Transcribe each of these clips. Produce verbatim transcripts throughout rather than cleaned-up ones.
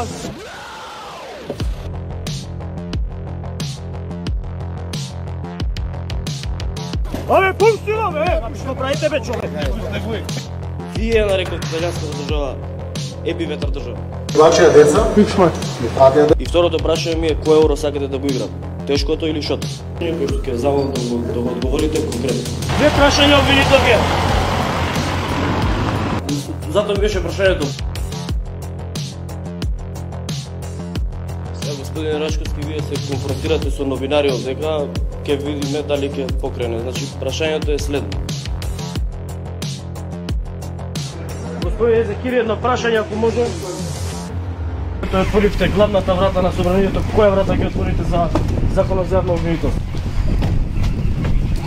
вас. Абе, пустила, бе! Што правите, бе, човек? Вие нарекот италијанската држава епиветар држава. Вашија деца? Пичма. И второто прашање ми е кој евро сакате да го играт? Тешкото или шото? Кој што ќе замолам да го, да го одговорите конкретно. Две прашања обвинител ге. Затоа ми беше прашањето. Сега, господин Рашковски, вие се конфронтирате со новинари овдека, ќе видиме дали ќе покрене. Значи, прашањето е следно. Господин Езекири, едно прашање, ако може. Тоа отворивте главната врата на собранието, која врата ќе отворите за законот за јавно обвинителство?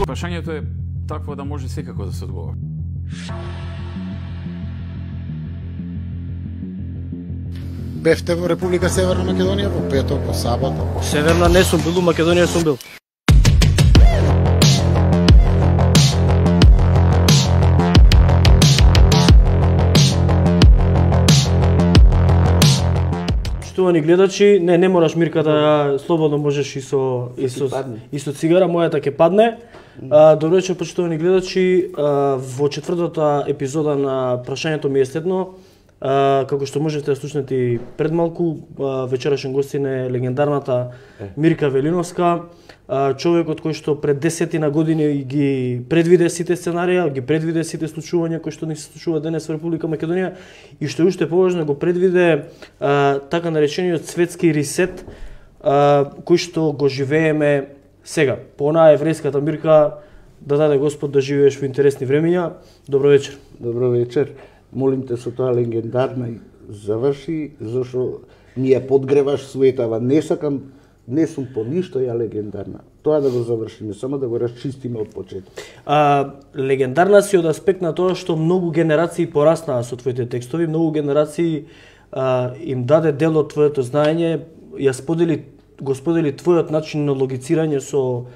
Прашањето е такво да може секако да се одговори. Бевте во Република Северна Македонија во петок, во сабота. Северна не сум бил, Македонија сум бил. Поштовани гледачи, не не мораш Мирка да слободно можеш и со и со и со цигара, мојата ќе падне. А, добро вечер, поштовани гледачи, а, во четвртата епизода на прашањето ми е следно. А, како што можете да слушнете и пред малку, а, вечерашен гостин е легендарната Мирка Велиновска, а, човекот кој што пред десетина години ги предвиде сите сценарија, ги предвиде сите случувања кои што ни се случуваат денес во Република Македонија и што е уште поважно го предвиде а, така наречениот светски ресет а, кој што го живееме сега. По онаа еврејската Мирка, да даде Господ да живееш во интересни времиња. Добро вечер. Добро вечер. Молим те со тоа легендарна заврши, зашо ми ја подгреваш суетава. Не сакам, не сум по ништо ја легендарна. Тоа да го завршиме, само да го расчистиме од почеток. А, легендарна си од аспект на тоа што многу генерации пораснаа со твоите текстови, многу генерации а, им даде дел од твоето знаење, ја сподели, го сподели твојот начин на логицирање со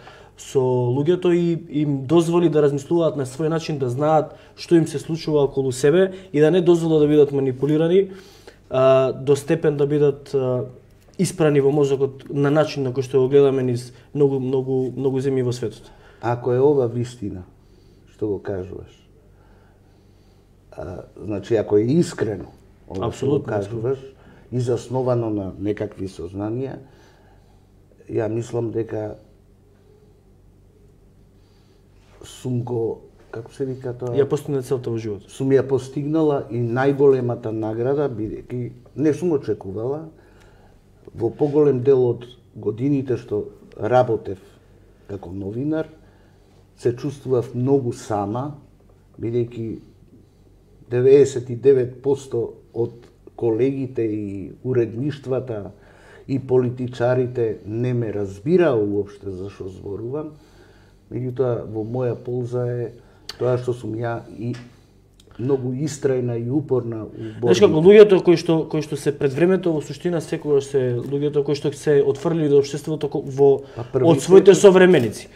со луѓето и им дозволи да размислуваат на свој начин, да знаат што им се случува околу себе и да не дозвола да бидат манипулирани а, до степен да бидат а, испрани во мозокот на начин на кој што го гледаме низ многу многу многу земји во светот. Ако е ова вистина што го кажуваш, а, значи ако е искрено ова што го кажуваш и засновано на некакви сознанија, ја мислам дека сум го, како се вика тоа? Ја постигна целта во животот. Сум ја постигнала и најголемата награда, бидејќи не сум очекувала. Во поголем дел од годините што работев како новинар, се чувствував многу сама, бидејќи деветдесет и девет проценти од колегите и уредништвата и политичарите не ме разбираа уопште за што зборувам. Меѓутоа, во моја полза е тоа што сум ја и многу истрајна и упорна у борбата. Знаеш како луѓето кои што кои што се пред времето во суштина секогаш се луѓето кои што се отфрлили до општеството во од своите современици.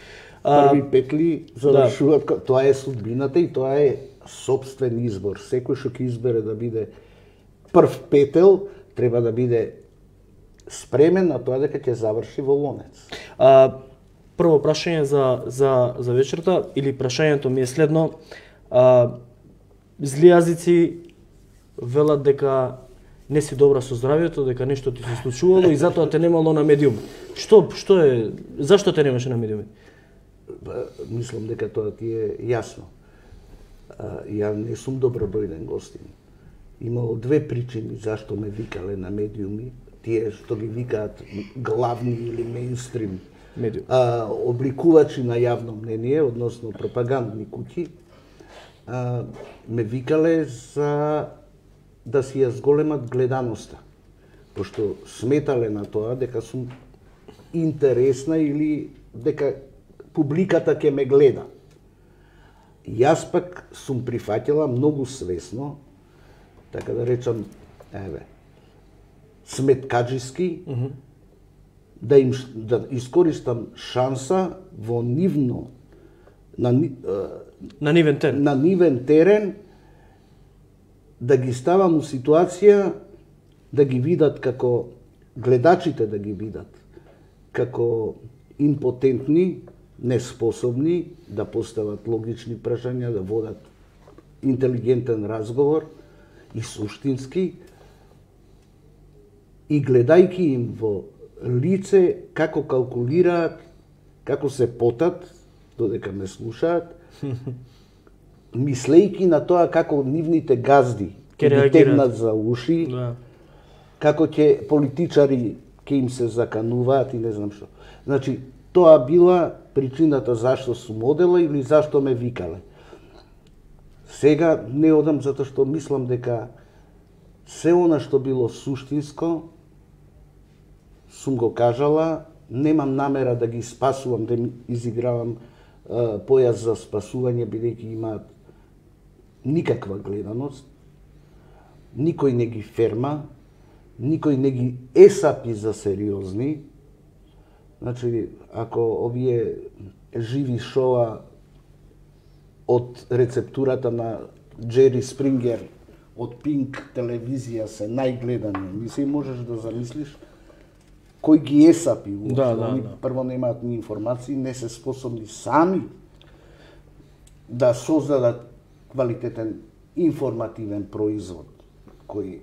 Први петли завршуваат, да. Тоа е судбината и тоа е сопствен избор. Секој што ќе избере да биде прв петел, треба да биде спремен на тоа дека ќе заврши во лонец. А, прво прашање за, за, за вечерта, или прашањето ми е следно. А, зли јазици велат дека не си добра со здравјето, дека нешто ти се случувало и затоа те немало на медиум. Што, што е, зашто те немаше на медиуми? Мислам дека тоа ти е јасно. А, ја не сум добродојден гостин. Имало две причини зашто ме викале на медиуми, тие што ги викаат главни или мејнстрим а, обликувачи на јавно мнение, односно пропагандни куќи, а, ме викале за да си ја зголемат гледаноста, пошто сметале на тоа дека сум интересна или дека публиката ќе ме гледа. Јас пак сум прифаќала многу свесно, така да речам, еве, сметкаджиски, mm -hmm. да им да искористам шанса во нивно на на нивен терен. На нивен терен да ги ставам у ситуација да ги видат како гледачите да ги видат како импотентни, неспособни да постават логични прашања, да водат интелигентен разговор и суштински, и гледајќи им во лице како калкулираат, како се потат, додека ме слушаат, мислејќи на тоа како нивните газди ќе ги тегнат за уши, да. Како ќе политичари ќе им се закануваат и не знам што. Значи, тоа била причината зашто сум одела или зашто ме викале. Сега не одам затоа што мислам дека се она што било суштинско сум го кажала, немам намера да ги спасувам, да изигравам uh, појас за спасување, бидејќи имаат никаква гледаност, никој не ги ферма, никој не ги есапи за сериозни. Значи, ако овие живи шоа од рецептурата на Джери Спрингер од Пинк телевизија се најгледани, мисли можеш да замислиш кој ги есапи, да, да, они да. Прво немаат ни информации, не се способни сами да создадат квалитетен информативен производ кој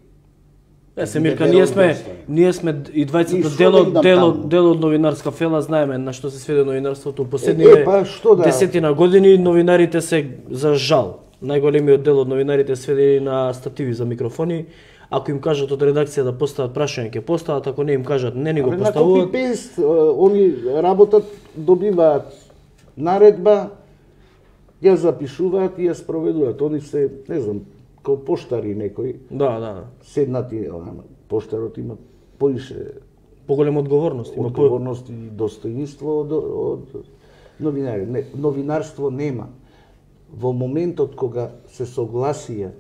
Е, Семирка, ние сме, ние сме и двајцата дел од дел од дел од новинарска фела, знаеме на што се сведе новинарството последниве е, па, што да? десетина години. Новинарите се, за жал, најголемиот дел од новинарите сведени на стативи за микрофони. Ако им кажат од редакција да постават прашање, ќе постават, ако не им кажат, не ни го поставуваат. На копи-пейст, они работат, добиваат наредба, ја запишуваат и ја спроведуваат. Они се, не знам, као поштари некои. Да, да. Седнати, поштарот има поише поголема одговорност, има одговорност и достоинство од, од новинари. Не, новинарство нема. Во моментот кога се согласија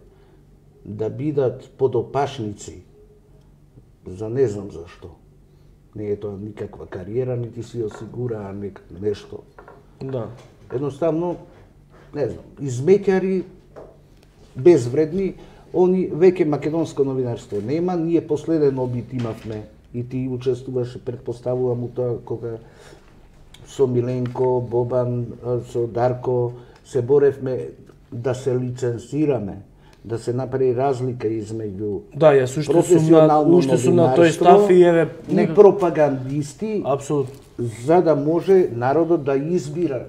да бидат подопашници, за не знам зашто, не е тоа никаква кариера, нити си осигураа нешто. Да. Едноставно, не знам, измеќари, безвредни, они веќе македонско новинарство нема, ние последен обид имавме и ти учествуваше, предпоставувам у тоа кога со Миленко, Бобан, со Дарко се боревме да се лицензираме, да се направи разлика измеѓу да, јас уште сум на уште сум на тој став и еве и пропагандисти. Апсолутно. За да може народот да избира,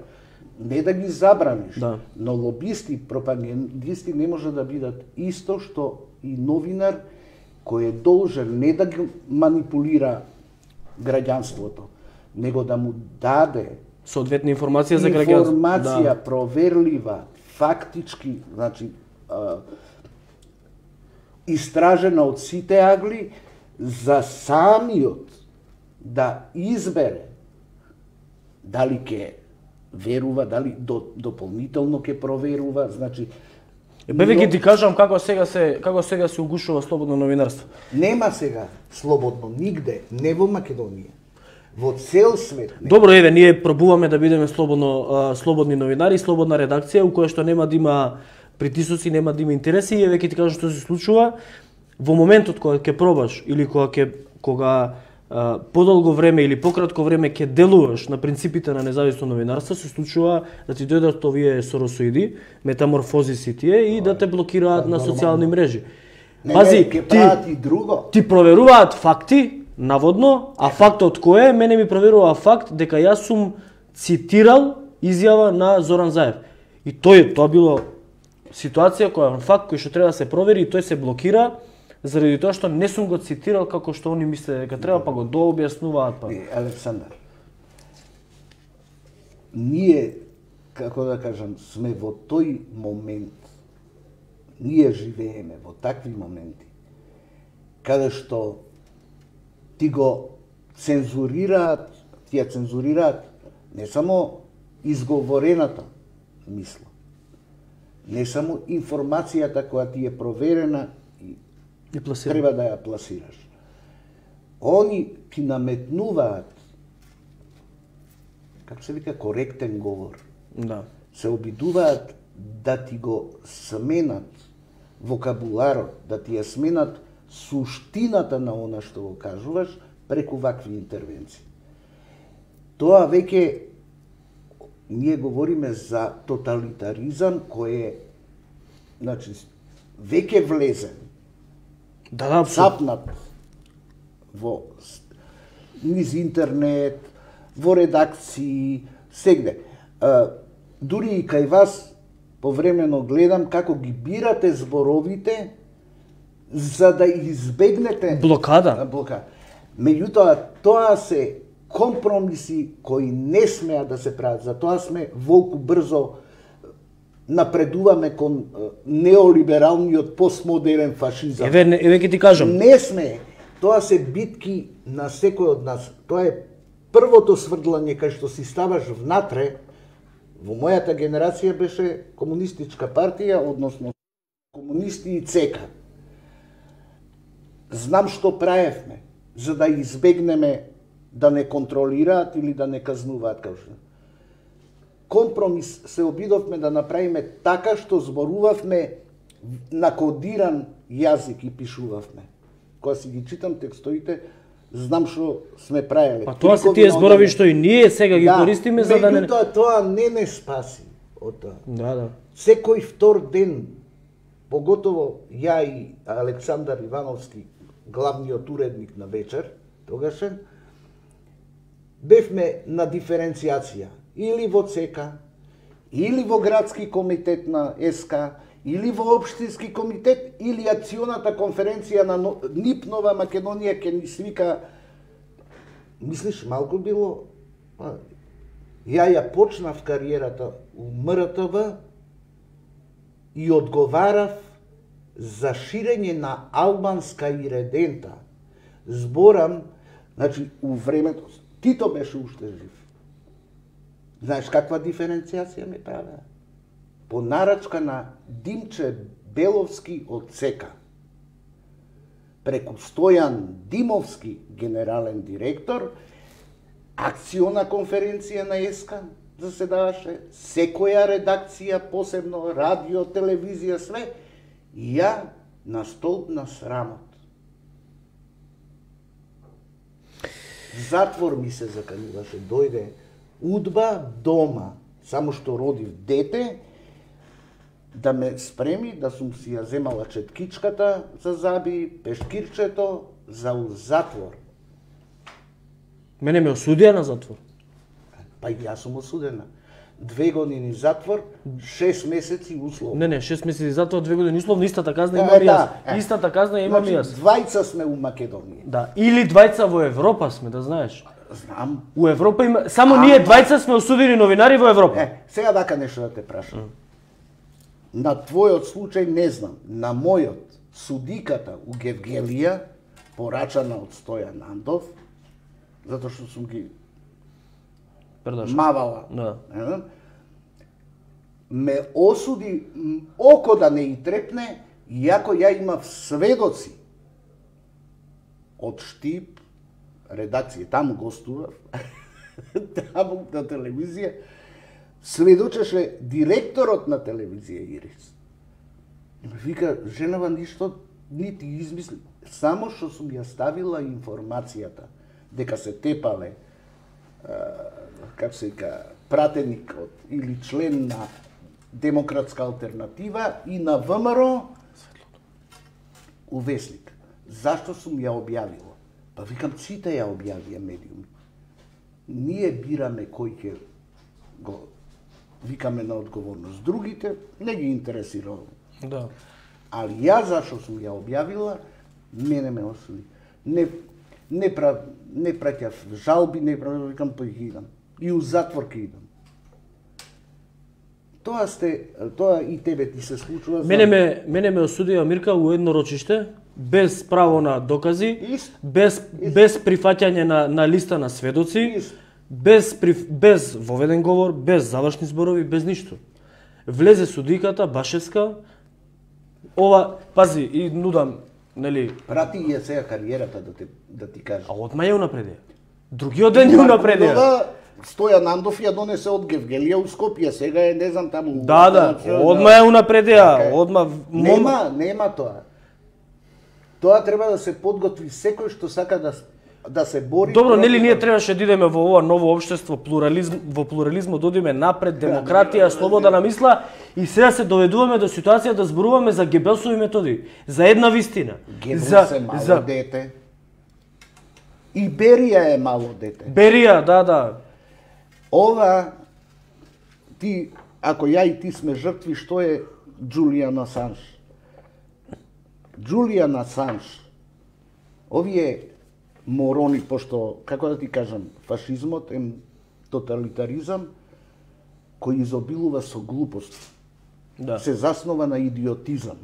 не да ги забраниш, да. Но лобисти, пропагандисти не може да бидат исто што и новинар кој е должен не да ги манипулира граѓанството, него да му даде соодветна информација за граѓанството. Информација да. Проверлива, фактички, значи а, истражена од сите агли за самиот да избере дали ќе верува, дали до, дополнително ќе проверува, значи Беве ќе ти кажам како сега се како сега се угушува слободно новинарство. Нема сега слободно нигде, не во Македонија. Во цел свет. Не. Добро, еве, ние пробуваме да бидеме слободно а, слободни новинари, слободна редакција у која што нема да има притисоци, нема да има интереси, и еве ќе ти кажам што се случува во моментот кога ќе пробаш или кога ќе кога а, подолго време или пократко време ќе делуваш на принципите на независно новинарство, се случува да ти дојдат овие соросоиди, метаморфозиси тие и да те блокираат на социјални мрежи. Не, Пази, не, ти, и друго. Ти проверуваат факти, наводно, а фактот кој е? Мене ми проверува факт дека јас сум цитирал изјава на Зоран Заев. И тој, тоа било ситуација која факт кој што треба да се провери и тој се блокира заради тоа што не сум го цитирал како што они мисле дека треба, па го дообјаснуваат па. Е, Александар, ние, како да кажам, сме во тој момент, ние живееме во такви моменти, каде што ти го цензурираат, ти ја цензурираат не само изговорената мисла, не само информацијата која ти е проверена и, и треба да ја пласираш. Они ти наметнуваат, како се вика, коректен говор. Да. Се обидуваат да ти го сменат вокабуларот, да ти ја сменат суштината на она што го кажуваш преку вакви интервенции. Тоа веќе ние говориме за тоталитаризам кој е, значи, веќе влезен. Да, да, цапнат во низ интернет, во редакции, сегде. А, дури и кај вас повремено гледам како ги бирате зборовите за да избегнете блокада. блокада. Меѓутоа, тоа се компромиси кои не смеа да се прават. Затоа сме волку брзо напредуваме кон неолибералниот постмодерен фашизам. Еве, еве ќе ти кажам. Не сме. Тоа се битки на секој од нас. Тоа е првото сврдлање кај што си ставаш внатре. Во мојата генерација беше комунистичка партија, односно комунисти и ЦК. Знам што правевме, за да избегнеме да не контролираат или да не казнуваат како што. Компромис се обидовме да направиме така што зборувавме на кодиран јазик и пишувавме. Кога си ги читам текстовите, знам што сме правеле. Па тоа се тие зборови што и ние сега ги да, користиме за да не... Меѓутоа тоа не не спаси од тоа. Да, да. Секој втор ден, поготово ја и Александар Ивановски, главниот уредник на Вечер, тогашен, бевме на диференцијација. Или во ЦК, или во градски комитет на СК, или во општински комитет, или акционата конференција на НИП Нова Македонија ке ни свика. Мислиш, малку било? Ја ја почнав кариерата у МРТВ и одговарав за ширење на албанска иредента. Зборам, значи, у времето, Тито беше уште жив. Знаеш каква диференцијација ме правеа? По нарачка на Димче Беловски од ЦК. Преку Стојан Димовски, генерален директор, акциона конференција на СК заседаваше, секоја редакција, посебно радио, телевизија, све, и ја на столб на срамот. Затвор ми се закануваше, дојде удба дома, само што родив дете, да ме спреми, да сум си ја земала четкичката за заби, пешкирчето, за затвор. Мене ме осудија на затвор. Па и јас сум осудена. Две години затвор, шест месеци условно. Не, не, шест месеци затвор, две години условно, истата казна Е, имам и јас. да, е. Истата казна имам и Значи, јас. двајца сме у Македонија. Да, или двајца во Европа сме, да знаеш. Знам. У Европа има, само А, ние двајца сме осудени новинари во Европа. Е, сега дака нешто да те прашам. Mm. На твојот случај не знам, на мојот судиката у Гевгелија, порачана од Стојан Андов, затоа што сум ги Предашо. мавала, Да. е, ме осуди око да не и трепне, иако ја имав сведоци од Штип, редакција, таму гостував, таму на телевизија, сведочеше директорот на телевизија Ирис. И ме вика, женава ништо нити измисли, само што сум ја ставила информацијата дека се тепале, како се вика, пратеник од, или член на Демократска алтернатива и на ВМРО у Весник. Зашто сум ја објавила? Па викам, сите ја објавија медиуми. Ние бираме кој ќе го викаме на одговорност. Другите не ги интересира. Да. Али ја зашто сум ја објавила, мене ме осуди. Не не прав, не праќав жалби, не прав, викам, па ги идам. И у затвор ќе идам. Тоа сте, тоа и тебе ти се случува. Мене ме мене ме осудија Мирка у едно рочиште без право на докази, Ист. без без прифаќање на на листа на сведоци, Ист. без приф, без воведен говор, без завршни зборови, без ништо. Влезе судиката Башевска. Ова, пази, и нудам, нели, Прати ја сега кариерата да те да ти кажам. а одма ја унапредија. Другиот ден ја унапредија. Ова, Стојан Андов ја донесе од Гевгелија у Скопје, сега е не знам таму. Да, да, одма ја унапредија, одма Нема, нема тоа. Тоа треба да се подготви секој што сака да да се бори. Добро, нели ние требаше да идеме во ова ново општество, плурализм, во плурализмот да одиме напред, демократија, слобода на мисла, и сега се доведуваме до ситуација да зборуваме за Гебелсови методи, за една вистина. Гебелс за, е мало за... дете. И Берија е мало дете. Берија, да, да. Ова, ти, ако ја и ти сме жртви, што е Джулијан Асанж? Джулијан Асанж, овие морони, пошто, како да ти кажам, фашизмот е тоталитаризам кој изобилува со глупост. Да. Се заснова на идиотизам.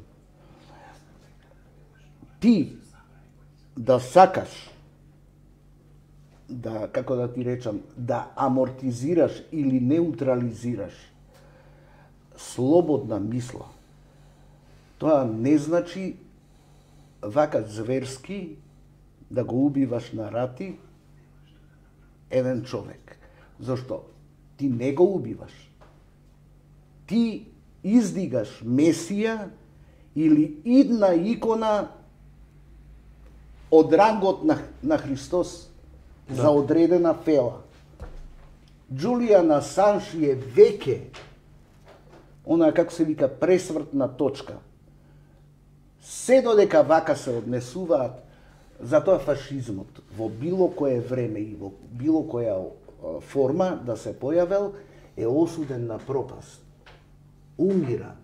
Ти да сакаш да, како да ти речам, да амортизираш или неутрализираш слободна мисла, тоа не значи вака зверски да го убиваш на рати еден човек. Зошто? Ти не го убиваш. Ти издигаш Месија или идна икона од рангот на, на Христос, да, за одредена фела. Джулијан Асанж е веќе она, како се вика, пресвртна точка. Се додека вака се однесуваат, затоа фашизмот во било кое време и во било која форма да се појавел е осуден на пропаст. Умира.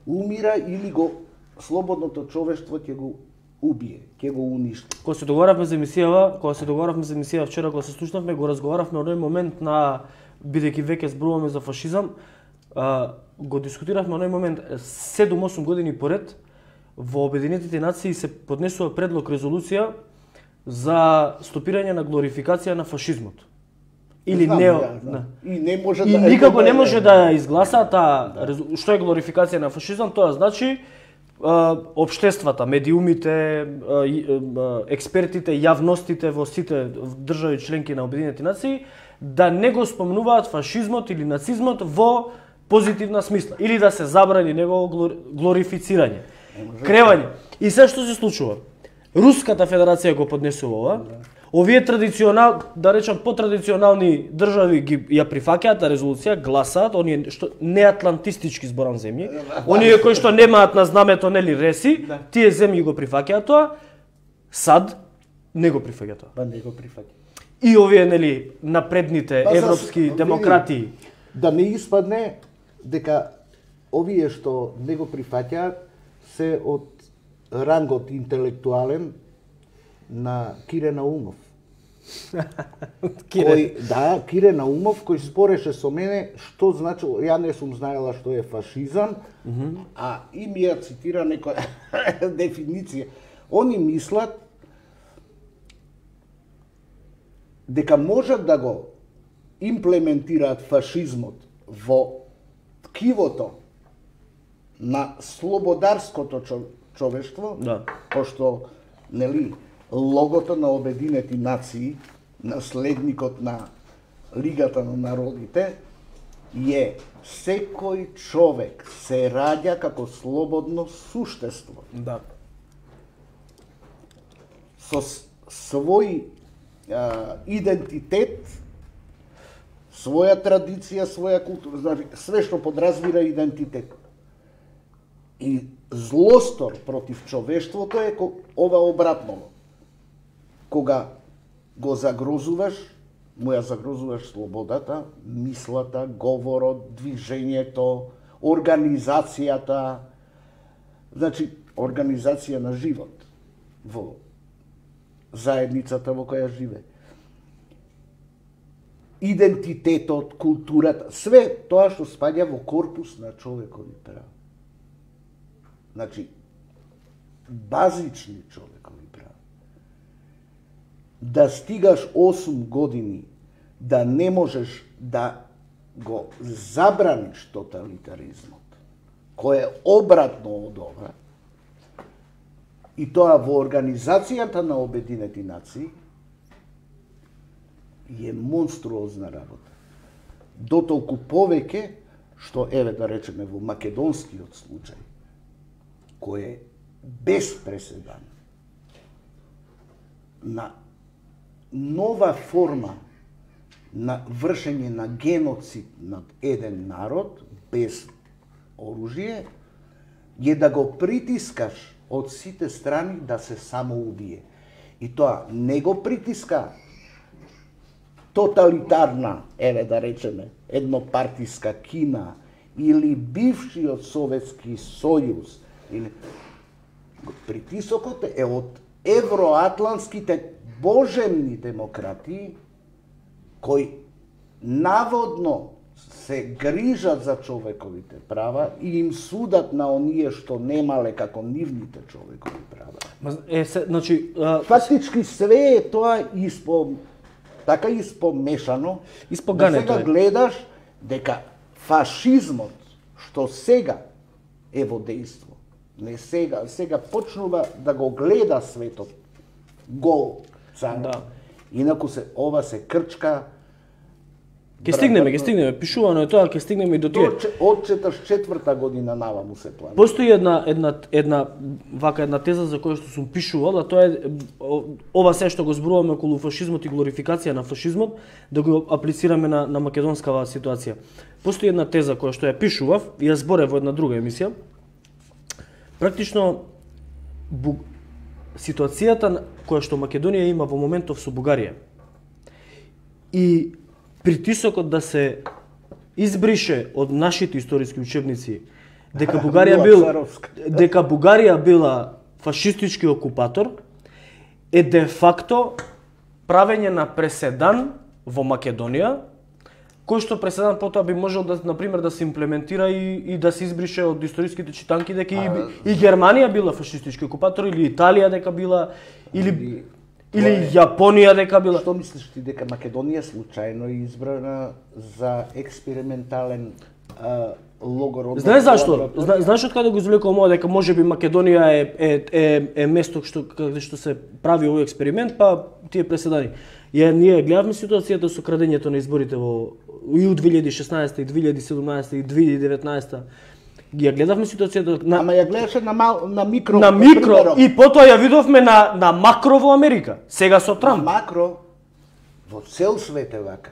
Умира или го слободното човештво ќе го убие, ќе го уништи. Кога се договоравме за емисијава, кога се договоравме за емисијава вчера кога се слушнавме, го разговаравме оној момент на, бидејќи веќе зборуваме за фашизам, а, го дискутиравме оној момент седум-осум години поред. Во Обединетите нации се поднесува предлог резолуција за стопирање на глорификација на фашизмот. Или Знам, не, ја, да. И не може и да никако не да, може да ја изгласа таа, да. Што е глорификација на фашизам, тоа значи а, општествата, медиумите, а, а, експертите, јавностите во сите држави членки на Обединетите нации да не го спомнуваат фашизмот или нацизмот во позитивна смисла или да се забрани негово глорифицирање. Кревање. И се што се случува? Руската федерација го поднесува ова. Овие традиционал, да речам потрадиционални држави ги ја прифаќаат резолуција, гласаат, оние што неатлантистички зборам земји, оние кои што немаат на знамето нели реси, тие земји го прифаќаат тоа. САД не го прифаќа тоа. Па не го прифаќа. И овие нели напредните па, европски за, демократи, да не испадне дека овие што не го прифаќаат се од рангот интелектуален на Кире Наумов. Кире. Кој, да, Кире Наумов, кој спореше со мене што значило, ја не сум знаела што е фашизам, mm -hmm. а и ми ја цитира некоја дефиниција. Они мислат дека можат да го имплементираат фашизмот во ткивото на слободарското човештво, да, пошто нели логото на Обединети нации, наследникот на Лигата на народите, е секој човек се раѓа како слободно суштество. Да. Со свој а, идентитет, своја традиција, своја култура, значи све што подразбира идентитет. И злостор против човештвото е ова обратно. Кога го загрозуваш, му ја загрозуваш слободата, мислата, говорот, движењето, организацијата, значи организација на живот во заедницата во која живе. Идентитетот, културата, све тоа што спаѓа во корпус на човекови права. Значи, базични човекови права. Да стигаш осум години, да не можеш да го забраниш тоталитаризмот, кој е обратно од ова, и тоа во Организацијата на Обединети нации, е монструозна работа. Дотолку повеќе, што, еве да речеме, во македонскиот случај, кој е без преседан, на нова форма на вршење на геноцид над еден народ без оружје е да го притискаш од сите страни да се самоубие. И тоа не го притиска тоталитарна, еве да речеме, еднопартиска Кина или бившиот Советски сојуз, или притисокот е од евроатлантските божемни демократии кои наводно се грижат за човековите права и им судат на оние што немале како нивните човекови права. Е, се, значи, а... фактички све е тоа испо така испомешано, Испогането да сега е. гледаш дека фашизмот што сега е во дејство, не сега, сега почнува да го гледа светот гол цар. Да. Инаку се ова се крчка. Ке стигнеме, ке стигнеме, пишувано е тоа, ке стигнеме и до тие. Од четирдесет и четврта година наваму се планира. Постои една една една вака една теза за која што сум пишувал, а тоа е ова се што го зборуваме околу фашизмот и глорификација на фашизмот, да го аплицираме на на македонскава ситуација. Постои една теза која што ја пишував и ја зборев во една друга емисија. Практично бу... ситуацијата која што Македонија има во моментов со Бугарија и притисокот да се избрише од нашите историски учебници дека Бугарија бил дека Бугарија била фашистички окупатор е де факто правење на преседан во Македонија, кој што преседан потоа би можел да на пример да се имплементира и, и да се избрише од историските читанки дека и, и Германија била фашистички окупатор или Италија дека била или или, или Јапонија дека била. Што мислиш ти дека Македонија случајно е избрана за експериментален а, логор? Знаеш зашто? Зна, знаеш од каде го извлекувам ова дека можеби Македонија е е е, е место што каде што се прави овој експеримент, па тие преседани. Ја ние гледавме ситуацијата со крадењето на изборите во и у две илјади и шеснаесета и две илјади и седумнаесета и две илјади и деветнаесета. Ја гледавме ситуацијата на Ама ја гледаше на мал, на микро. на микро и потоа ја видовме на на макро во Америка. Сега со Трамп. На макро во цел свет е вака.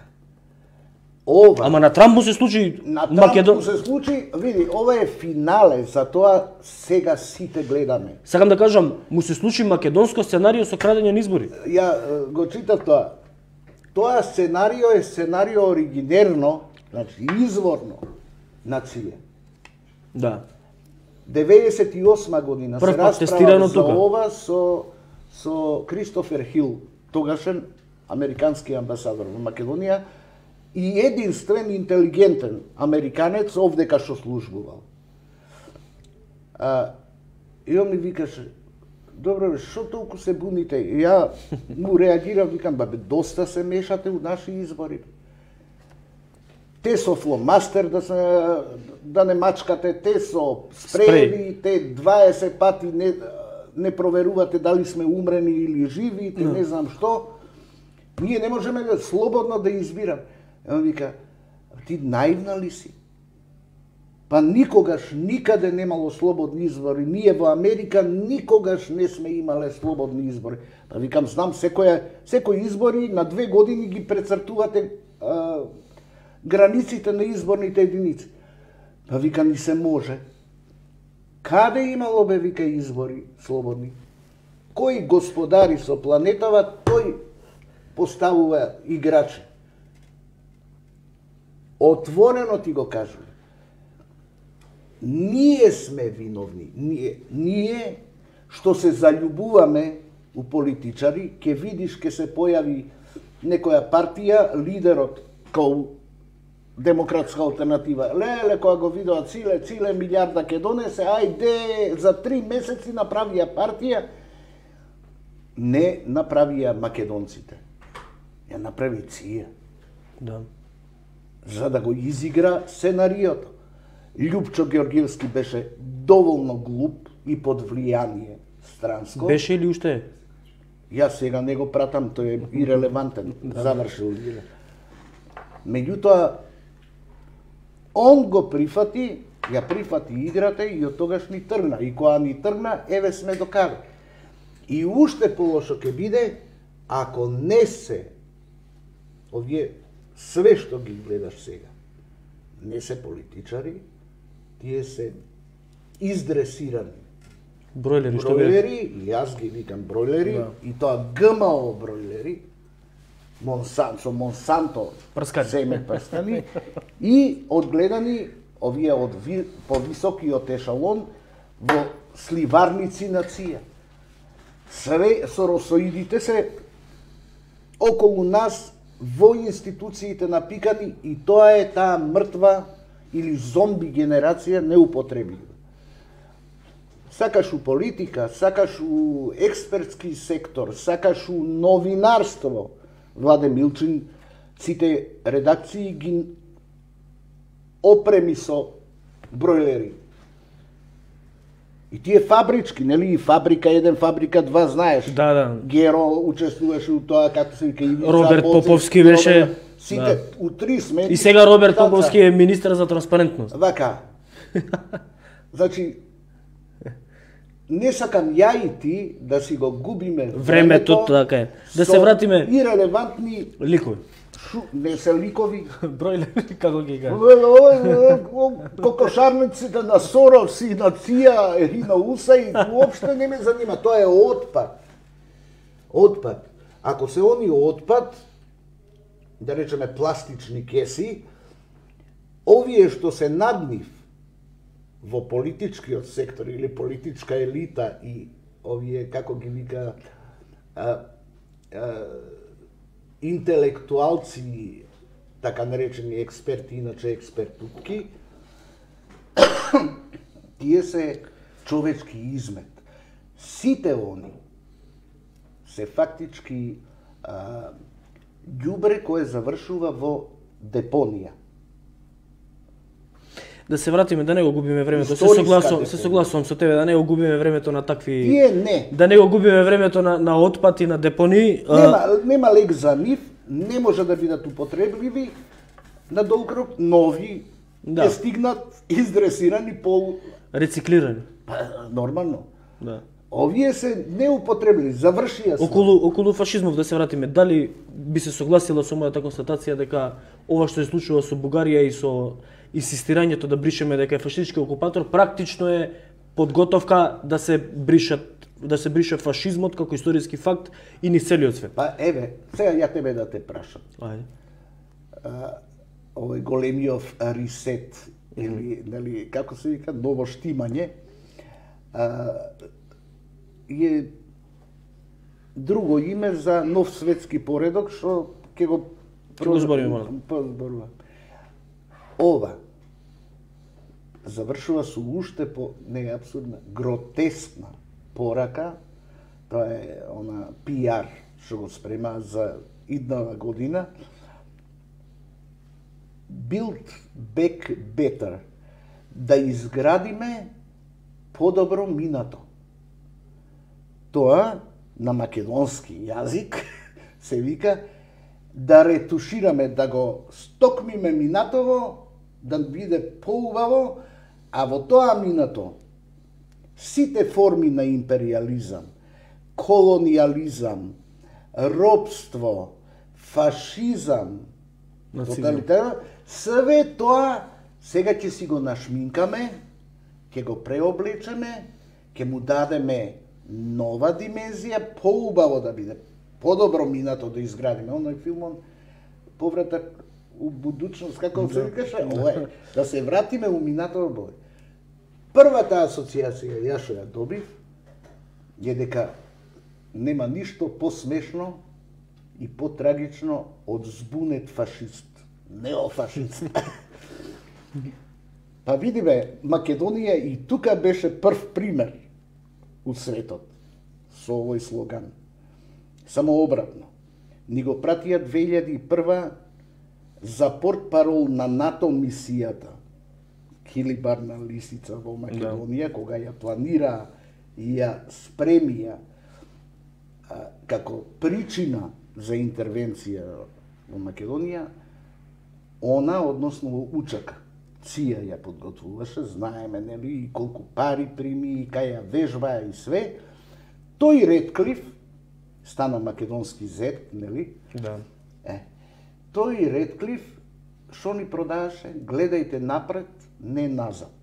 Ова Ама на Трамп му се случи на Македон. Трамп се случи, види, ова е финале, затоа сега сите гледаме. Сакам да кажам, му се случи македонско сценарио со крадење на избори. Ја е, го читав тоа. Тоа сценарио е сценарио оригинерно, значи изворно нација. Да. деветдесет и осма година Прв се пат тестирано расправа за тука. ова со со Кристофер Хил, тогашен американски амбасадор во Македонија и единствен интелигентен американец овдека што службувал. А, и он ми викаше, добро бе, што толку се буните? И ја му реагирав, викам, бабе, доста се мешате у наши избори. Те со фломастер да се да не мачкате, те со спрееви, те дваесет пати не не проверувате дали сме умрени или живи, те не знам што. Ние не можеме да слободно да избираме. Он вика, ти наивна ли си? Па никогаш, никаде немало слободни избори. Ние во Америка никогаш не сме имале слободни избори. Па викам, знам, секој, секој избори на две години ги прецртувате а, границите на изборните единици. Па вика, ни се може. Каде имало бе, вика, избори слободни? Кој господари со планетава, тој поставува играчи. Отворено ти го кажувам. Ние сме виновни. Ние, ние што се заљубуваме у политичари, ќе видиш ке се појави некоја партија, лидерот као демократска алтернатива. Леле, кога го видоа Циле, Циле милиарда ке донесе, ајде, за три месеци направија партија. Не направија македонците. Ја направи Ција. Да. За да го изигра сценариото. Љупчо Георгиевски беше доволно глуп и под влијание странско. Беше или уште е? Јас сега не го пратам, тој е ирелевантен, завршил игра. Меѓутоа, он го прифати, ја прифати играта и од тогаш ни тргна. И кога ни тргна, еве сме до каде. И уште полошо ќе биде ако не се овие све што ги гледаш сега, не се политичари, тие се издресирани Бройлери, што бройлери, и јас ги викам бройлери, Да. и тоа ГМО бройлери, Монсанто, Монсанто, Прскани. семе прскани, и одгледани овие од ви, повисокиот ешалон во сливарници на ција. Све соросоидите се околу нас во институциите напикани и тоа е таа мртва или зомби генерација неупотреблива. Сакаш у политика, сакаш у експертски сектор, сакаш у новинарство, Владе Милчин сите редакции ги опреми со бройлери. И тие фабрички, нели, и фабрика еден, фабрика два, знаеш. Да, да. Геро учествуваше у тоа, како се вика, Ивица Роберт Поцев, Поповски беше, Роберт, сите да. у три смети. И сега Роберт Таца. Поповски е министер за транспарентност. Вака. Значи, не сакам ја и ти да си го губиме Времето, така е. Да со се вратиме- ирелевантни, Ликови. шу, не се ликови, Бройлери, како ги кажа. кокошарниците на Сорос и на Ција и на Уса и уопште не ме занима. Тоа е отпад. Отпад. Ако се они отпад, да речеме пластични кеси, овие што се над нив во политичкиот сектор или политичка елита и овие, како ги вика, а, а, интелектуалци, така наречени експерти, иначе експертутки, тие се човечки измет. Сите они се фактички а, ѓубре кое завршува во депонија. Да се вратиме, да не го губиме времето. Се Историска согласувам, депонија. се согласувам со тебе, да не го губиме времето на такви... Тие не. Да не го губиме времето на, на отпад и на депони. Нема, нема лек за нив, не може да бидат употребливи, на долг рок нови Да. ќе стигнат издресирани пол... Рециклирани. Па, нормално. Да. Овие се неупотребливи, завршија се. Околу, околу фашизмов да се вратиме, дали би се согласила со мојата констатација дека ова што се случува со Бугарија и со инсистирањето да бришеме дека е фашистички окупатор, практично е подготовка да се бришат да се брише фашизмот како историски факт и низ целиот свет. Па еве, сега ја тебе да те прашам. Ајде. Овој големиов ресет или нели како се вика ново штимање, а, е друго име за нов светски поредок што ќе го Ќе го збориме малку. Зборува. Ова завршува со уште по не е апсурдна, гротескна порака. Тоа е она пиар што го спрема за иднава година. Build back better. Да изградиме подобро минато. Тоа на македонски јазик се вика да ретушираме, да го стокмиме минатово, да биде поубаво, а во тоа минато сите форми на империализам, колониализам, робство, фашизам, тоталитарно, све тоа сега ќе си го нашминкаме, ќе го преоблечеме, ќе му дадеме нова димензија, поубаво да биде, подобро минато да изградиме. Оној филмон Повратак у будучност, како се викаше, ова е, да се вратиме у минатово бој. Првата асоциација ја што ја добив е дека нема ништо посмешно и потрагично од збунет фашист, неофашист. Па видиме, Македонија и тука беше прв пример у светот со овој слоган. Само обратно. Ни го пратија две илјади и прва за портпарол на НАТО мисијата Килибарна лисица во Македонија, да. Кога ја планира и ја спремија а, како причина за интервенција во Македонија, она, односно Учака, Ција ја подготвуваше, знаеме, нели, и колку пари прими, и кај ја вежбаа и све. Тој Редклиф стана македонски зет, нели? Да. Е, тој Редклиф што ни продаваше? Гледајте напред, не назад.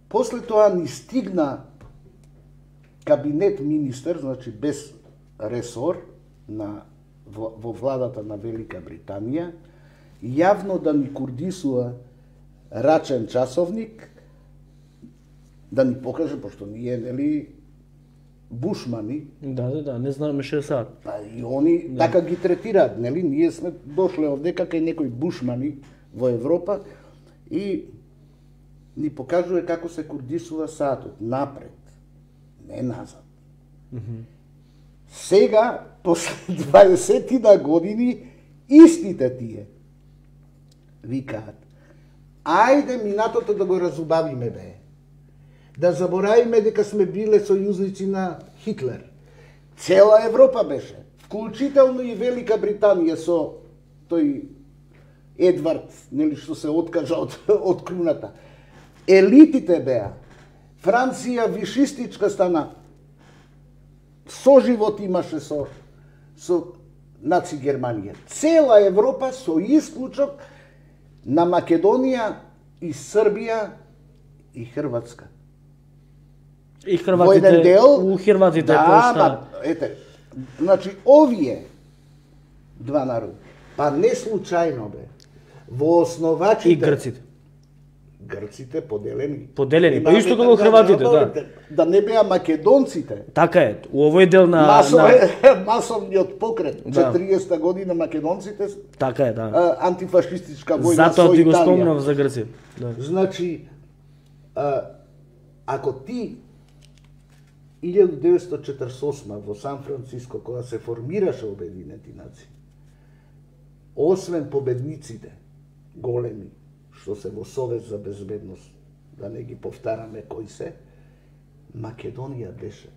После тоа ни стигна кабинет министер, значи без ресор на во, во владата на Велика Британија, јавно да ни курдисува рачен часовник, да ни покаже, пошто ние, нели, бушмани. Да, да, да, не знаме ше сад. Па и они да. Така ги третираат, нели? Ние сме дошле овдека кај некои бушмани во Европа и ни покажува како се курдисува саатот, напред, не назад. Mm-hmm. Сега, после дваесет години, истите тие викаат, ајде минатото да го разубавиме, бе. Да заборавиме дека сме биле сојузници на Хитлер. Цела Европа беше, вклучително и Велика Британија со тој Едвард, нели што се откажа од, од круната. Елитите беа. Франција вишистичка стана. Соживот имаше со со наци Германија. Цела Европа со исклучок на Македонија и Србија и Хрватска. И Хрватите, дел, у Хрватите да, пошта. Ма, ете, значи овие два народи, па не случајно бе, во основачите... И грците. Грците поделени. Поделени, па исто како Хрватите, да. Да не беа македонците. Така е, у овој дел на... Масов, на... Масовниот покрет, да. четириесета година македонците... Така е, да. А, антифашистичка војна Затоа со Италија. Затоа ти го спомнав за Грција. Да. Значи, а, ако ти илјаду деветстотини четиридесет и осма во Сан Франциско, кога се формираше Обединети нации, освен победниците големи, што се во Совет за безбедност, да не ги повтараме кои се, Македонија беше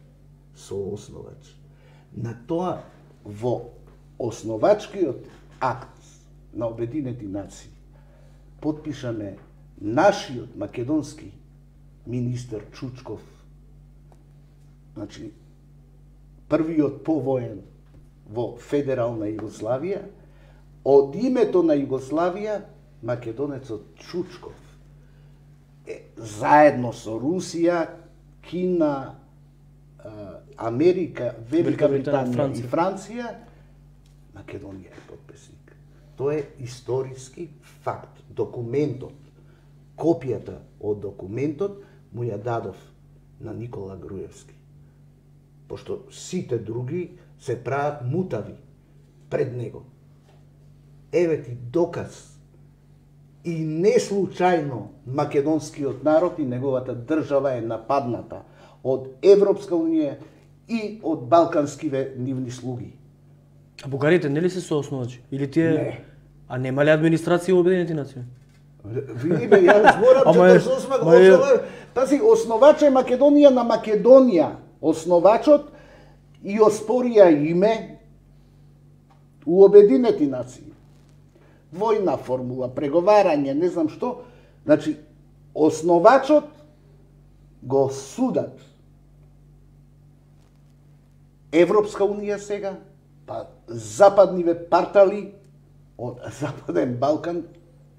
соосновач. На тоа, во основачкиот акт на Обединети нации, подпишаме нашиот македонски министер Чучков, значи, првиот повоен во федерална Југославија, од името на Југославија, македонецот Чучков, е, заедно со Русија, Кина, Америка, Велика Британија и Франција, Македонија е подписник. Тоа е историски факт. Документот, копијата од документот му ја дадов на Никола Груевски. Пошто сите други се прават мутави пред него. Еве ти доказ. И не случајно македонскиот народ и неговата држава е нападната од Европска унија и од балканскиве нивни слуги. А бугарите нели се соосновачи? Или тие... Не. А нема ли администрација во Обединети нации? Види бе, јас зборам четириесет и осма година. Пази, основач е Македонија на Македонија. Основачот и оспорија име у Обединети нации. Војна формула, преговарање, не знам што. Значи, основачот го судат Европска унија сега, па западниве партали од Западен Балкан,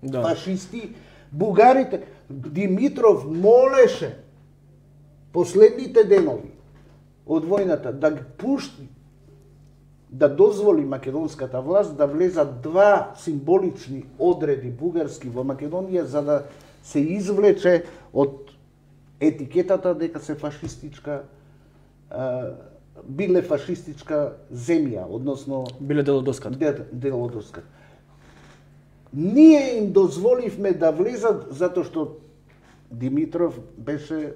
да. Фашисти, бугарите. Димитров молеше последните денови од војната да ги пушти, да дозволи македонската власт да влезат два символични одреди бугарски во Македонија за да се извлече од етикетата дека се фашистичка, биле фашистичка земја, односно биле дел од доската. Дел од доската. Ние им дозволивме да влезат затоа што Димитров беше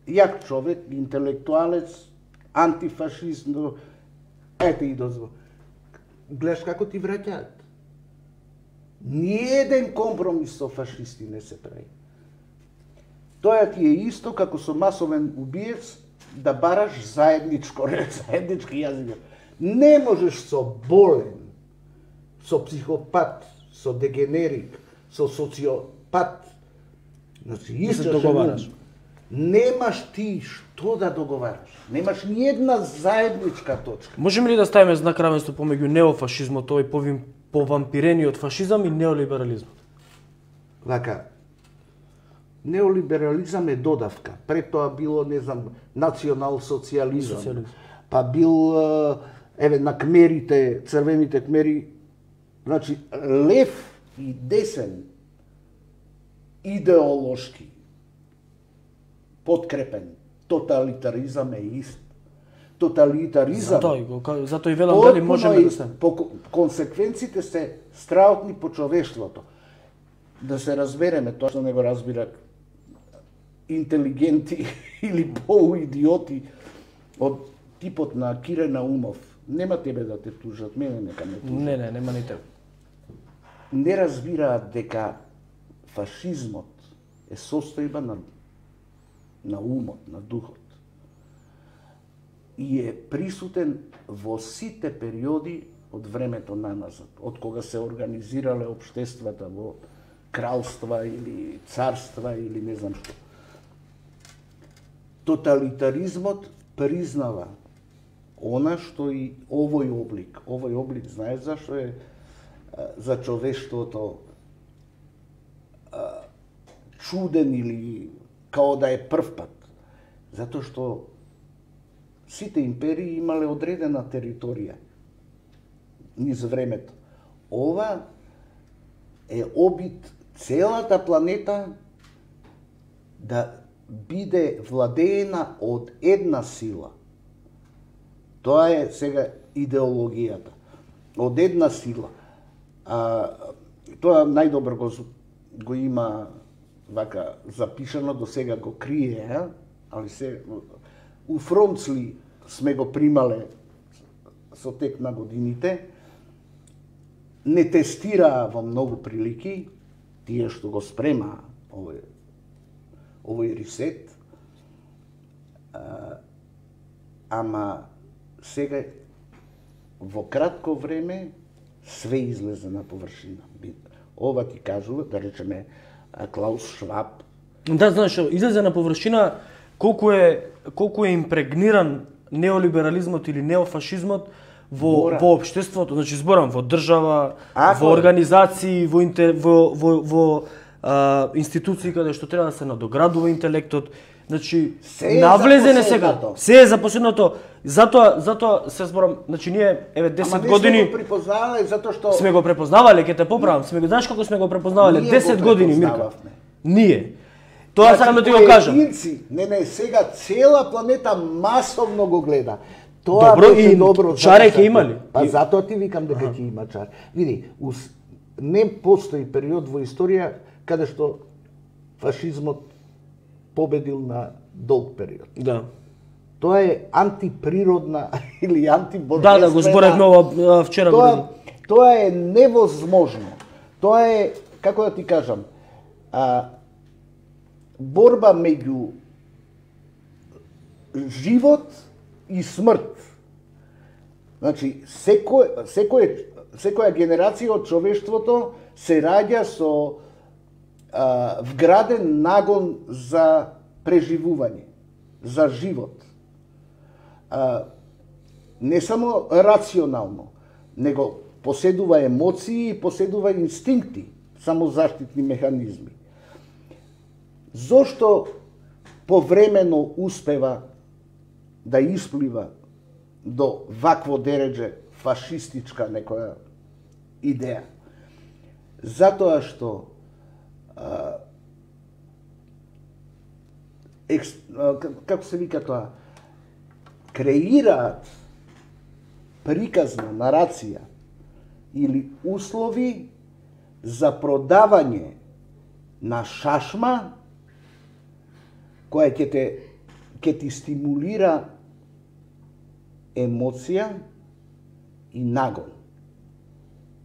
јак човек, интелектуалец, антифашист, но ете и дозвол. Гледаш како ти враќаат. Ниеден компромис со фашисти не се прави. Тоа ти е исто како со масовен убиец да бараш заедничко, заеднички јазик. Не можеш со болен, со психопат, со дегенерик, со социопат, значи исто договараш. немаш ти што да договараш. Немаш ни една заедничка точка. Можеме ли да ставиме знак равенство помеѓу неофашизмот, тој повим повампирениот фашизам и неолиберализмот? Вака, неолиберализам е додавка. Пред тоа било, не знам, национал-социализам. Социализм. Па бил, еве, на кмерите, црвените кмери, значи, лев и десен, идеолошки, подкрепен, тоталитаризам е ист. Тоталитаризам... Затоа, затоа и велам дали можеме да стане. По консеквенците се страотни по човештвото. Да се разбереме, тоа што не го разбира интелигенти или полуидиоти од типот на Кире Наумов. Нема тебе да те тужат, мене нека ме тужат. Не, не, нема ни тебе. Не разбираат дека фашизмот е состојба на, на умот, на духот. И е присутен во сите периоди од времето наназад, од кога се организирале општествата во кралства или царства или не знам што. Тоталитаризмот признава она што и овој облик, овој облик знаеш зашто е за човештвото чуден или као да е прв пат. Затоа што сите империи имале одредена територија низ времето. Ова е обид целата планета да биде владеена од една сила. Тоа е сега идеологијата. Од една сила. А, тоа најдобро го, го има вака запишано, до сега го крие, а? Али се у Фронцли сме го примале со тек на годините. Не тестираа во многу прилики тие што го спрема овој овој ресет. А, ама сега во кратко време све излезе на површина. Ова ти кажува, да речеме, Клаус Шваб. Да, знаеш, излезе на површина колку е колку е импрегниран неолиберализмот или неофашизмот во Бора. Во општеството, значи зборам во држава, Ако во организации, во интер, во во, во а, институции каде што треба да се надоградува интелектот. Значи навлезене сега. Се е за последното. Затоа затоа се зборам, значи ние еве десет години сме го препознавале затоа што сме го препознавале, ќе те поправам, сме го знаеш како сме го препознавале десет години, Мирка. Ние. Тоа сакам да ти го кажам. Не, не, сега цела планета масовно го гледа. Тоа добро, беше и добро. Чаре ќе имали. Па затоа ти викам дека ќе има чар. Види, ус, не постои период во историја каде што фашизмот победил на долг период. Да. Тоа е антиприродна или антибожествена. Да, да, го зборевме ова вчера. Тоа, тоа е невозможно. Тоа е, како да ти кажам, а, борба меѓу живот и смрт. Значи, секој, секој, секоја генерација од човештвото се раѓа со а, вграден нагон за преживување, за живот. А, не само рационално, него поседува емоции и поседува инстинкти, самозаштитни механизми. Зошто повремено успева да исплива до вакво дередже фашистичка некоја идеја? Затоа што а, екс, а, како се вика тоа, креираат приказна нарација или услови за продавање на шашма која ќе те ќе ти стимулира емоција и нагон.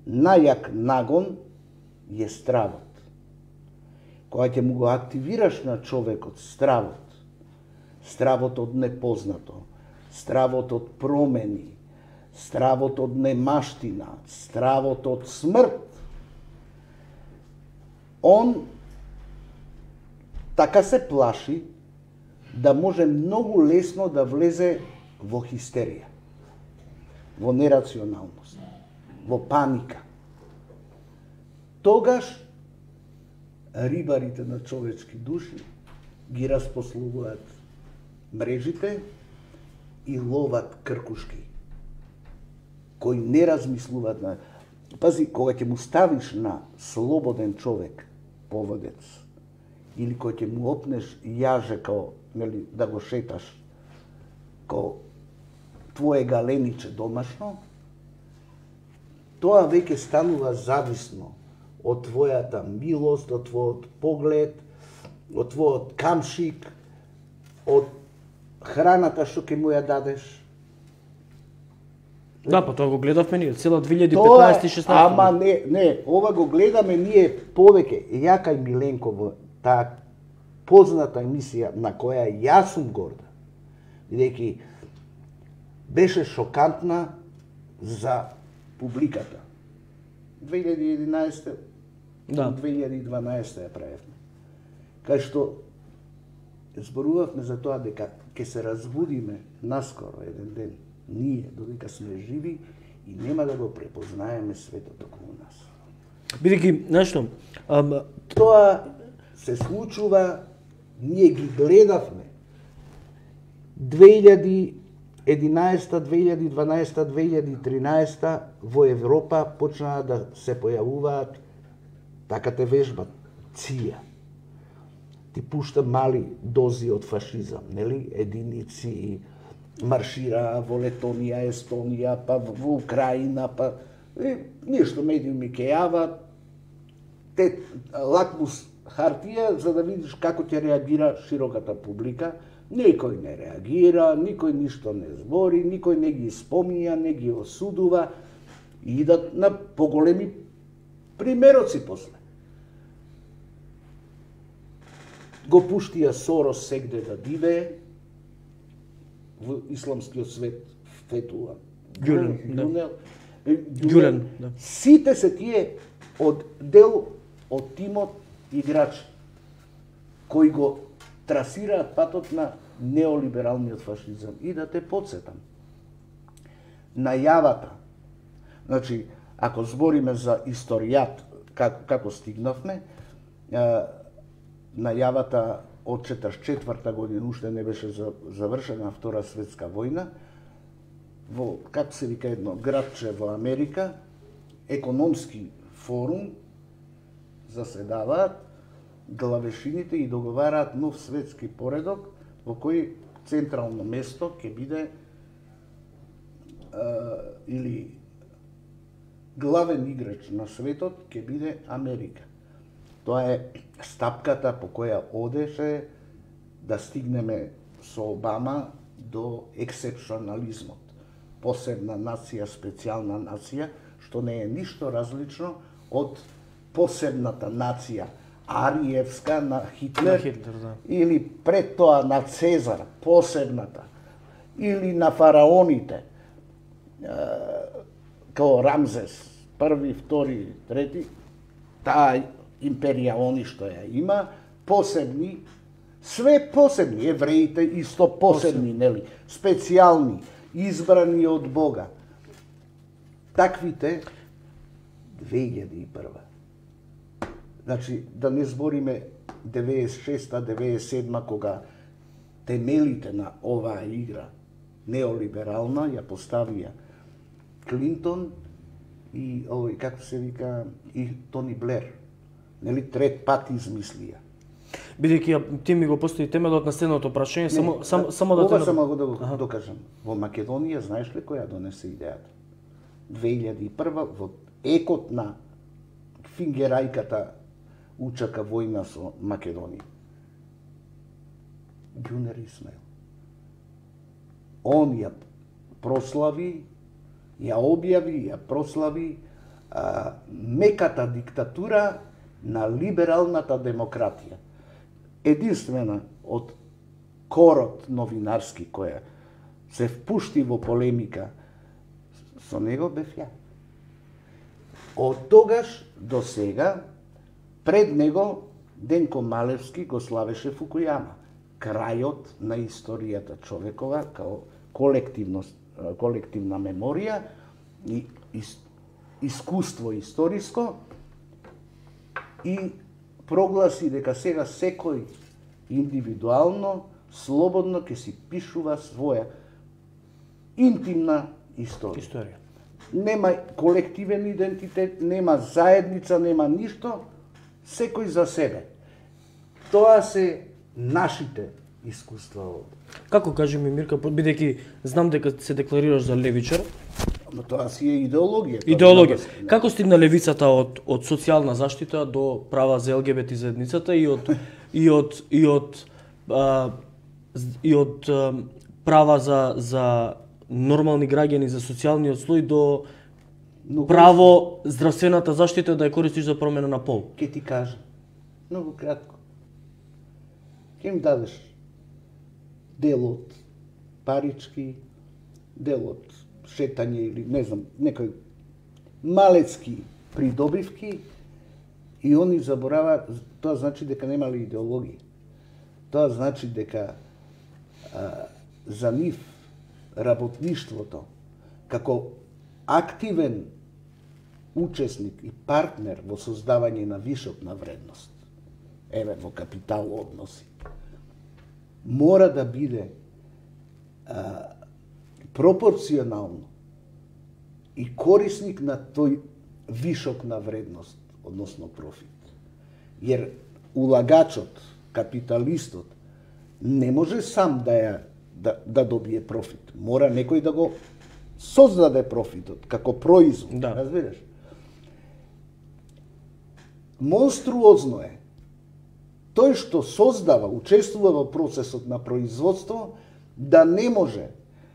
Најак нагон е стравот. Кога ќе му го активираш на човекот стравот, стравот од непознато, стравот од промени, стравот од немаштина, стравот од смрт, он така се плаши да може многу лесно да влезе во хистерија, во нерационалност, во паника. Тогаш рибарите на човечки души ги распослувуваат мрежите и ловат кркушки, кои не размислуваат на... Пази, кога ќе му ставиш на слободен човек поводец, или кога ќе му опнеш јаже као, нели, да го шеташ, као твое галениче домашно, тоа веќе станува зависно од твојата милост, од твојот поглед, од твојот камшик, од храната што ќе му ја дадеш. Да, па тоа го гледавме ние, цела две илјади и петнаесета и шеснаесета. Ама не, не, ова го гледаме ние повеќе. Јака и Миленко во таа позната емисија на која јас сум горда, бидејќи беше шокантна за публиката. две илјади и единаесета Да. две илјади и дванаесета ја правевме. Кај што зборувавме за тоа дека ќе се разбудиме наскоро еден ден, ние, додека сме живи и нема да го препознаеме светот околу нас. Бидејќи, знаеш што, ам, Тоа се случува, ние ги гледавме две илјади и единаесета, две илјади и дванаесета, две илјади и тринаесета во Европа почнаа да се појавуваат, така те вежбат, ција. Ти пушта мали дози од фашизам, нели? Единици маршираа во Летонија, Естонија, па во Украина, па е, нешто медиуми ке јават, те лакмус хартија за да видиш како ќе реагира широката публика. Никој не реагира, никој ништо не збори, никој не ги спомнија, не ги осудува и идат на поголеми примероци после. Го пуштија Сорос сегде да дивее, во исламскиот свет фетуа. Ѓулен, да. Ѓулен, Ѓулен, да. Сите се тие од дел од тимот играчи кои го трасираат патот на неолибералниот фашизам. И да те подсетам, најавата, значи, ако збориме за историјат, како, како стигнавме, најавата од четридесет и четврта година уште не беше завршена Втора светска војна, во, како се вика едно градче во Америка, економски форум заседаваат главешините и договараат нов светски поредок во кој централно место ќе биде а, или главен играч на светот ќе биде Америка. Тоа е стапката по која одеше да стигнеме со Обама до ексепционализмот. Посебна нација, специјална нација, што не е ништо различно од посебната нација Ариевска на Хитлер, На Хитлер, да. или пред тоа на Цезар, посебната, или на фараоните, као Рамзес, први, втори, трети, таа империја они што ја има, посебни, све посебни, евреите исто посебни, нели, специјални, избрани од Бога. Таквите две илјади и прва. Значи, да не збориме деветдесет и шеста, деветдесет и седма, кога темелите на оваа игра неолиберална ја поставија Клинтон и овој, како се вика, и Тони Блер. Нели, трет пат измислија. Бидејќи ти ми го постави темелот на следното прашање, само Не, само само да ова те само го да го докажам. Во Македонија, знаеш ли која донесе идејата? две илјади и прва во екот на фингерајката учака војна со Македонија. Ѓунер Исмаил. Он ја прослави, ја објави, ја прослави а, меката диктатура на либералната демократија. Единствена од корот новинарски која се впушти во полемика со него бев ја. Од тогаш до сега, пред него Денко Малевски го славеше Фукујама. крајот на историјата човекова, као колективност, колективна меморија и ис, искуство историско, и прогласи дека сега секој индивидуално, слободно ќе си пишува своја интимна историја. Историја. Нема колективен идентитет, нема заедница, нема ништо, секој за себе. Тоа се нашите искуства овде. Како кажи ми, Мирка, бидејќи знам дека се декларираш за левичар? Но тоа си е идеологија. Идеологија. Како стигна левицата од од социјална заштита до права за Ел Ге Бе Те заедницата и од и од и од а, и од а, права за за нормални граѓани, за социјалниот слој до Многу право здравствената заштита да ја користиш за промена на пол? Ке ти кажа, многу кратко. Ке им дадеш дел од парички, дел од шетање или не знам, некој малецки придобивки и они забораваат, тоа значи дека немале идеологија. Тоа значи дека а, за нив работништвото како активен учесник и партнер во создавање на вишокна вредност, еве во капитал односи, мора да биде а, пропорционално и корисник на тој вишок на вредност, односно профит. Jer улагачот, капиталистот, не може сам да ја да, да добие профит. Мора некој да го создаде профитот како производ, да. Разбираш? Монструозно е тој што создава, учествува во процесот на производство, да не може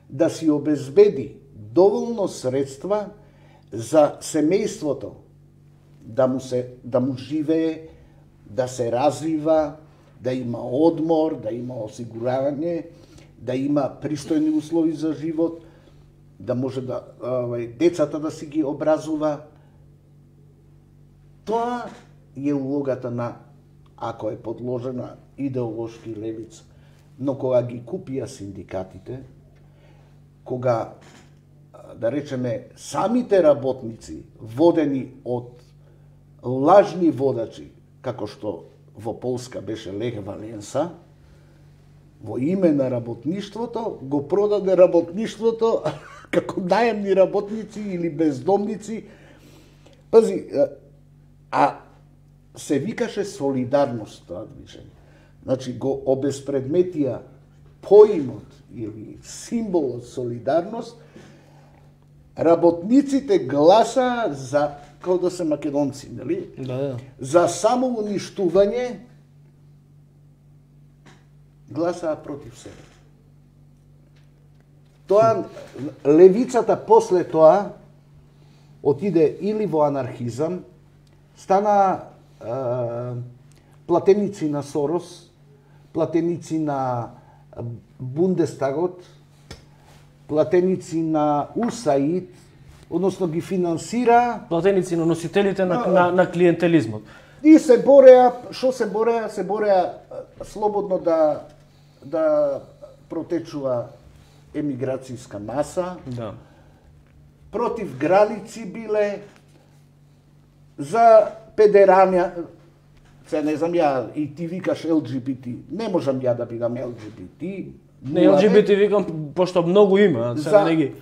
да си обезбеди доволно средства за семејството, да му се да му живее, да се развива, да има одмор, да има осигуравање, да има пристојни услови за живот, да може да овај децата да си ги образува. Тоа е улогата на, ако е подложена идеолошки левица. Но кога ги купија синдикатите, кога, да речеме, самите работници, водени од лажни водачи, како што во Полска беше Лех Валенса, во име на работништвото, го продаде работништвото како наемни работници или бездомници. Пази, а се викаше солидарност тоа движење. Значи, го обезпредметија поимот или символот солидарност, работниците гласа за, како да се македонци, нели? Да, да. За самоуништување, гласаа против себе. Тоа, левицата после тоа отиде или во анархизам, стана е, платеници на Сорос, платеници на Бундестагот, платеници на УСАИД, односно ги финансира. Платеници на носителите на, на, на клиентелизмот. И се бореа, што се бореа? Се бореа слободно да да протечува емиграцијска маса. Да. Против граници биле, за педерања, се не знам ја, и ти викаш Ел Джи Би Ти, не можам ја да бидам Ел Джи Би Ти. Не, Ел Джи Би Ти викам, пошто многу има, сега не ги...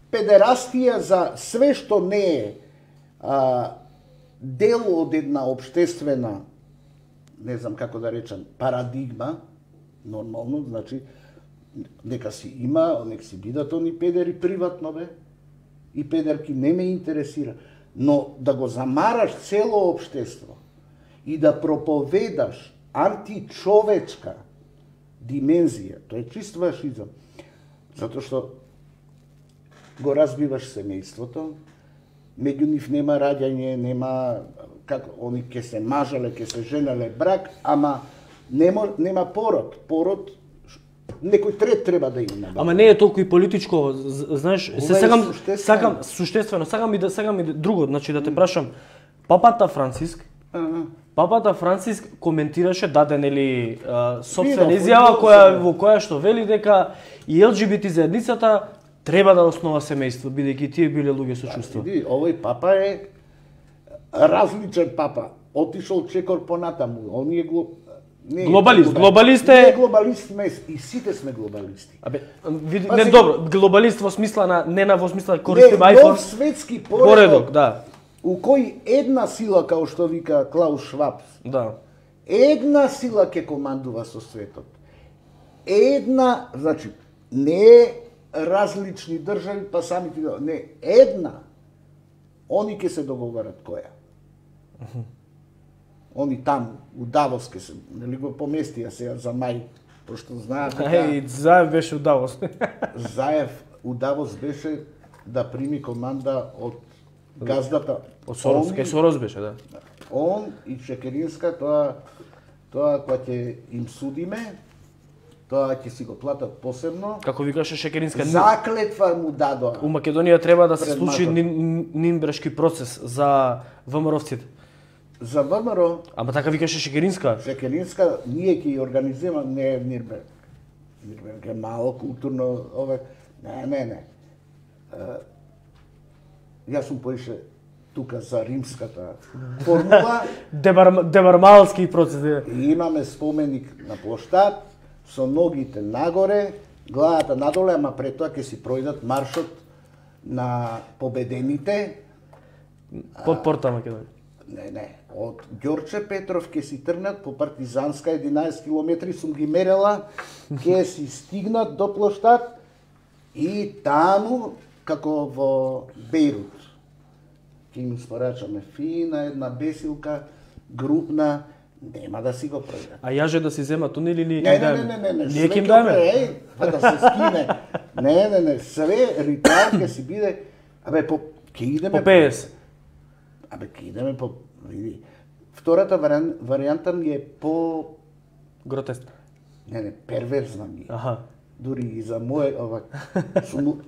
Педерастија за све што не е а, дел од една обштествена, не знам како да речам, парадигма, нормално, значи, нека си има, нека си бидат они педери приватно, бе, и педерки не ме интересира, но да го замараш цело обштество и да проповедаш античовечка димензија, тоа е чист фашизам, затоа што го разбиваш семејството, меѓу нив нема раѓање, нема, како, они ке се мажале, ке се женеле брак, ама нема, нема пород. Пород, некој трет треба да има. Ама не е толку и политичко, знаеш, се сакам, сакам, суштествено, сакам и да, сакам и да, друго, значи да те прашам, папата Франциск, ага, Папата Франциск коментираше, даде нели сопствена изјава која во која што вели дека и Ел Џи Би Ти заедницата треба да основа семејство, бидејќи тие биле луѓе со чувства. Види, овој папа е различен папа. Отишол чекор понатаму. Он е гло... не, глобалист, глобалист е. Не глобалист сме и сите сме глобалисти. Абе, види, Па не си... добро, глобалист во смисла на не на во смисла користим iPhone. Нов светски поредок, поредок, да. У кој една сила, као што вика Клаус Шваб, Да. една сила ќе командува со светот. Една, значи, не различни држави, па самите, не, една. Они ќе се договорат која. Они таму, у Давос ќе се, нели го поместија сега за мај, пошто знаат дека... Еј, Заев беше у Давос. Заев у Давос беше да прими команда од газдата. Од Сорос, кај Сорос беше, да. Он и Шекеринска, тоа, тоа кога ќе им судиме, тоа ќе си го платат посебно. Како викаше Шекеринска, Заклетва му дадоа. у Македонија треба да се Пред случи матот. нин, Нинбрешки процес за ВМРО-вците. За ВМРО, Ама така викаше Шекеринска. Шекеринска, ние ќе ја организираме, не е Нирберг. Нирберг е мало културно, ове, не, не, не. Uh, јас сум поише тука за римската формула. Дебар, дебармалски процес. И имаме споменик на плоштад, со ногите нагоре, главата надоле, ама пред тоа ќе си пројдат маршот на победените. Под порта Македонија. Не, не, од Ѓорче Петров ќе си тргнат по Партизанска единаесет километри, сум ги мерела, ќе си стигнат до плоштад и таму, како во Бејрут, ќе им испорачаме фина една бесилка, групна, нема да си го пројдат. А јаже да си зема тунели или Не, не, не, не, не, не, Ние ќе им све даме. ќе Еј, па да се скине. Не, не, не, све ритуал ќе си биде, абе, по, ќе идеме... По петдесет. Абе, ќе идеме по... Види, втората вариан, варијанта ми е по... Гротескна. Не, не, перверзна ми е. Аха. Дури и за моје, ова, сум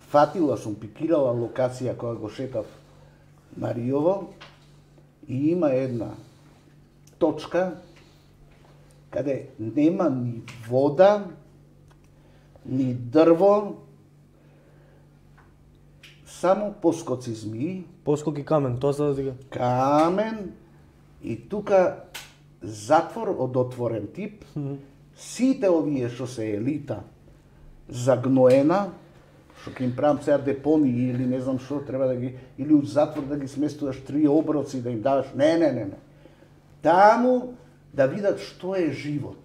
фатила, сум пикирала локација која го шетав на Риово и има една точка каде нема ни вода, ни дрво, само поскоци змии, Поскоки камен, тоа за да дига. камен и тука затвор од отворен тип. Сите овие што се елита загноена, што ќе им правам сега депонии или не знам што, треба да ги, или у затвор да ги сместуваш три оброци, да им даваш, не, не, не, не. Таму да видат што е живот.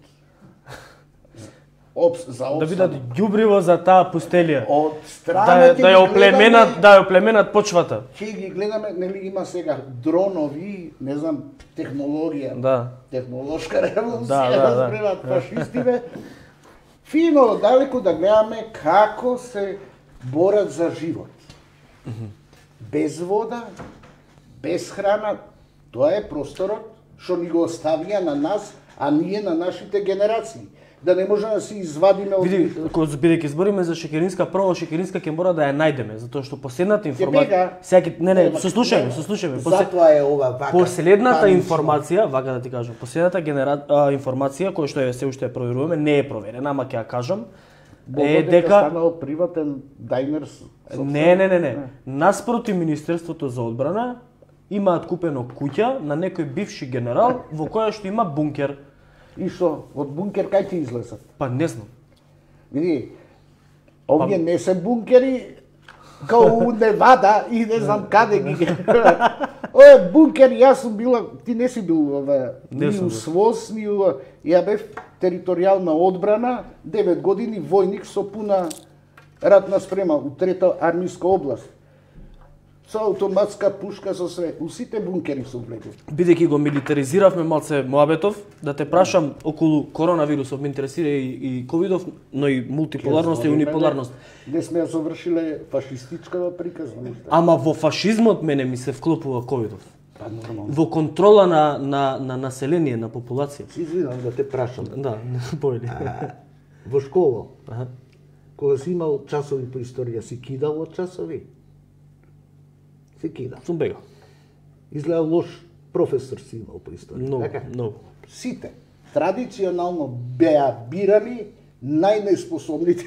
Обс, за Да обстанок. видат ѓубриво за таа пустелија. Од Да, страна ја- ќе да ги ја оплеменат, гледаме- да ја оплеменат почвата. Ќе ги гледаме, нели има сега дронови, не знам, технологија. Да. Технолошка револуција, Да, да, да. разбират фашистиве. Фино, далеку да гледаме како се борат за живот. Без вода, без храна, тоа е просторот што ни го оставија на нас, а ние на нашите генерации. Да не може да си извадиме од... Види, кога бидејќи збориме за Шекеринска, прво Шекеринска ќе мора да ја најдеме, затоа што последната бега. информација, секи не не, Нема- сослушај ме, нема. сослушај ме. После- Затоа е ова вака. Последната панично. информација, вака да ти кажам, последната генера... а, информација која што е се уште ја проверуваме, не е проверена, ама ќе ја кажам, е дека станал приватен дајнер. не, не, не, не. Наспроти Министерството за одбрана имаат купено куќа на некој бивши генерал во која што има бункер. И што, од бункер кај ќе излезат? Па не знам. Види, овие не се бункери као у Невада и не знам каде ги. Ова е бункер, јас сум била, ти не си бил ова, Не ни сум у бил. СВОС, ни у... Ја бев територијална одбрана, девет години војник со пуна ратна спрема у трета армиска област. Со автоматска пушка со све. У сите бункери сум влегол. Бидејќи го милитаризиравме малце Моабетов, да те прашам околу коронавирусов, ме интересира и, и ковидов, но и мултиполарност и униполарност. Де сме ја завршиле фашистичкава приказна. Ама во фашизмот мене ми се вклопува ковидов. Па нормално. Во контрола на, на, на население, на популација. Си извинам да те прашам. Да, појли. А, во школа, Аха. кога си имал часови по историја, си кидал од часови? Си кидал. Сум бегал. Изгледа лош професор си имал по историја. No, така? no. Сите традиционално беа бирани најнеспособните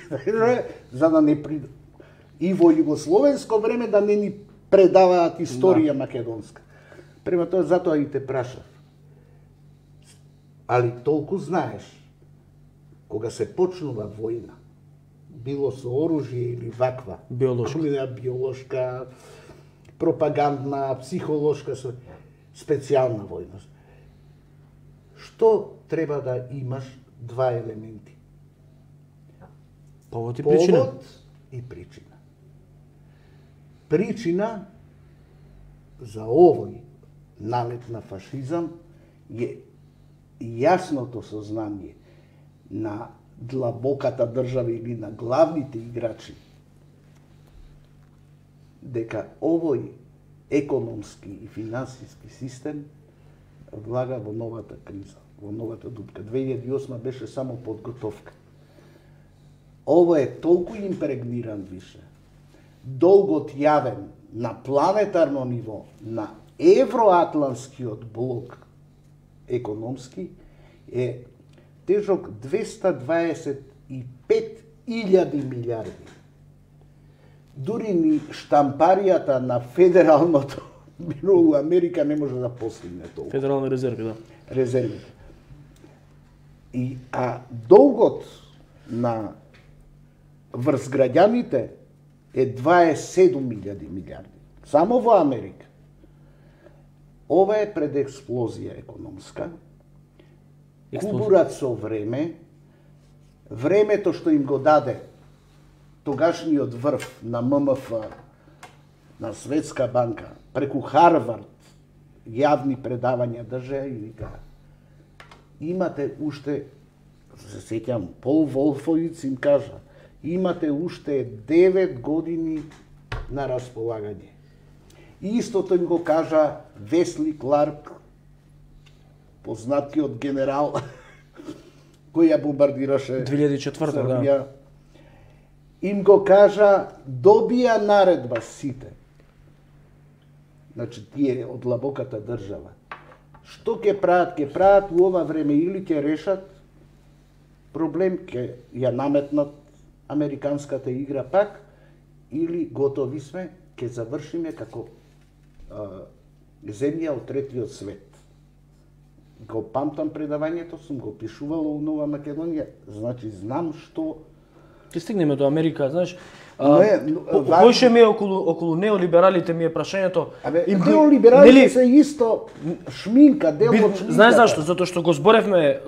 за да не при... и во југословенско време да не ни предаваат историја да. Македонска. Према тоа затоа и те прашав. Али толку знаеш, кога се почнува војна, било со оружје или ваква, биолошка, биолошка, пропагандна, психолошка, специјална војна. Што треба да имаш два елементи? Повод и причина. Повод и причина. Причина за овој налет на фашизам е јасното сознание на длабоката држава или на главните играчи дека овој економски и финансиски систем влага во новата криза, во новата дупка. две илјади и осма беше само подготовка. Ово е толку импрегниран више, долгот јавен на планетарно ниво, на евроатлантскиот блок економски, е тежок двеста дваесет и пет илјади милиарди. Дури ни штампаријата на федералното бюро у Америка не може да постигне толку. Федерални резерви, да. Резервите. И а долгот на врз граѓаните е дваесет и седум илјади милиарди. Само во Америка. Ова е пред експлозија економска. Кубурат со време, времето што им го даде тогашниот врв на М М Ф, на Светска банка, преку Харвард, јавни предавања држеа и вика, имате уште, се сеќам, Пол Волфовиц им кажа, имате уште девет години на располагање. И истото им го кажа Весли Кларк, познатиот генерал кој ја бомбардираше две илјади и четврта, Србија. Да. Им го кажа, добија наредба сите. Значи, тие од длабоката држава. Што ќе прават? Ќе прават у ова време или ќе решат проблем, ќе ја наметнат американската игра пак, или готови сме, ќе завршиме како а, земја од третиот свет. Го памтам предавањето, сум го пишувала у Нова Македонија, значи знам што... Ќе стигнеме до Америка, знаеш, Не, Поише ми е околу, околу неолибералите ми е прашањето. Абе, им, неолибералите нели, се исто шминка, дел од шминката. Знаеш зашто? Затоа што го зборевме,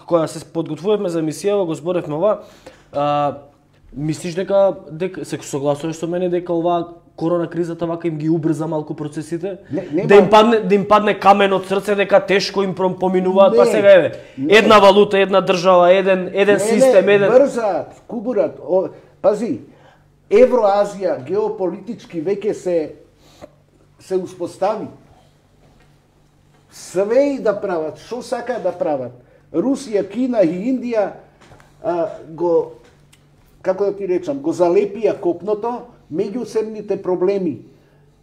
кога се подготвувавме за емисијава, го зборевме ова. А, мислиш дека, дека се согласуваш со мене дека ова корона кризата вака им ги убрза малку процесите? Не, не, да им падне да им падне камен од срце дека тешко им поминуваат, па сега еве. Една валута, една држава, еден еден не, систем, не, еден брзаат, кубурат. О, пази, Евроазија геополитички веќе се се успостави. Све и да прават, што сака да прават. Русија, Кина и Индија а, го, како да ти речам, го залепија копното, меѓусебните проблеми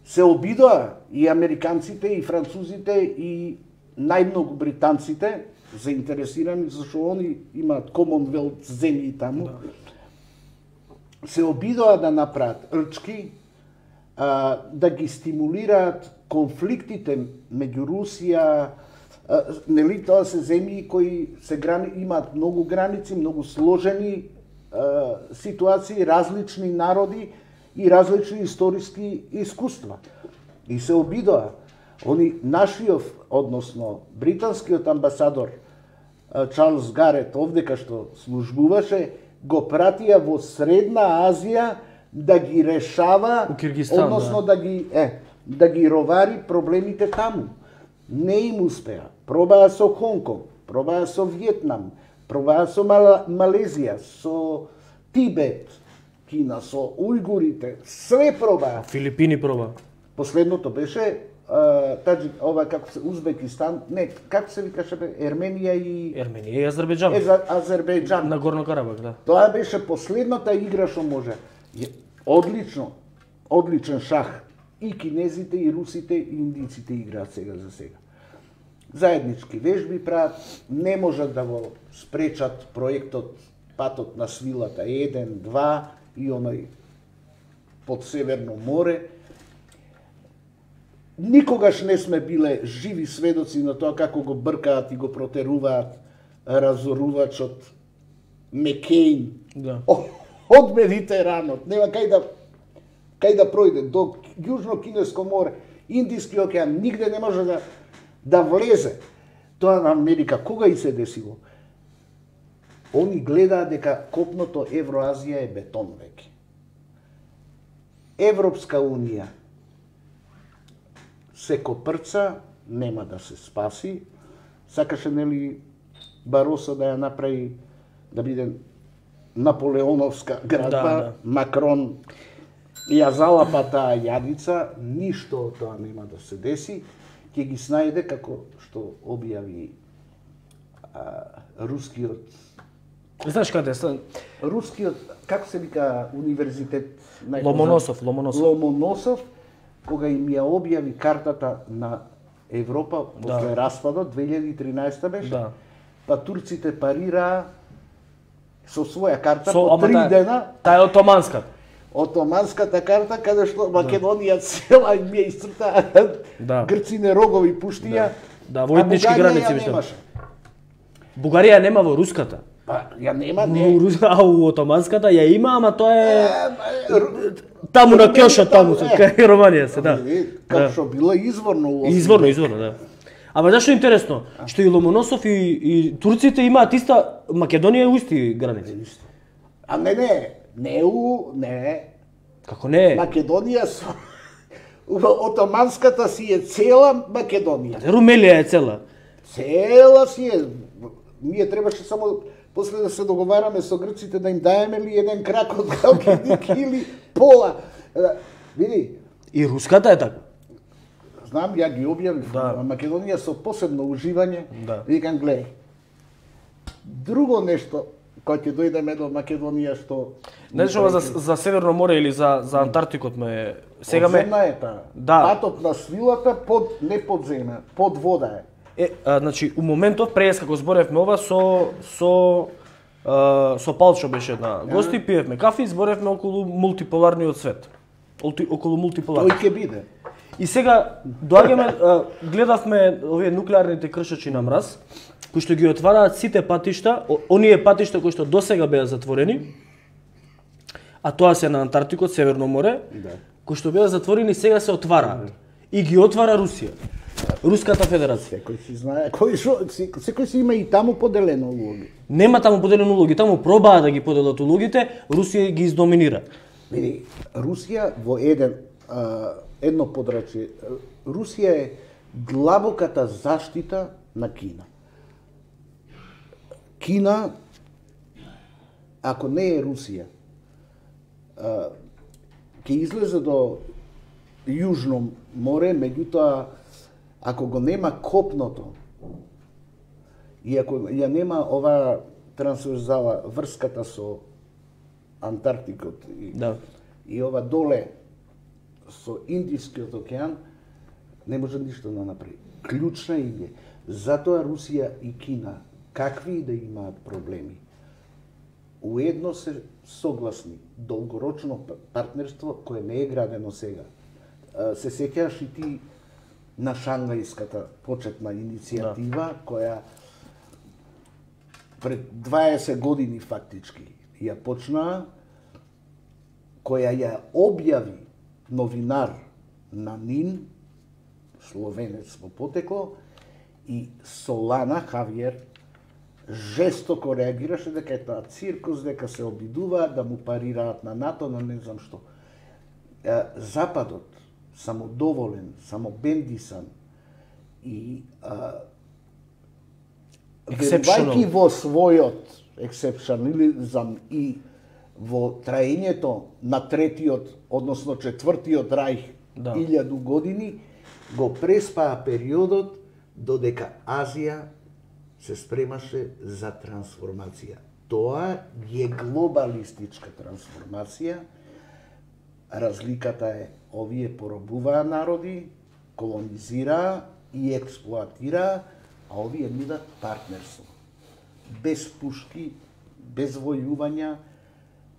се обидоа и американците, и французите, и најмногу британците, заинтересирани, зашто они имаат Commonwealth земји таму. Да. Се обидоа да направат рчки, а, да ги стимулираат конфликтите меѓу Русија, а, нели тоа се земји кои се грани, имаат многу граници, многу сложени а, ситуации, различни народи и различни историски искуства. И се обидоа. Они нашиот, односно британскиот амбасадор а, Чарлс Гарет, овдека што службуваше, го пратија во Средна Азија да ги решава, односно да. да ги е, да ги ровари проблемите таму. Не им успеа. Пробаа со Хонконг, пробаа со Виетнам, пробаа со Мал... Малезија, со Тибет, Кина, со ујгурите, све пробаа. Филипини пробаа. Последното беше Uh, таджи, ова како се Узбекистан, не, како се викаше бе, Ерменија и Ерменија и Азербејџан. Е, Азербејџан. На Горно Карабак, да. Тоа беше последната игра што може. Одлично, одличен шах. И кинезите, и русите, и индиците играат сега за сега. заеднички вежби прават, не можат да го спречат проектот Патот на свилата еден, два и оној под Северно море. Никогаш не сме биле живи сведоци на тоа како го бркаат и го протеруваат разорувачот Мекејн Да. од Медитеранот. Нема кај да кај да пројде до Јужно Кинеско море, Индиски океан, нигде не може да да влезе. Тоа на Америка кога и се десило? Они гледаат дека копното Евроазија е бетон веќе. Европска унија се копрца, нема да се спаси. Сакаше нели Баросо да ја направи да биде наполеоновска градба, Да, да. Макрон ја залапа таа јадица, ништо од тоа нема да се деси, ќе ги снајде како што објави а, рускиот Знаеш каде е? рускиот, како се вика универзитет најпознат? Ломоносов, Ломоносов. Ломоносов, кога им ја објави картата на Европа после Да. распадот, две илјади и тринаесета беше, Да. па турците парираа со своја карта Со, по ама три таа- дена, Таа е отоманска. отоманската карта, каде што Македонија цела им ја исцртаа, Да. грци рогови пуштија, Да, војнички а Бугарија граници ја виште. немаше. Бугарија нема во руската. Па, ја нема, У не. рус- А у отоманската ја има, ама тоа е Ру- таму на Румелија Кјошот таму, таму, се, е. кај Романија се, да. Како Да. што било изворно у Изворно, изворно, да. Ама зашто е интересно? Што и Ломоносов и, и турците имаат иста, Македонија е у исти граници. А не, не, не у, не. Како не е? Македонија со отоманската си е цела Македонија. Румелија е цела. Цела си е. Ние требаше само после да се договараме со грците да им даеме ли еден крак од Галкидик или пола. Е, Види, И руската е така. знам, ја ги објавив, Да. Македонија со посебно уживање, Да. викам, гледај, друго нешто, кога ќе дојдеме до Македонија, што... Знаеш ова за, за Северно море или за, за Антарктикот ме... Сега ме... Подземна е таа. Да. Патот на свилата, под, не под земја, под вода е. Е, а, значи, у моментов, пред како зборевме ова, со, со, а, со Палчо беше една гости, пиевме кафе и зборевме околу мултиполарниот свет. Олти- Околу Тој мултиполарниот. ќе биде. И сега доаѓаме, а, гледавме овие нуклеарните кршачи на мраз, кои што ги отвараат сите патишта, о- оние патишта кои што досега беа затворени, а тоа се на Антарктикот, Северно море, Да. кои што беа затворени сега се отвараат. И ги отвара Русија. Руската федерација. Секој си знае, кој шо, се- секој си има и таму поделено улоги. Нема таму поделени улоги, таму пробаа да ги поделат улогите, Русија ги издоминира. Види, Русија во еден а, едно подрачје, Русија е длабоката заштита на Кина. Кина, ако не е Русија, а, ќе излезе до Јужно море, меѓутоа, ако го нема копното, и ако ја нема ова трансверзала, врската со Антарктикот и, Да. и ова доле со Индискиот океан, не може ништо да направи. Клучна им е. Затоа Русија и Кина, какви и да имаат проблеми, уедно се согласни. Долгорочно партнерство кое не е градено сега. А, Се сеќаш и ти на Шангајската почетна иницијатива, која пред дваесет години фактички ја почнаа, која ја објави новинар на НИН, словенец во потекло, и Солана Хавиер жестоко реагираше дека е тоа циркус, дека се обидуваат да му парираат на НАТО, на не знам што. Е, Западот, самодоволен, самобендисан и а, Exceptional. верувајќи во својот ексепшионализам и во траењето на третиот, односно четвртиот рајх, Да. илјаду години, го преспаа периодот додека Азија се спремаше за трансформација. Тоа е глобалистичка трансформација. Разликата е, овие поробуваа народи, колонизираа и експлоатираа, а овие нудат партнерство. Без пушки, без војувања,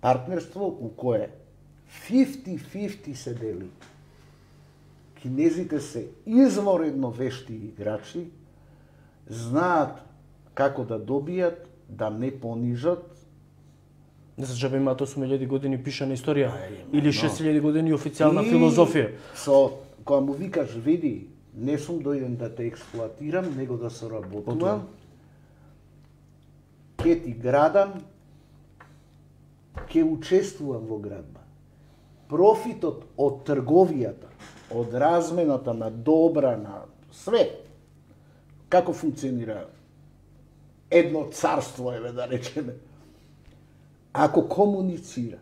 партнерство у кое фифти фифти се дели. Кинезите се изворедно вешти играчи, знаат како да добијат, да не понижат. Не се джабе имаат осум илјади години пишана историја или шест илјади години официјална филозофија. Со кога му викаш, види, не сум дојден да те експлоатирам, него да соработувам, ќе ти градам, ќе учествувам во градба. Профитот од трговијата, од размената на добра, на све, како функционира едно царство, еве да речеме, ако комуницира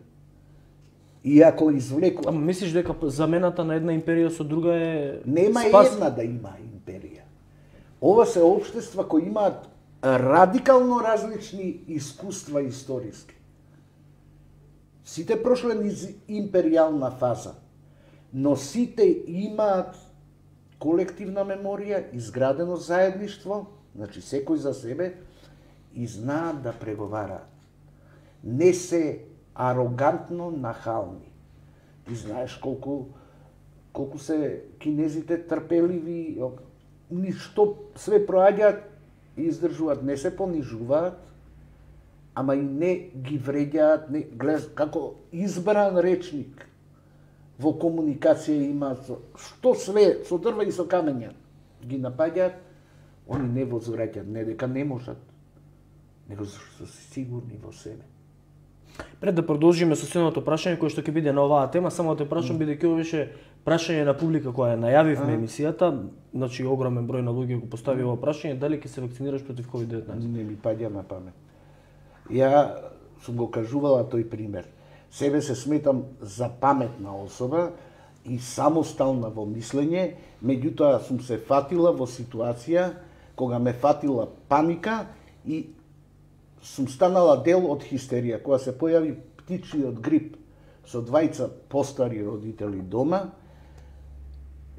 и ако извлекува... Ама мислиш дека замената на една империја со друга е... Нема спас... една да има империја. Ова се општества кои имаат радикално различни искуства историски. Сите прошле низ империјална фаза, но сите имаат колективна меморија, изградено заедништво, значи секој за себе, и знаат да преговараат. Не се арогантно нахални. Ти знаеш колку колку се кинезите трпеливи, ништо све проаѓаат и издржуваат, не се понижуваат, ама и не ги вреѓаат, не глед како избран речник во комуникација имаат, што све со дрва и со камења ги напаѓаат, они не возвраќаат, не дека не можат, него зашто се сигурни во себе. Пред да продолжиме со следното прашање кој што ќе биде на оваа тема, само да те прашам, бидејќи ова беше прашање на публика која најавивме емисијата, значи огромен број на луѓе го постави ова прашање, дали ќе се вакцинираш против ковид деветнаесет? Не ми паѓа на памет. Ја сум го кажувала тој пример. Себе се сметам за паметна особа и самостална во мислење, меѓутоа сум се фатила во ситуација кога ме фатила паника и сум станала дел од хистерија. Кога се појави птичиот грип со двајца постари родители дома,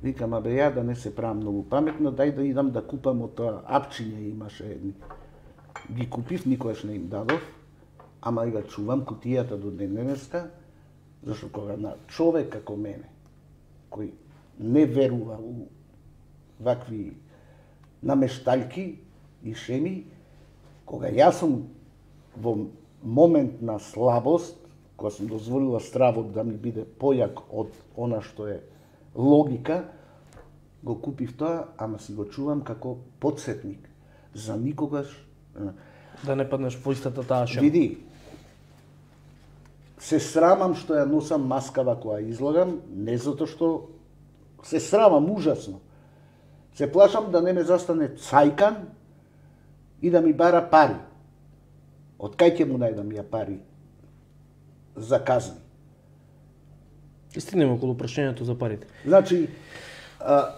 викам, абе ја да не се правам многу паметна, дај да идам да купам од тоа апчиња имаше едни. Ги купив, никогаш не им дадов, ама и ga чувам кутијата до ден денеска, зашто кога на човек како мене, кој не верува у вакви намешталки и шеми, кога јас сум во момент на слабост, кога сум дозволила стравот да ми биде појак од она што е логика, го купив тоа, ама си го чувам како подсетник. За никогаш... Да не паднеш во истата таа шема. Види, се срамам што ја носам маскава која излагам, не затоа што се срамам ужасно. Се плашам да не ме застане цајкан и да ми бара пари. Од кај ќе му најдам ја пари за казни? И стигнеме околу прашањето за парите. Значи, а,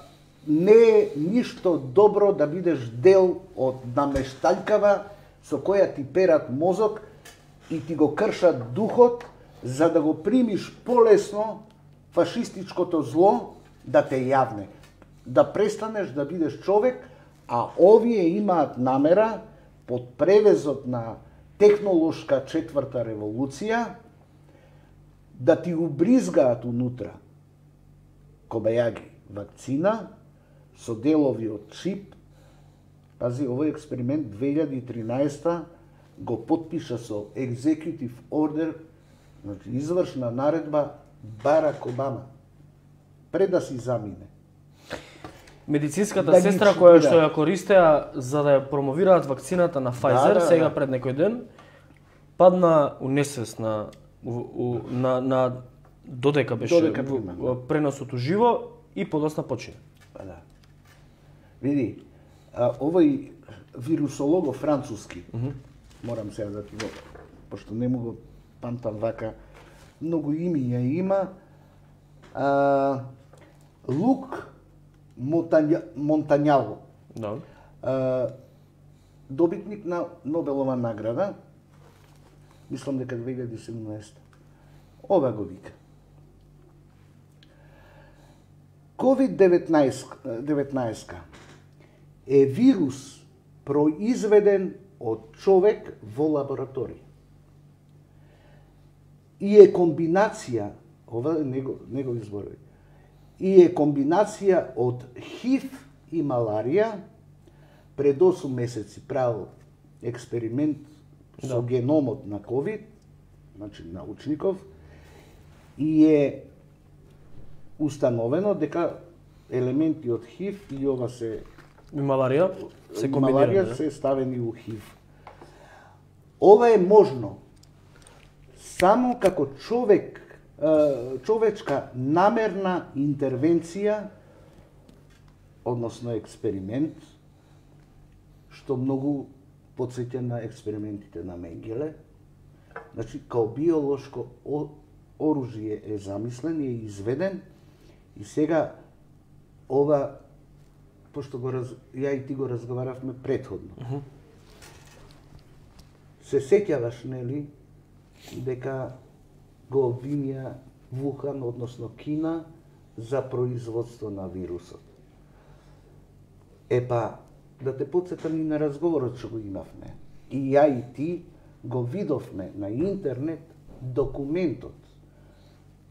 не е ништо добро да бидеш дел од намешталкава со која ти перат мозок и ти го кршат духот за да го примиш полесно фашистичкото зло да те јавне. Да престанеш да бидеш човек, а овие имаат намера под превезот на технолошка четврта револуција да ти убризгаат унутра кобајаги вакцина со делови од чип. Пази, овој експеримент две илјади и тринаесета го подпиша со executive order, значи извршна наредба Барак Обама, пред да си замине. Медицинската Да сестра ги која чуди, што да. ја користеа за да ја промовираат вакцината на Pfizer, да, сега да. пред некој ден, падна у несвест на, у, у, на, на додека беше Додека во- прима, во преносот уживо и подосна почина. Па да. Види, а, овој вирусолого француски, морам сега да ти го, пошто не му го памтам вака, многу имиња има, а, Лук Монтања, Монтањало, Да. а, добитник на Нобелова награда, мислам дека две илјади и седумнаесета. Ова го вика. ковид деветнаесет е вирус произведен од човек во лабораторија. И е комбинација, ова е него, негови зборови, и е комбинација од ХИВ и маларија. Пред осум месеци правил експеримент со да. геномот на ковид, значи научников, и е установено дека елементи од ХИВ и ова се и маларија се комбинирани, маларија се ставени у ХИВ. Ова е можно само како човек, човечка намерна интервенција, односно експеримент, што многу потсеќа на експериментите на Менгеле. Значи, као биолошко оружје е замислен и е изведен, и сега ова, пошто го раз... ја и ти го разговаравме претходно. Uh -huh. Се сеќаваш, нели, дека го обвинија Вухан, односно Кина, за производство на вирусот. Епа, да те потсетам и на разговорот што го имавме. И ја и ти го видовме на интернет документот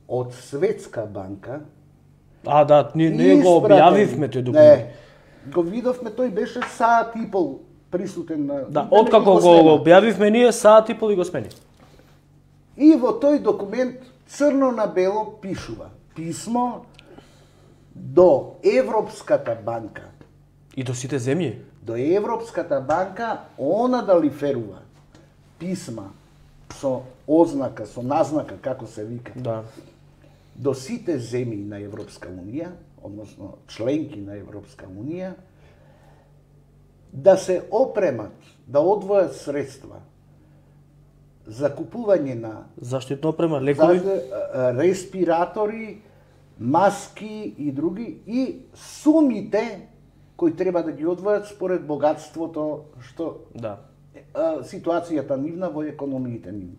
од Светска банка. А, да, ние, ние го објавивме тој документ. Не, го видовме, тој беше саат и пол присутен на... Да, откако го, го објавивме ние, саат и пол и го смени. И во тој документ црно на бело пишува писмо до Европската банка. И до сите земји? До Европската банка, она да лиферува писма со ознака, со назнака, како се вика. Да. До сите земји на Европска унија, односно членки на Европска унија, да се опремат, да одвојат средства за купување на заштитна опрема, лекови, респиратори, маски и други, и сумите кои треба да ги одвојат според богатството што да. Ситуацијата нивна во економиите нивни.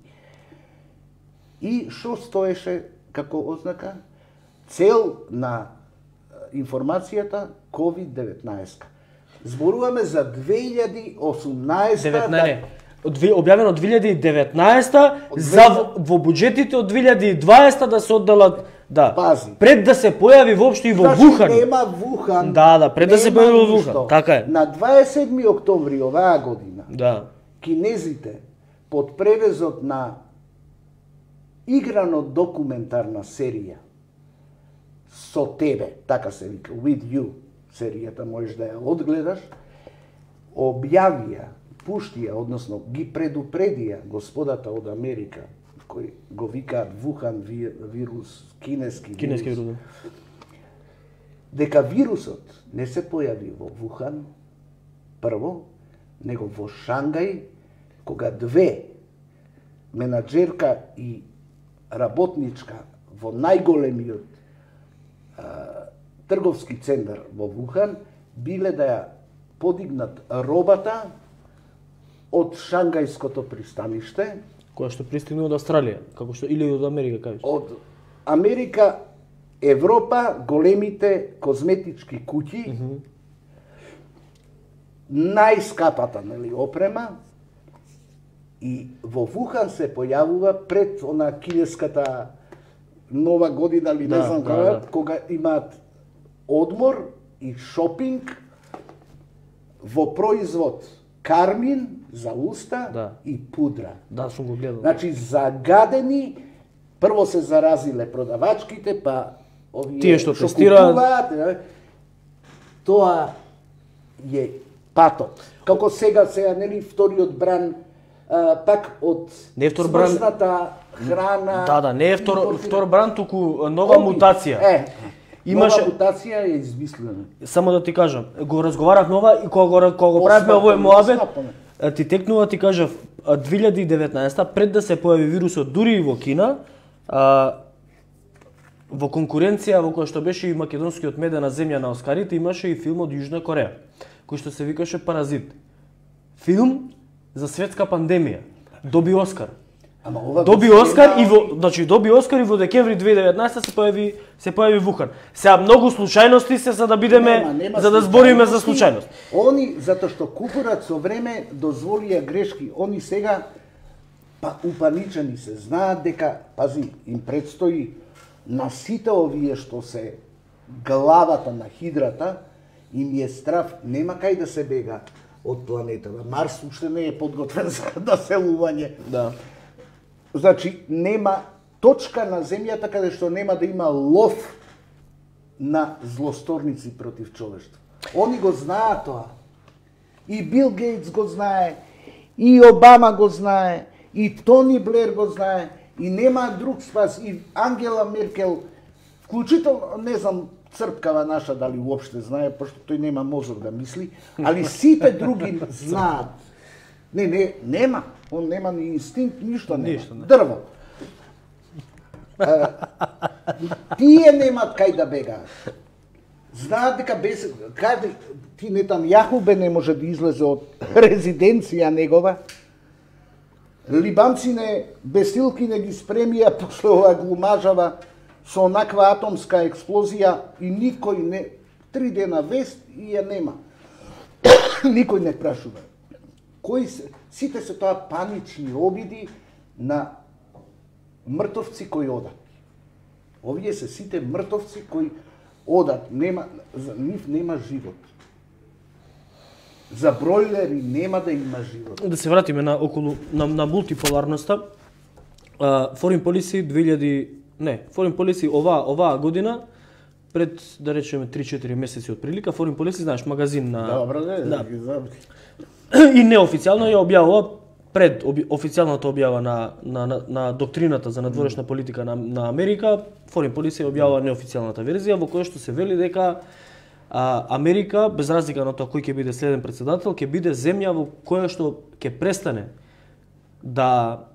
И што стоеше како ознака? Цел на информацијата ковид деветнаесет. Зборуваме за две илјади и осумнаесета деветнаесета објавено од две илјади и деветнаесета за во буџетите од две илјади и дваесета да се одделат, да. Пази. Пред да се појави воопшто и во значи, Вухан. Нема Вухан. Да, да, пред да се појави во Вухан. Така е. На дваесет и седми октомври оваа година. Да. Кинезите под превезот на играно документарна серија со тебе, така се вика, With You, серијата можеш да ја одгледаш, објавија, пуштија, односно ги предупредија господата од Америка, кои го викаат Вухан вирус, кинески, кинески вирус, дека вирусот не се појави во Вухан, прво, него во Шангај, кога две менаџерка и работничка во најголемиот а, трговски центар во Вухан биле да ја подигнат робата од Шангајското пристаниште, која што пристигна од Австралија, како што или од Америка, кажеш? Од Америка, Европа, големите козметички куќи, mm -hmm. најскапата, нели, опрема, и во Вухан се појавува пред она кинеската нова година, или не да, знам да, кога, да. Кога имаат одмор и шопинг во производ кармин за уста да. И пудра. Да, сум го гледал. Значи, загадени, прво се заразиле продавачките, па овие тие што тестираат, тоа е патот. Како сега, сега, нели, вториот бран, а, пак од смрзната храна... Да, да, не е втор, втор бран, туку нова COVID. Мутација. Е, имаше... нова мутација е измислена. Само да ти кажам, го разговарав нова и кога, кога го правивме овој моабет, ти текнува, ти кажав, две илјади и деветнаесета, пред да се појави вирусот дури и во Кина, а, во конкуренција во која што беше и македонскиот медена земја на Оскарите, имаше и филм од Јужна Кореја, кој што се викаше Паразит. Филм за светска пандемија. Доби Оскар. Ама ова доби Оскар и во, значи доби Оскар и во декември две илјади и деветнаесета се појави се појави Вухан. Сега многу случајности се за да бидеме нема, нема за да збориме за случајност. Они затоа што купурат со време дозволија грешки, они сега па упаничени се, знаат дека пази им предстои на сите овие што се главата на хидрата, им е страв, нема кај да се бега од планетата. Марс уште не е подготвен за населување. Да. Значи, нема точка на земјата каде што нема да има лов на злосторници против човештво. Они го знаат тоа. И Бил Гейтс го знае, и Обама го знае, и Тони Блер го знае, и нема друг спас, и Ангела Меркел, вклучително, не знам, црпкава наша дали уопште знае, пошто тој нема мозок да мисли, али сите други знаат. Не, не, нема. Он нема ни инстинкт, ништо нема. Ништо не. Дрво. А, тие немат кај да бегаат. Знаат дека без каде ти Нетањаху не може да излезе од резиденција негова. Либанци не бесилки не ги спремија после ова глумажава со онаква атомска експлозија и никој не три дена вест и ја нема. Никој не прашува. Кои се, сите се тоа панични обиди на мртовци кои одат. Овие се сите мртовци кои одат, нема, за нив нема живот. За бройлери нема да има живот. Да се вратиме на околу на, на мултиполарноста. Uh, Foreign Policy две илјади не, Foreign Policy оваа оваа година пред да речеме три-четири месеци од прилика, Foreign Policy, знаеш, магазин на Добро, не, да. ги забри. И неофицијално ја објавува пред оби, официјалната објава на, на, на, на доктрината за надворешна политика на, на Америка, Foreign Policy објавува неофицијалната верзија во која што се вели дека а, Америка, без разлика на тоа кој ќе биде следен председател, ќе биде земја во која што ќе престане да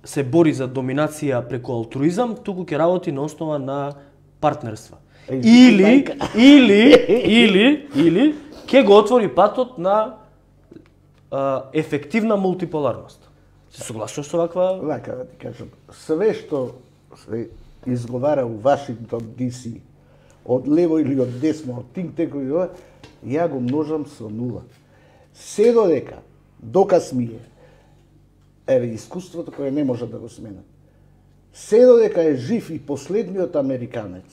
се бори за доминација преку алтруизам, туку ќе работи на основа на партнерства. Или, или, или, или, ќе го отвори патот на а, ефективна мултиполарност. Се согласуваш со ваква? Лака да ти кажам, све што се изговара у Вашингтон Ди Си, од лево или од десно, од think tank, ја го множам со нула. Се додека, доказ ми е, еве искуството кое не може да го сменат. Се додека е жив и последниот американец,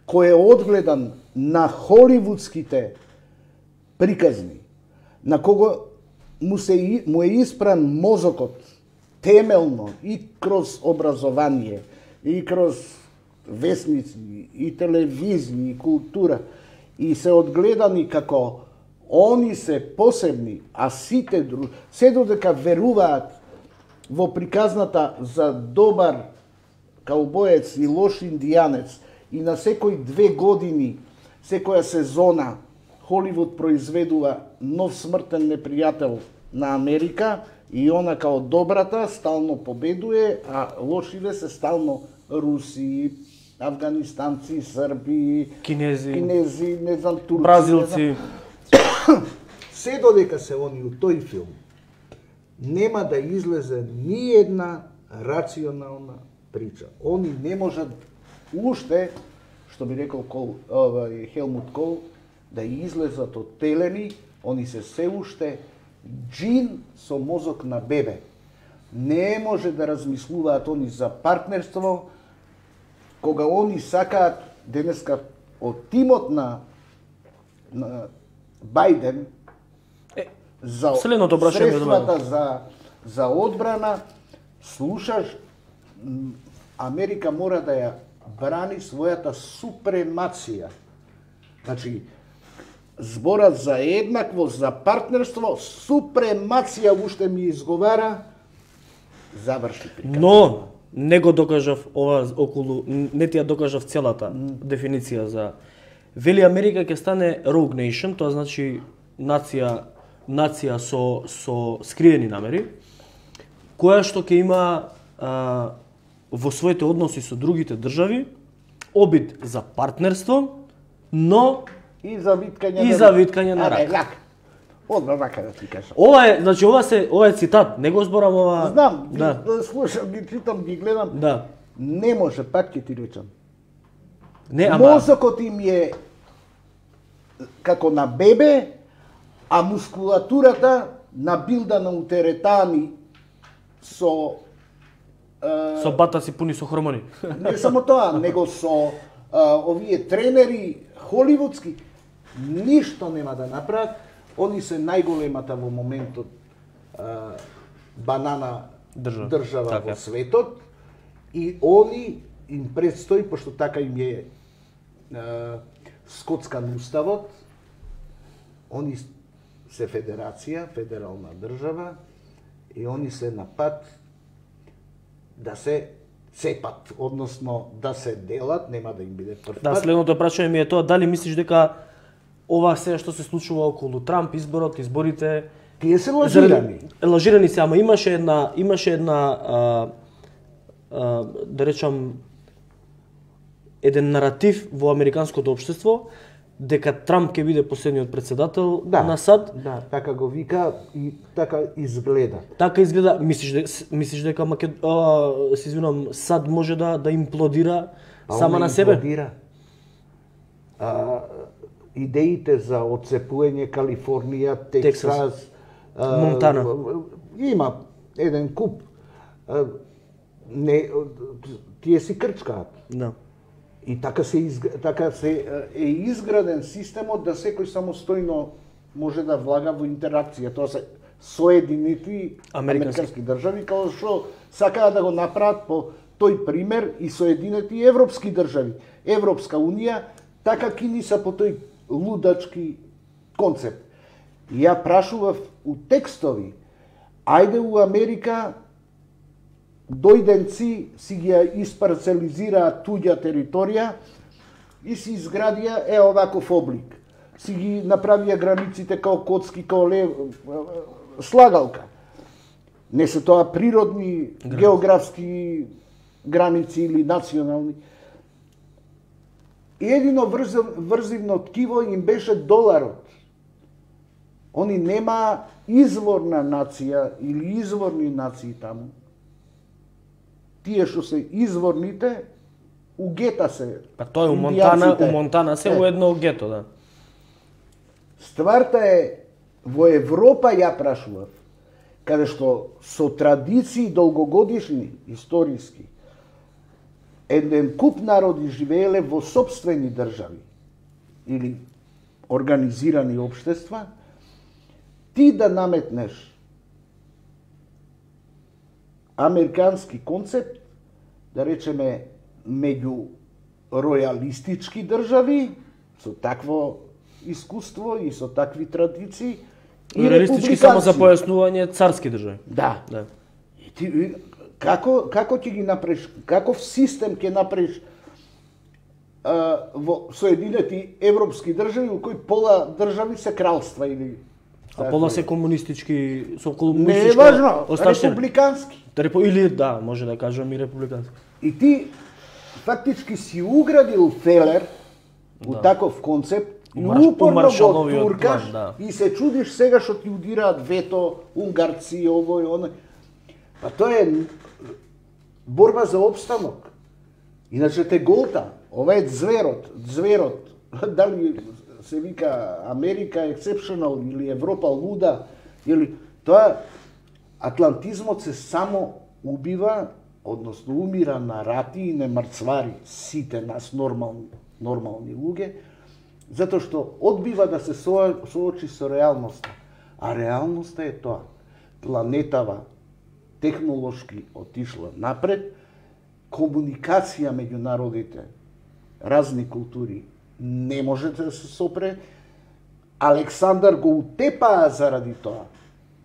кој е одгледан на холивудските приказни, на кого му, се, му е испран мозокот темелно и кроз образование, и кроз весници, и телевизија, и култура, и се одгледани како они се посебни, а сите други, се додека веруваат во приказната за добар каубоец и лош индијанец и на секој две години, секоја сезона, Холивуд произведува нов смртен непријател на Америка и она као добрата стално победуе, а лошиве се стално руси, афганистанци, срби, Кинези, кинези, не знам, турци, бразилци. не знам. Се додека се они у тој филм, нема да излезе ни една рационална прича. Они не можат уште, што би рекол Кол, овај Хелмут Кол, да излезат од телени, они се се уште джин со мозок на бебе. Не може да размислуваат они за партнерство, кога они сакаат денеска од тимот на, на Бајден Е, за следното прашање средствата за, за одбрана, слушаш, Америка мора да ја брани својата супремација. Значи, зборат за еднаквост, за партнерство, супремација уште ми изговара, заврши приказна. Но не го докажав ова околу, не ти ја докажав целата дефиниција за вели Америка ќе стане rogue nation, тоа значи нација нација со со скриени намери, која што ќе има а, во своите односи со другите држави обид за партнерство, но И за виткање и на за виткање на Аре, рак. лак. Одма вака да ти кажам. Ова е, значи ова се, ова е цитат, не го зборам ова. Знам, да. да слушам, ги читам, ги гледам. Да. Не може, пак ќе ти речам. Не, ама Мозокот им е како на бебе, а мускулатурата набилдана у теретани со е, со бата си пуни со хормони. не само тоа, него со а, овие тренери холивудски ништо нема да направат. Они се најголемата во моментот а, банана Држава. држава Така. во светот и они им предстои, пошто така им е а, скоцкан уставот, они се федерација, федерална држава и они се на пат да се цепат, односно да се делат, нема да им биде прв Да, пат. следното прашање ми е тоа, дали мислиш дека ова се што се случува околу Трамп, изборот, изборите, Тие се лажирани. заради- лажирани се, ама имаше една, имаше една, а, а, да речам, еден наратив во американското општество, дека Трамп ќе биде последниот председател Да, на САД. Да, така го вика и така изгледа. Така изгледа, мислиш дека мислиш дека Макед... а, се извинувам, САД може да да имплодира А сама она на себе? имплодира. А, идеите за отцепување Калифорнија, Тексас, а, Монтана. Има еден куп. А, не, тие си крчкаат. Да. И така се изг... така се е изграден системот да секој самостојно може да влага во интеракција. Тоа се соединети Американски. американски држави, као што сакаат да го направат по тој пример и соединети европски држави. Европска унија така кини са по тој лудачки концепт. И ја прашував у текстови, ајде у Америка дојденци си ги ја испарцелизираат туѓа територија и си изградија е оваков облик. Си ги направија границите као коцки, као лев, слагалка. Не се тоа природни, географски граници или национални. И едино врзив, врзивно ткиво им беше доларот. Они нема изворна нација или изворни нации таму. Тие што се изворните, у гета се. Па тоа е у Монтана, индијанците. у Монтана се Е. у едно гето, да. Стварта е, во Европа ја прашував, каде што со традиции долгогодишни, историски, еден куп народи живееле во сопствени држави или организирани општества, ти да наметнеш американски концепт, да речеме меѓу ројалистички држави, со такво искуство и со такви традиции, и Реалистички само за републиканци. појаснување царски држави. Да. Да. И ти, и како, како ќе ги направиш, каков систем ќе направиш а, во соединети европски држави, у кои пола држави се кралства или... А пола се комунистички, со Не е комунистичка важно, остатина. републикански. Репу... Или, да, може да кажам и републикански. И ти фактички си уградил фелер у Да. таков концепт и У марш- у упорно го Маршаловиот туркаш план, да. и се чудиш сега што ти удираат вето, унгарци, ово и оно. Па тоа е борба за обстанок. Иначе те голта. Ова е зверот, зверот. Дали се вика Америка exceptional или Европа луда, или тоа атлантизмот се само убива, односно умира на рати и не мрцвари сите нас нормални, нормални луѓе, затоа што одбива да се со- соочи со реалноста. А реалноста е тоа. Планетава технолошки отишла напред, комуникација меѓу народите, разни култури, не може да се сопре. Александар го утепаа заради тоа.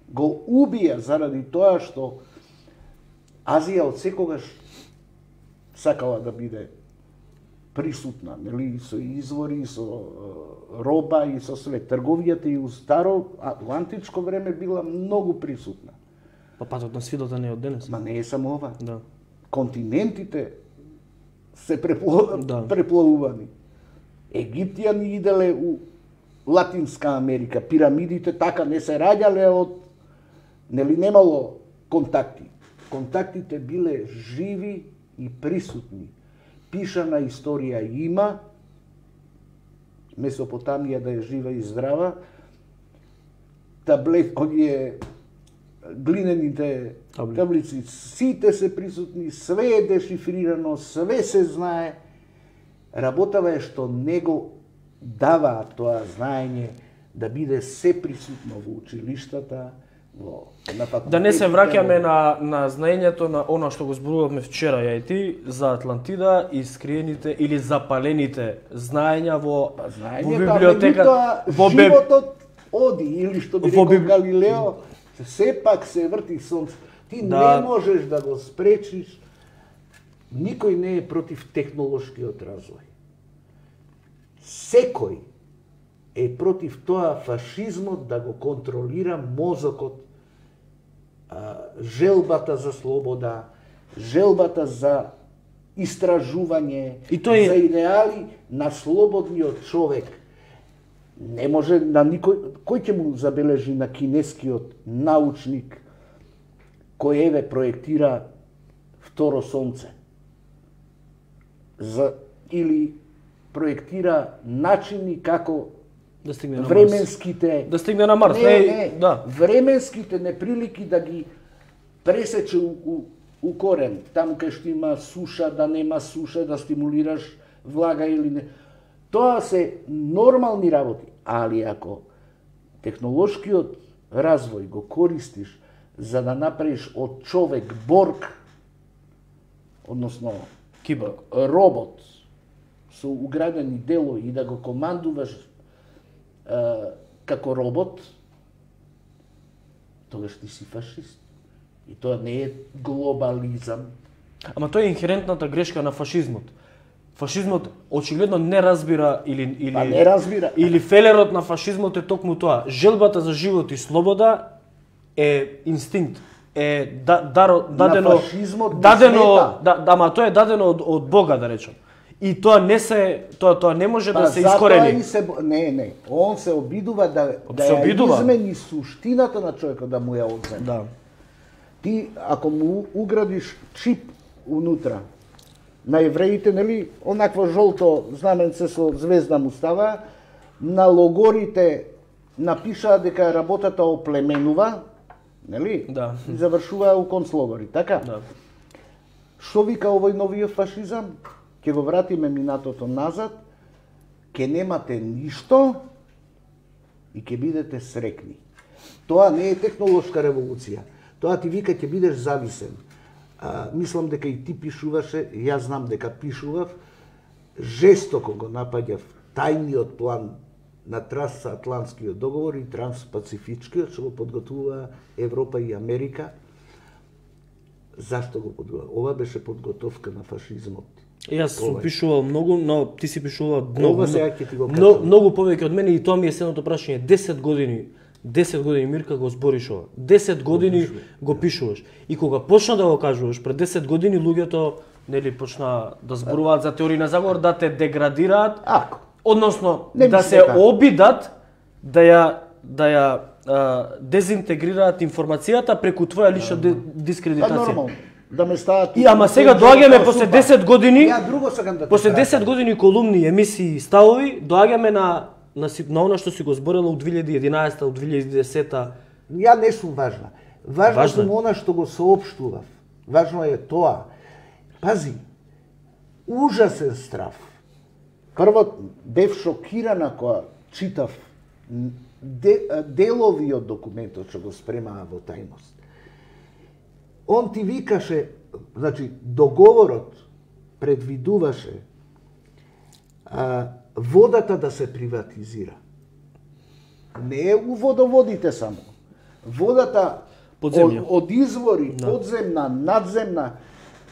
Го убија заради тоа што Азија од секогаш сакала да биде присутна, нели, со извори, со е, роба и со све. Трговијата и у старо, а, у античко време била многу присутна. Па патот на свидата не е од денес. Ма не е само ова. Да. Континентите се препло... Да. преплавувани. Египтјани иделе у Латинска Америка, пирамидите така не се раѓале од, нели немало контакти. Контактите биле живи и присутни. Пишана историја има, Месопотамија да е жива и здрава, таблет, оние глинените Табли. таблици, сите се присутни, све е дешифрирано, све се знае. Работава е што него дава тоа знаење да биде се присутно во училиштата, во на факултетите. Да не се враќаме на на знаењето на она што го зборувавме вчера ја и ти за Атлантида и скриените или запалените знаења во Па, знаење, во библиотека, во во бе... животот оди, или што би Во рекол биб- Галилео, сепак се врти сонце. Ти Да. не можеш да го спречиш. Никој не е против технолошкиот развој. Секој е против тоа фашизмот да го контролира мозокот, а, желбата за слобода, желбата за истражување, И тој е- за идеали на слободниот човек. Не може на никој, кој ќе му забележи на кинескиот научник кој еве проектира второ сонце, за, или проектира начини како да стигне на Марс. временските Да стигне на Марс, не, не, не, да. временските неприлики да ги пресече у, у, у корен, таму кај што има суша, да нема суша, да стимулираш влага или не. Тоа се нормални работи, али ако технолошкиот развој го користиш за да направиш од човек борг, односно Киборг. робот со уградени делови и да го командуваш е, како робот, тогаш ти си фашист. И тоа не е глобализам. Ама тоа е инхерентната грешка на фашизмот. Фашизмот очигледно не разбира или или Па не разбира. или фелерот на фашизмот е токму тоа. Желбата за живот и слобода е инстинкт, е да, даро, дадено На фашизмот не дадено смета. да, да, ама тоа е дадено од, од Бога, да речем. И тоа не се тоа тоа не може да се затоа искорени. и се бо- не, не, он се обидува да да се ја обидува. измени суштината на човекот, да му ја одземе. Да. Ти ако му уградиш чип унутра, на евреите, нели, онакво жолто знаменце со звезда му става, на логорите напишаа дека работата оплеменува, нели? Да. И завршуваа у концлогори, така? Да. Што вика овој новиот фашизам? Ќе го вратиме минатото назад, ќе немате ништо и ќе бидете срекни. Тоа не е технолошка револуција. Тоа ти вика ќе бидеш зависен. А, мислам дека и ти пишуваше, јас знам дека пишував, жестоко го напаѓав тајниот план на трансатлантскиот договор и транспацифичкиот, што го подготвува Европа и Америка. Зашто го подготвува? Ова беше подготовка на фашизмот. Јас сум Ова е. пишувал многу, но ти си пишувал многу, Ова сега ќе ти го многу, кажам. многу повеќе од мене и тоа ми е следното прашање. десет години, десет години Мирка го збориш ова. десет години го пишуваш. И кога почна да го кажуваш, пред десет години луѓето нели почна да зборуваат за теории на заговор, да те деградираат, Ако. односно Не да мислам се така. обидат да ја да ја а, дезинтегрираат информацијата преку твоја лична де- Па дискредитација. нормално. Да ме стават... И ама сега доаѓаме после десет години, Ја друго сакам да ти после кажам. десет години колумни, емисии и ставови, доаѓаме на на, си- на она што си го зборела од две илјади и единаесета, од две илјади и десета. Ја не сум важна. Важна Важно е. сум она што го соопштував. Важно е тоа. Пази, ужасен страв. Прво, бев шокирана кога читав де, делови од документот што го спремаа во тајност. Он ти викаше, значи, договорот предвидуваше а, водата да се приватизира. Не е у водоводите само. Водата Подземја. од, од извори, Да. подземна, надземна,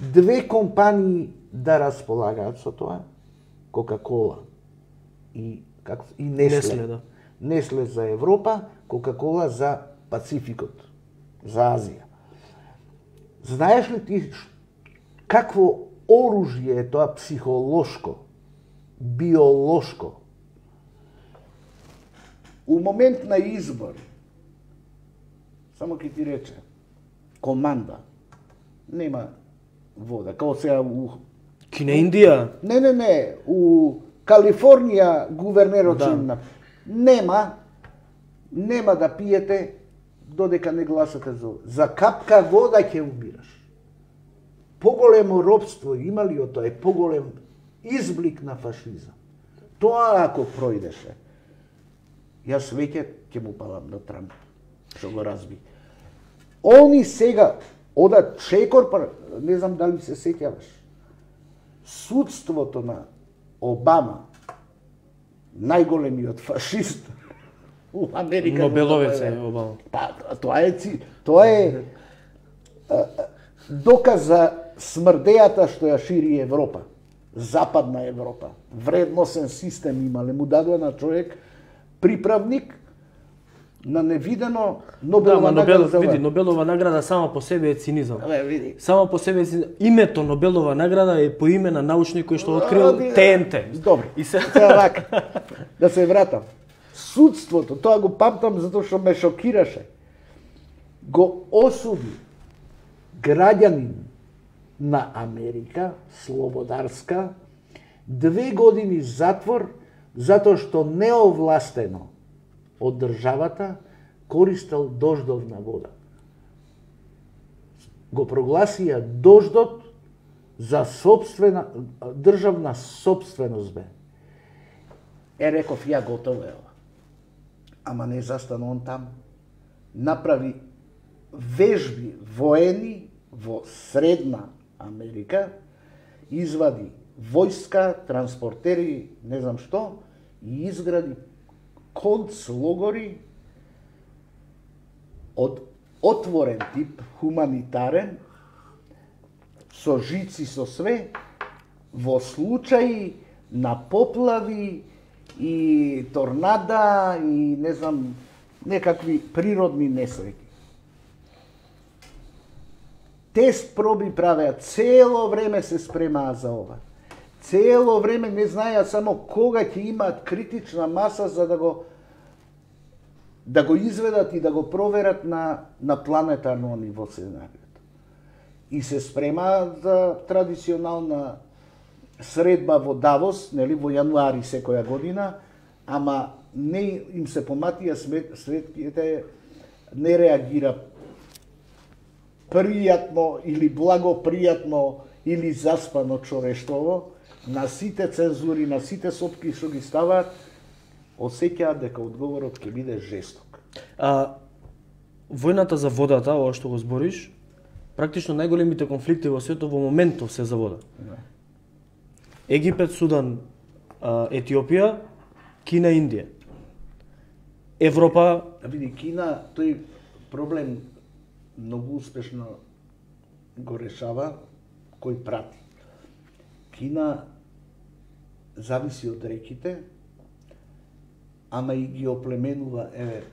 две компании да располагаат со тоа, Кока-кола и како и Несле. Несле, да. Несле за Европа, Кока-кола за Пацификот, за Азија. Знаеш ли ти ш- какво оружје е тоа психолошко, биолошко? У момент на избор, само ќе ти рече, команда, нема вода, као сега у... Кина, Индија? Не, не, не, у Калифорнија гувернерот да. Им нема, нема да пиете додека не гласате за за капка вода ќе убираш. Поголемо робство има ли од тоа, е поголем изблик на фашизам. Тоа ако пројдеше, јас веќе ќе му палам на Трамп, што го разби. Они сега одат чекор, не знам дали се сеќаваш, судството на Обама, најголемиот фашист у Америка. Нобеловец е Обама. Па, тоа е, тоа е а, доказ за смрдејата што ја шири Европа. Западна Европа. Вредносен систем имале. Му дадува на човек приправник на невидено Нобелова да, награда. Нобел, види, Нобелова награда само по себе е цинизам. Абе, види. Само по себе е цинизам. Името Нобелова награда е по име на научник кој што открил Те Ен Те. Добро. И се вака. Да се вратам. Судството, тоа го памтам затоа што ме шокираше. Го осуди граѓанин на Америка, слободарска, две години затвор затоа што неовластено од државата користел дождовна вода. Го прогласија дождот за собствена државна собственост бе. Е, реков, ја готово е ова. Ама не застана он там. Направи вежби воени во Средна Америка, извади војска, транспортери, не знам што, и изгради концлогори од отворен тип, хуманитарен, со жици, со све, во случаи на поплави и торнада и не знам, некакви природни несреќи. Тест проби правеа, цело време се спремаа за ова. Цело време не знаеа само кога ќе имаат критична маса за да го да го изведат и да го проверат на на планетарно ниво сценариото. И се спремаа за традиционална средба во Давос, нели, во јануари секоја година, ама не им се поматија светките, не реагира пријатно или благопријатно или заспано човештво, на сите цензури, на сите сопки што ги ставаат, осеќаат дека одговорот ќе биде жесток. А војната за водата, ова што го збориш, практично најголемите конфликти во светот во моментов се за вода. Да. Египет, Судан, Етиопија, Кина, Индија. Европа... Види, Кина тој проблем многу успешно го решава кој прати. Кина зависи од реките, ама и ги оплеменува, еве,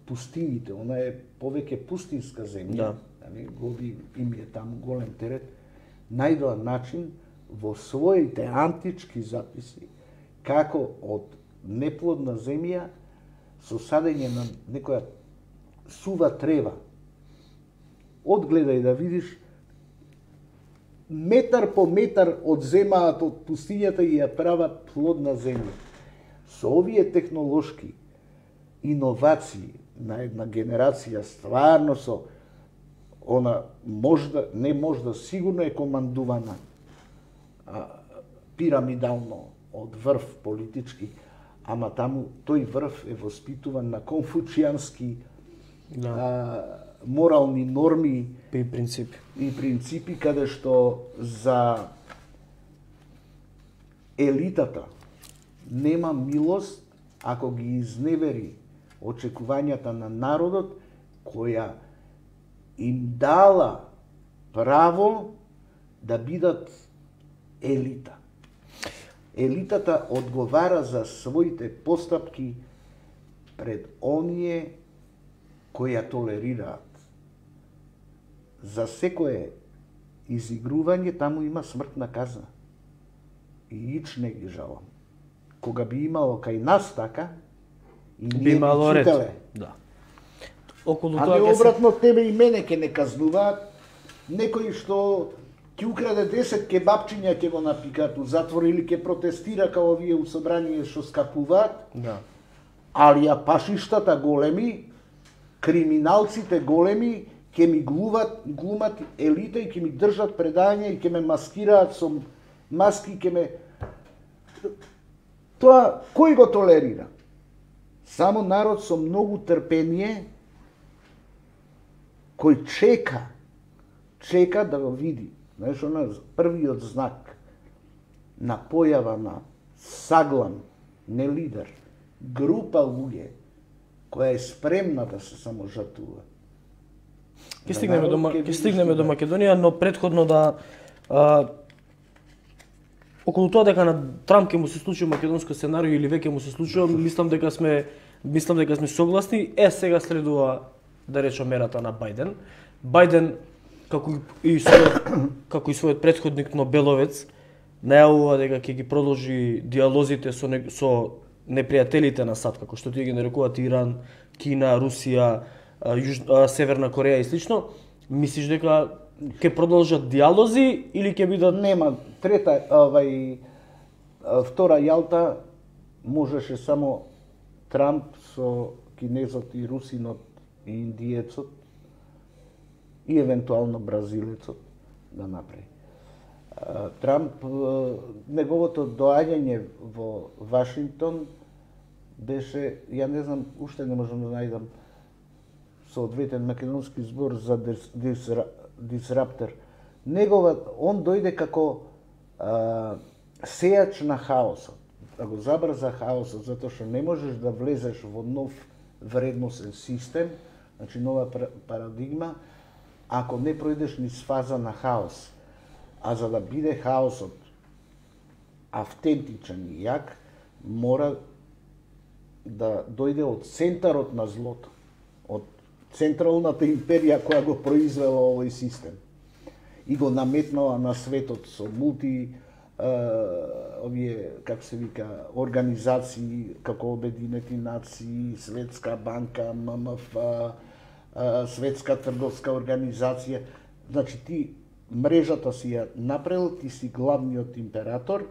пустините. Она е повеќе пустинска земја. Да. Гоби им е таму голем терет. Најдоа начин во своите антички записи како од неплодна земја со садење на некоја сува трева. Одгледај да видиш, метар по метар одземаат од пустињата и ја прават плодна земја. Со овие технолошки иновации на една генерација, стварно со она можда, не можда, сигурно е командувана а, пирамидално од врв политички, ама таму тој врв е воспитуван на конфуцијански да. а, морални норми и принципи. И принципи каде што за елитата нема милост ако ги изневери очекувањата на народот која им дала право да бидат елита. Елитата одговара за своите постапки пред оние кои ја толерираат. За секое изигрување таму има смртна казна. И ич не ги жалам. Кога би имало кај нас така, И би имало ред. читале. Да. Околу А тоа не ќе се обратно тебе и мене ќе не казнуваат. Некој што ќе украде десет кебапчиња ќе го напикаат у затвор или ќе протестира као овие у собрание што скапуваат. Да. Али ја пашиштата големи, криминалците големи ќе ми глуват, глумат елита и ќе ми држат предање и ќе ме маскираат со маски, ќе ме... Тоа кој го толерира? Само народ со многу трпение кој чека, чека да го види. Знаеш, она првиот знак на појава на саглан, не лидер, група луѓе која е спремна да се саможртвува. Ќе стигнеме до ќе стигнеме до Македонија, но претходно да а, околу тоа дека на Трамп ќе му се случи македонско сценарио или веќе му се случува, мислам дека сме мислам дека сме согласни. Е, сега следува да речам мерата на Бајден. Бајден како и својот како и својот претходник Нобеловец најавува дека ќе ги продолжи диалозите со не, со непријателите на САД, како што тие ги нарекуваат Иран, Кина, Русија, Јуж... Северна Кореја и слично. Мислиш дека ќе продолжат диалози или ќе бидат... Нема, трета, овај, втора јалта можеше само Трамп со кинезот и русинот и индиецот и евентуално бразилецот да направи. Трамп, неговото доаѓање во Вашингтон беше, ја не знам, уште не можам да најдам соодветен македонски збор за дис, дис, дисраптер. Негова, он дојде како а, сејач на хаосот, да го забрза хаосот, затоа што не можеш да влезеш во нов вредносен систем, значи нова парадигма, ако не пројдеш низ фаза на хаос. А за да биде хаосот автентичен и јак, мора да дојде од центарот на злото, од централната империја која го произвела овој систем и го наметнала на светот со мулти е, овие, како се вика, организации како Обединети нации, Светска банка, М М Ф, е, Светска трговска организација. Значи ти мрежата си ја направил, ти си главниот император,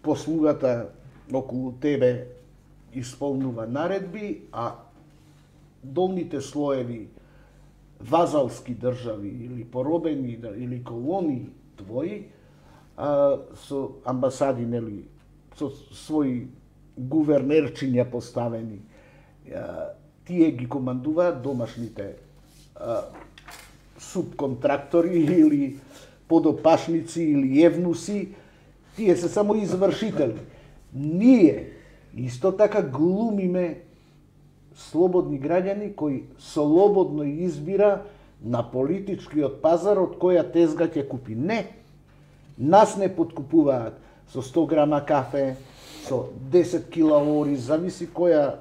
послугата околу тебе исполнува наредби, а долните слоеви вазалски држави или поробени или колони твои а, со амбасади, нели, со своји гувернерчиња поставени, а, тие ги командуваат домашните а, субконтрактори или подопашници или евнуси, тие се само извршители. Ние исто така глумиме слободни граѓани кои слободно избира на политичкиот пазар од која тезга ќе купи. Не, нас не подкупуваат со сто грама кафе, со десет кила ори, зависи која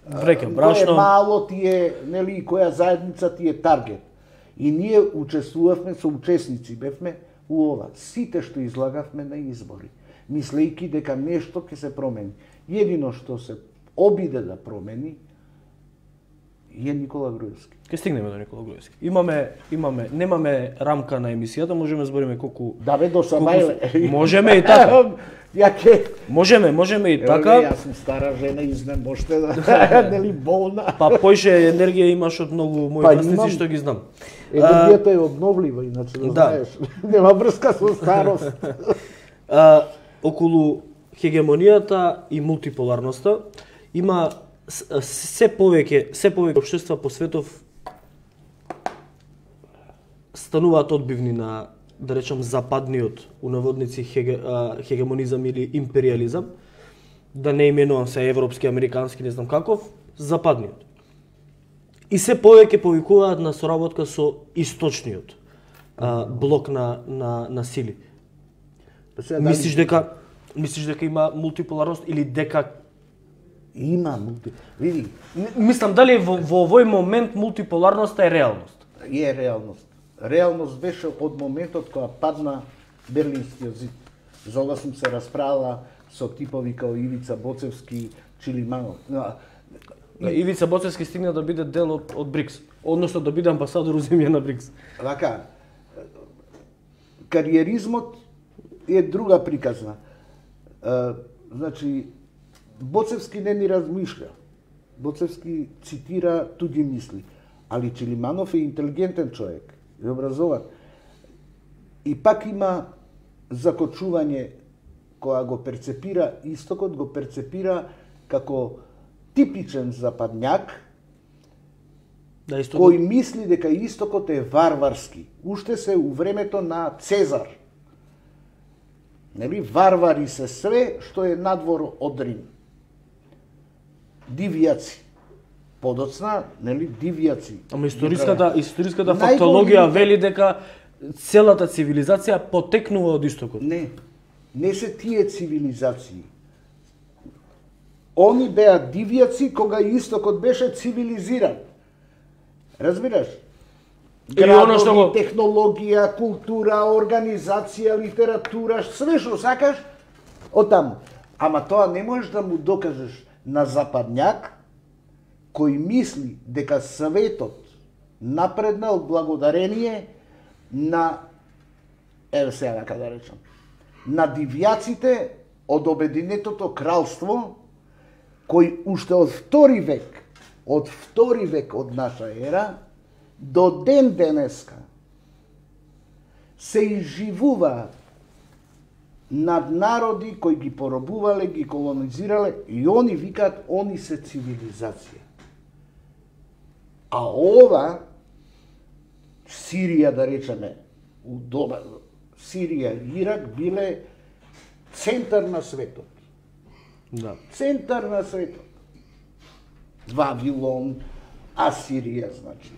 Врека, кој брашно. е мало тие, нели, која заедница ти е таргет. И ние учествувавме со учесници, бевме у ова. Сите што излагавме на избори, мислејќи дека нешто ќе се промени. Едино што се обиде да промени е Никола Груевски. Ќе стигнеме до Никола Груевски. Имаме, имаме, немаме рамка на емисијата, можеме да збориме колку... Да бе, до Самајле. Можеме и така. Ја ке... Можеме, можеме и Ево така. ге, јас сум стара жена, изнемоште да... нели, болна. Па поише енергија имаш од многу мои Па, власници имам. што ги знам. Енергијата е обновлива, иначе да, Да. знаеш. Нема врска со старост. А, околу хегемонијата и мултиполарноста има с- се повеќе се повеќе општества по светов стануваат одбивни на, да речам, западниот у наводници хеге, а, хегемонизам или империализам, да не именувам се европски, американски, не знам каков, западниот. И се повеќе повикуваат на соработка со источниот а, блок на, на, на сили. Сега, дали- Мислиш дека мислиш дека има мултиполарност или дека Има мулти... Види, М- мислам дали во, во овој момент мултиполарноста е реалност? е реалност. Реалност беше од моментот кога падна Берлинскиот зид. За ова сум се расправила со типови као Ивица Боцевски, Чилиманов. И... Ивица Боцевски стигна да биде дел од, од БРИКС, односно да биде амбасадор у земја на БРИКС. Вака, кариеризмот е друга приказна. Uh, значи, Боцевски не ни размишля. Боцевски цитира туѓи мисли. Али Чилиманов е интелигентен човек, е образован. И пак има закочување која го перцепира истокот, го перцепира како типичен западњак, да, истокот... кој мисли дека истокот е варварски. Уште се у времето на Цезар. Нели, варвари се све што е надвор од Рим. Дивјаци. Подоцна, нели, дивјаци. Ама историската, историската фактологија вели дека целата цивилизација потекнува од истокот. Не, не се тие цивилизации. Они беа дивјаци кога истокот беше цивилизиран. Разбираш? Градови, што го... технологија, култура, организација, литература, све што сакаш, од таму. Ама тоа не можеш да му докажеш на западњак кој мисли дека светот напреднал благодарение на, еве сега нека да речам, на дивјаците од Обединетото кралство, кој уште од втори век, од втори век од наша ера, до ден денеска се изживуваат над народи кои ги поробувале, ги колонизирале, и они викаат, они се цивилизација. А ова, Сирија, да речеме, у доба, Сирија и Ирак биле центар на светот. Да. Центар на светот. Вавилон, Асирија, значи,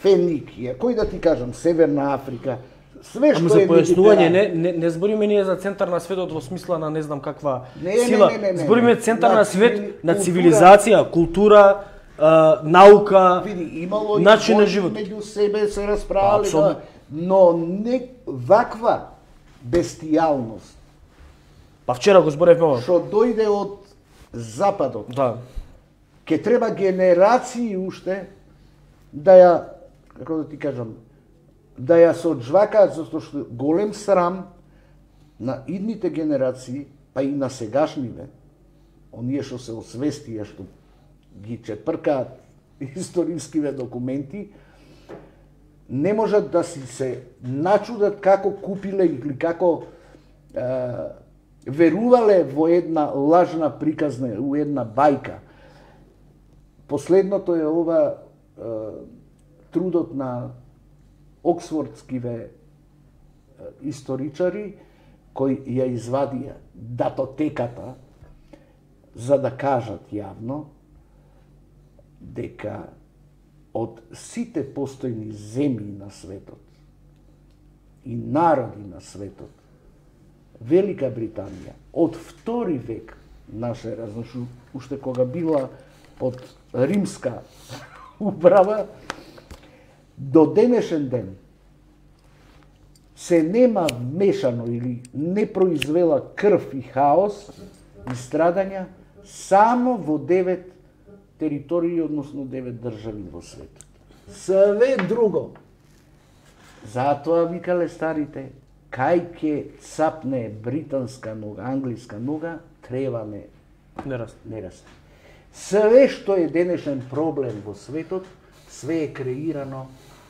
Феникија, кој да ти кажам, Северна Африка, све што Ама за е појаснување, не, не, не збориме ние за центар на светот во смисла на не знам каква не, сила. Не, не, не, не, збориме центар на, на свет, на култура, цивилизација, култура, а, наука, види, имало начин на живот. Меѓу себе се расправале, да, но не ваква бестијалност. Па вчера го зборевме ова. Што дојде од западот. Да. Ке треба генерации уште да ја, како да ти кажам, да ја се оджвакаат, затоа што голем срам на идните генерации, па и на сегашниве, оние што се освестија, што ги чепркаат историскиве документи, не можат да си се начудат како купиле или како е, верувале во една лажна приказна, у една бајка. Последното е ова е, трудот на оксфордскиве историчари кои ја извадија датотеката за да кажат јавно дека од сите постојни земји на светот и народи на светот, Велика Британија од втори век наша ера, значи уште кога била под римска управа, до денешен ден се нема вмешано или не произвела крв и хаос и страдања само во девет територии, односно девет држави во светот. Све друго. Затоа викале старите, кај ќе цапне британска нога, англиска нога, трева не, Не расте. не расте. Све што е денешен проблем во светот, све е креирано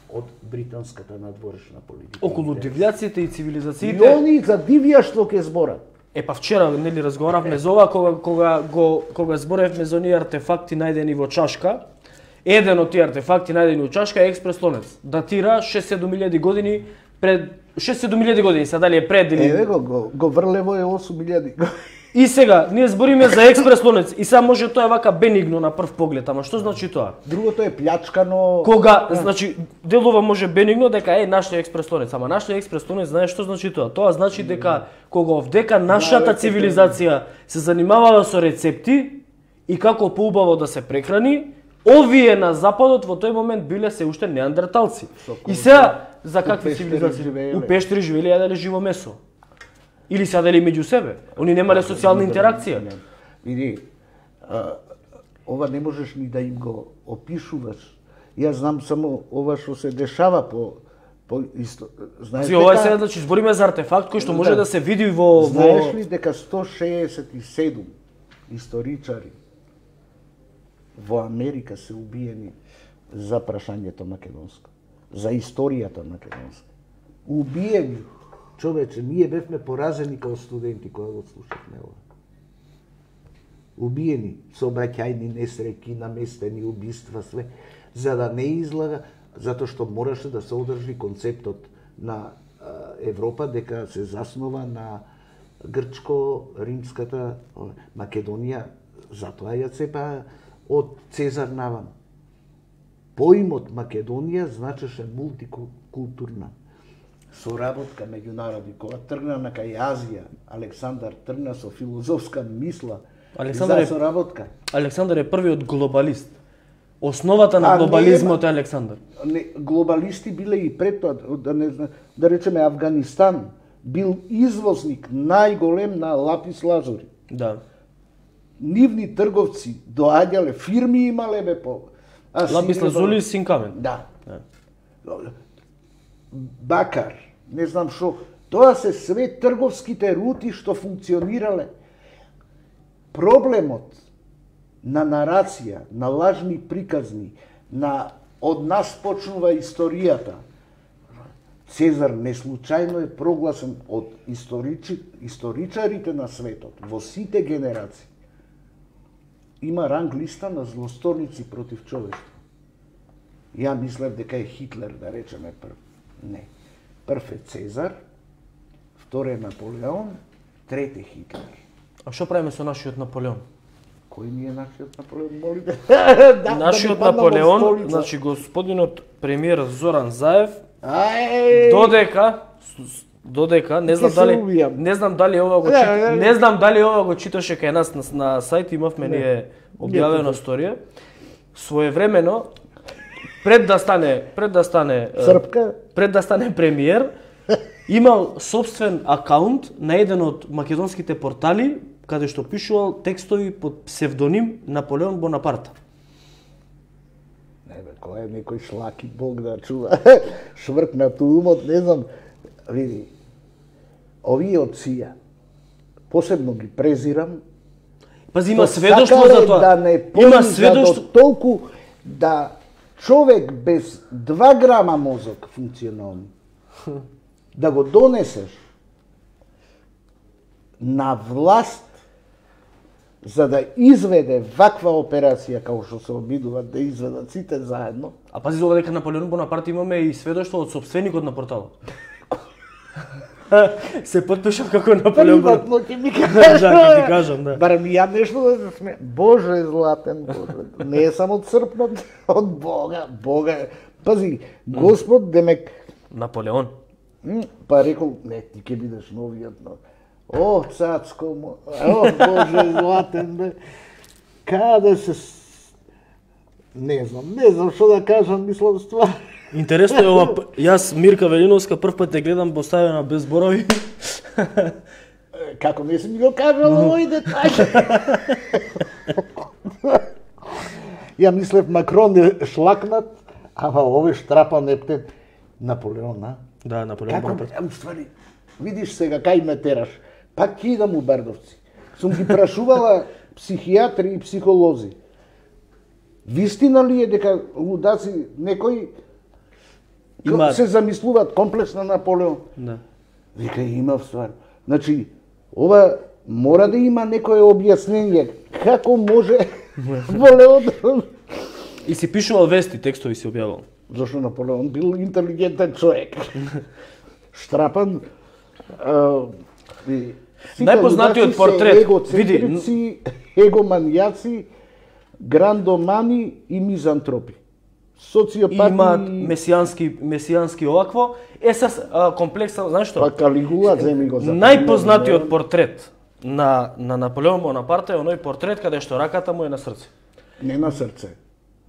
од британската надворешна политика. Околу дивјаците и И цивилизациите. они за дивјаштво ќе зборат. Е па вчера нели разговаравме за ова кога кога го кога зборевме за оние артефакти најдени во чашка. Еден од тие артефакти најдени во чашка е експрес-лонец. Датира шест-седум илјади години пред шест-седум илјади години, сега дали е пред или Еве го, го, го врлево е осум илјади. И сега ние збориме за експрес-лонец и сега може тоа е вака бенигно на прв поглед, ама што значи тоа? Другото е плячкано. Кога, значи, делува може бенигно дека е нашли експрес-лонец, ама нашли експрес-лонец знаеш што значи тоа? Тоа значи дека кога овдека нашата цивилизација се занимавала со рецепти и како поубаво да се прехрани, овие на западот во тој момент биле се уште неандерталци. И сега за какви пештери цивилизации? живееле. У пештери живееле јаделе живо месо. Или сядале меѓу себе. Они немале социјална интеракција. Види, ова не можеш ни да им го опишуваш. Јас знам само ова што се дешава по по исто. Знаеш дека ова се значи збориме за артефакт кој што може да, да се види во Знаеш ли дека сто шеесет и седум историчари во Америка се убиени за прашањето македонско, за историјата македонска. Убиени. Човече, ние бевме поразени као студенти кога го слушавме ова. Убиени, сообраќајни несреќи, наместени убиства, све, за да не излага, затоа што мораше да се одржи концептот на Европа дека се заснова на грчко-римската Македонија, затоа ја цепа од Цезар навам. Поимот Македонија значеше мултикултурна соработка меѓу народи. Кога тргна на кај Азија, Александар тргна со филозофска мисла Александар за соработка. Александар е првиот глобалист. Основата на глобализмот е Александар. Не, глобалисти биле и пред тоа, да не да речеме Авганистан бил извозник најголем на лапис лазури. Да. Нивни трговци доаѓале, фирми имале бе по лапис лазури и синкамен. Да. Да. Бакар, не знам што, тоа се све трговските рути што функционирале. Проблемот на нарација, на лажни приказни, на од нас почнува историјата. Цезар не случајно е прогласен од историчи, историчарите на светот, во сите генерации. Има ранг листа на злосторници против човештво. Ја мислев дека е Хитлер, да речеме прв. Не. Прв е Цезар, втор е Наполеон, трет е Хитлер. А што правиме со нашиот Наполеон? Кој ни е нашиот Наполеон, молите? да, нашиот да Наполеон, значи господинот премиер Зоран Заев, Ај! додека додека не знам дали не знам дали ова го чит, не знам дали ова го читаше кај нас на, на сајт, имавме ние објавена сторија. Своевремено пред да стане пред да стане Црпка, пред да стане премиер, имал собствен акаунт на еден од македонските портали каде што пишувал текстови под псевдоним Наполеон Бонапарт. Не бе, кој е некој шлаки бог да чува. Швркнат умот, не знам. Види, овие од сија, посебно ги презирам. Пази, има сведоштво за тоа. Да не има сведоштво толку да човек без два грама мозок функционални да го донесеш на власт за да изведе ваква операција како што се обидуваат да изведат сите заедно. А пази за дека Наполеон Бонапарт имаме и сведоштво од собственикот на порталот. Се потпишав како Наполеон Бонапарт. Приватно ќе ми кажеш. Да, ќе ти кажам, да. Барем ја нешто да се сме. Боже златен, Боже. Не е само црпнат од Бога, Бога. Пази, Господ демек Наполеон. Па рекол, не, ти ќе бидеш новиот, но О, цацко му, о, Боже златен, бе. Каде се... Не знам, не знам што да кажам, мислам ствар. Интересно е ова, јас Мирка Велиновска прв пат те гледам поставена без зборови. Како не си ми го кажал овој детај? Ја мислев Макрон е шлакнат, ама овој штрапан ептен Наполеон, а? Да, Наполеон Бонапарт. Како, ствари, видиш сега кај ме тераш. Пак ќе идам у Бардовци. Сум ги прашувала психијатри и психолози. Вистина ли е дека лудаци некои има... се замислуваат комплекс на Наполеон? Да. Вика, има ствар. Значи, ова мора да има некое објаснение. Како може Наполеон... И си пишувал вести, текстови си објавал. Зошто Наполеон бил интелигентен човек. Штрапан... А, и, најпознатиот портрет, види, егоманијаци, грандомани и мизантропи. Социопати имаат месијански месијански овакво. Е са комплекса, знаеш што? Па Калигула земи го за. Најпознатиот портрет на на Наполеон Бонапарт е оној портрет каде што раката му е на срце. Не на срце.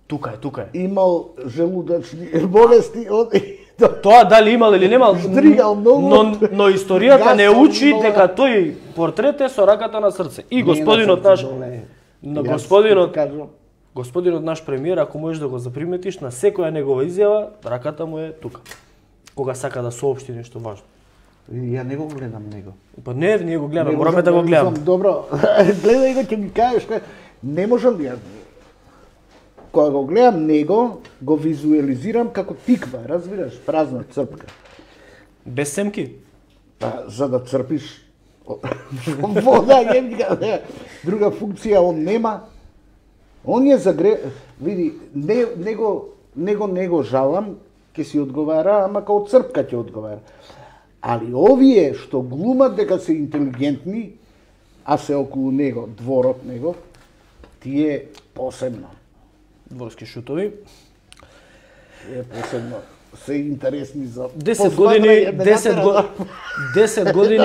Тука е, тука е. Имал желудачни болести од Тоа дали имал или немал, Стригал многу. но, но историјата не Гасал учи многу. дека тој портрет е со раката на срце. И господинот наш, на господинот, господинот наш премиер, ако можеш да го заприметиш, на секоја негова изјава, раката му е тука. Кога сака да соопшти нешто важно. Ја не го гледам него. Па не, ние го гледаме, Не мораме можам да го гледаме. видам, Добро, гледај го, ќе ми кажеш, кај- не можам ја. Кога го гледам него, го визуализирам како тиква, разбираш, празна црпка. Без семки? Па, за да црпиш вода, јебика, друга функција он нема. Он е загре... Види, не, него, него, него жалам, ќе си одговара, ама као црпка ќе одговара. Али овие што глумат дека се интелигентни, а се околу него, дворот него, тие посебно. Дворски шутови. Тие посебно се интересни за десет години, десет години, десет години,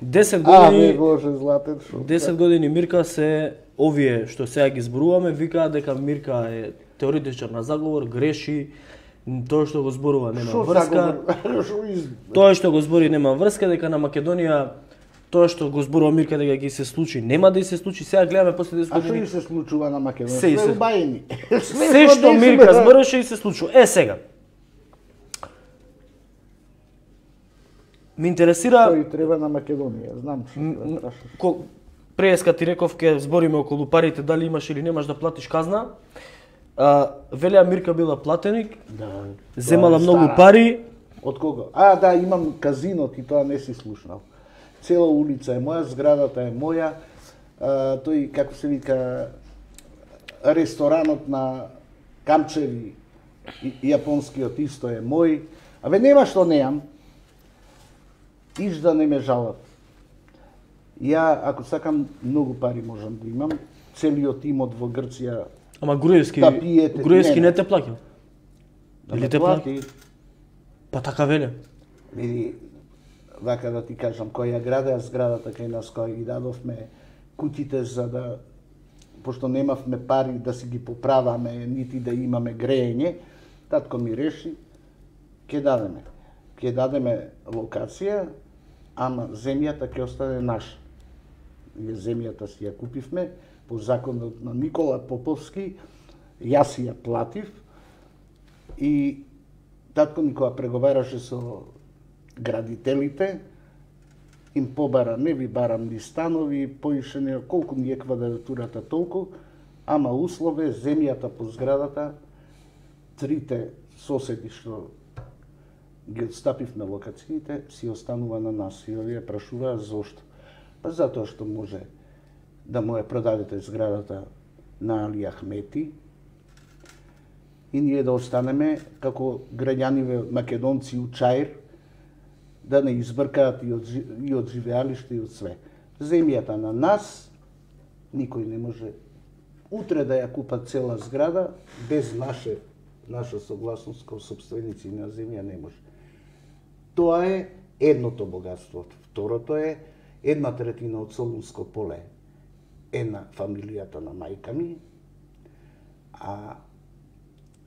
десет А, не, години, Боже, златен шо. десет години Мирка се овие што сега ги зборуваме, викаат дека Мирка е теоретичар на заговор, греши, тоа што го зборува нема Шо врска. заговор? Шо из... Тоа што го збори нема врска, дека на Македонија тоа што го зборува Мирка дека ќе се случи, нема да и се случи. Сега гледаме после десет А што години. и се случува на Македонија? Се и Све се- убајени. Се што Мирка збореше и се случува. Е сега. Ме интересира Тој треба на Македонија, знам што да прашаш. ко преска ти реков ке збориме околу парите дали имаш или немаш да платиш казна. А, велеа Мирка била платеник, Да. земала тоа е многу стара. пари. Од кого? А, да, имам казино, ти тоа не си слушнал. Цела улица е моја, зградата е моја. А, тој, како се вика, ресторанот на Камчеви, и- јапонскиот исто е мој. Абе, нема што неам. Иш да не ме жалат. Ја, ако сакам, многу пари можам да имам. Целиот имот во Грција Ама Груевски, Да пиете, Груевски не, не не. те плаќа. да Или ме те плати? плати. Па така веле. Види, вака да ти кажам, која ја градеа зградата кај нас, која ги дадовме куќите за да, пошто немавме пари да си ги поправаме, нити да имаме греење, татко ми реши, ќе дадеме. Ќе дадеме локација, ама земјата ќе остане наша. Ние земјата си ја купивме по законот на Никола Поповски, јас си ја платив и татко ми кога преговараше со градителите, им побара, не ви барам ни станови, поише не, колку ми е квадратурата толку, ама услов е земјата по зградата, трите соседи што ги отстапивме локациите, си останува на нас. И овие прашуваа зошто. Па затоа што може да му ја продадете зградата на Али Ахмети, и ние да останеме како граѓани македонци у Чаир, да не избркаат и од, жи- и од живеалиште и од све. Земјата на нас, никој не може утре да ја купа цела зграда, без наше, наша согласност како собственици на земја не може. Тоа е едното богатство. Второто е една третина од Солунско поле е на фамилијата на мајка ми, а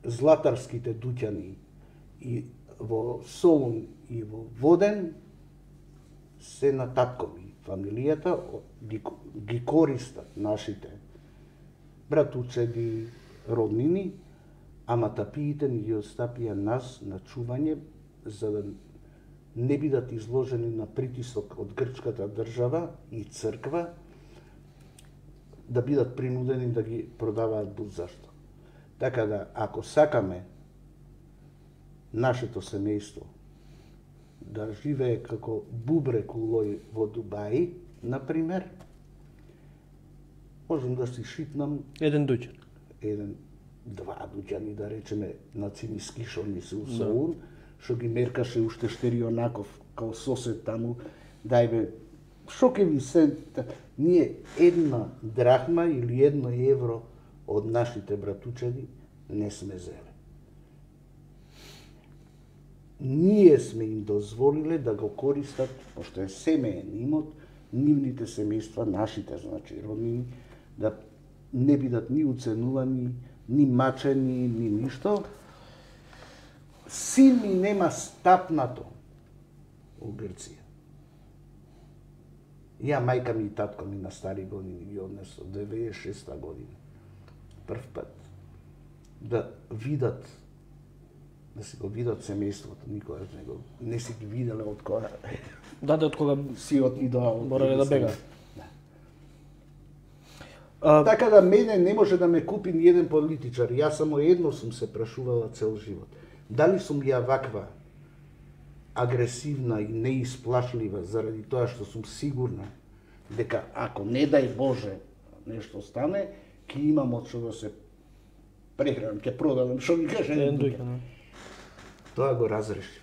златарските дуќани и во Солун и во Воден се на татко ми. Фамилијата ги, ги користат нашите братучеди, роднини, ама тапиите ни ги остапија нас на чување за да не бидат изложени на притисок од грчката држава и црква, да бидат принудени да ги продаваат будзашто. Така да, ако сакаме нашето семејство да живее како бубрек улој во Дубај, например, можам да си шитнам Еден дуќан. еден, два дуќани, да речеме, на Цимиски, шо ми се усоун, што ги меркаше уште Штерионаков, као сосед таму, дај бе, шо ке ви се, ние една драхма или едно евро од нашите братучеди не сме зеле. Ние сме им дозволиле да го користат, пошто е семеен имот, нивните семејства, нашите, значи, роднини, да не бидат ни уценувани, ни мачени, ни ништо. син ми нема стапнато у Грција. Ја, мајка ми и татко ми на стари години ги однесо, деветдесет и шеста година. Прв пат да видат, да си го видат семејството, никогаш не го, не си ги виделе од кога. Да, да, од кога си отидоа. морале да бега. Да. А, Така да мене не може да ме купи ни еден политичар. Јас само едно сум се прашувала цел живот. Дали сум ја ваква агресивна и неисплашлива заради тоа што сум сигурна дека ако не дај Боже нешто стане, ќе имам од што да се прехранам, ќе продадам, што ми каже еден дуќан. Тоа го разрешив.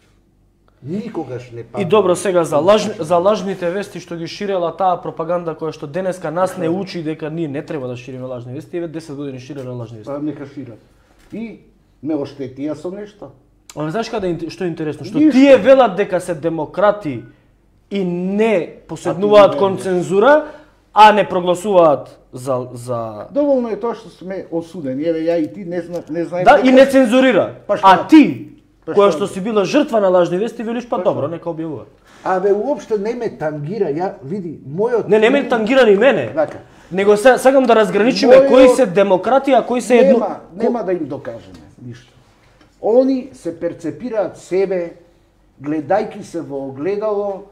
Никогаш не падам. И добро, сега за лаж, за лажните вести што ги ширела таа пропаганда која што денеска нас не учи дека ние не треба да шириме лажни вести, еве десет години ширеле лажни вести. Па нека шират. И ме оштетија со нешто. Ама знаеш каде е- што е интересно? Што Ништо. тие велат дека се демократи и не поседнуваат А ти кон не цензура, а не прогласуваат за за Доволно е тоа што сме осудени. Еве ја и ти не зна, не знаеме. да дека- и не цензурира. Па што? А ти Па која што? што си била жртва на лажни вести, велиш па Па добро, што? нека објавува. Абе уопште не ме тангира. Ја види мојот Не, не ме тангира ни мене. Така. Него се, сакам да разграничиме Мојот- кои се демократи, а кои се едно. Нема, нема да им докажеме ништо. Они се перцепираат себе гледајки се во огледало,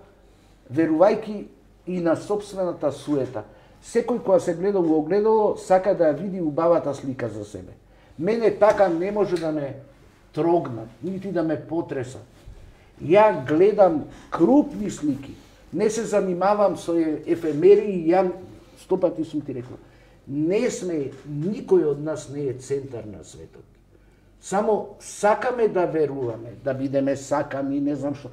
верувајки и на сопствената суета. Секој кога се гледа во огледало сака да ја види убавата слика за себе. Мене така не може да ме трогнат, нити да ме потресат. Ја гледам крупни слики, не се занимавам со ефемери, ја сто пати сум ти рекла. Не сме, никој од нас не е центар на светот. Само сакаме да веруваме, да бидеме сакани, не знам што.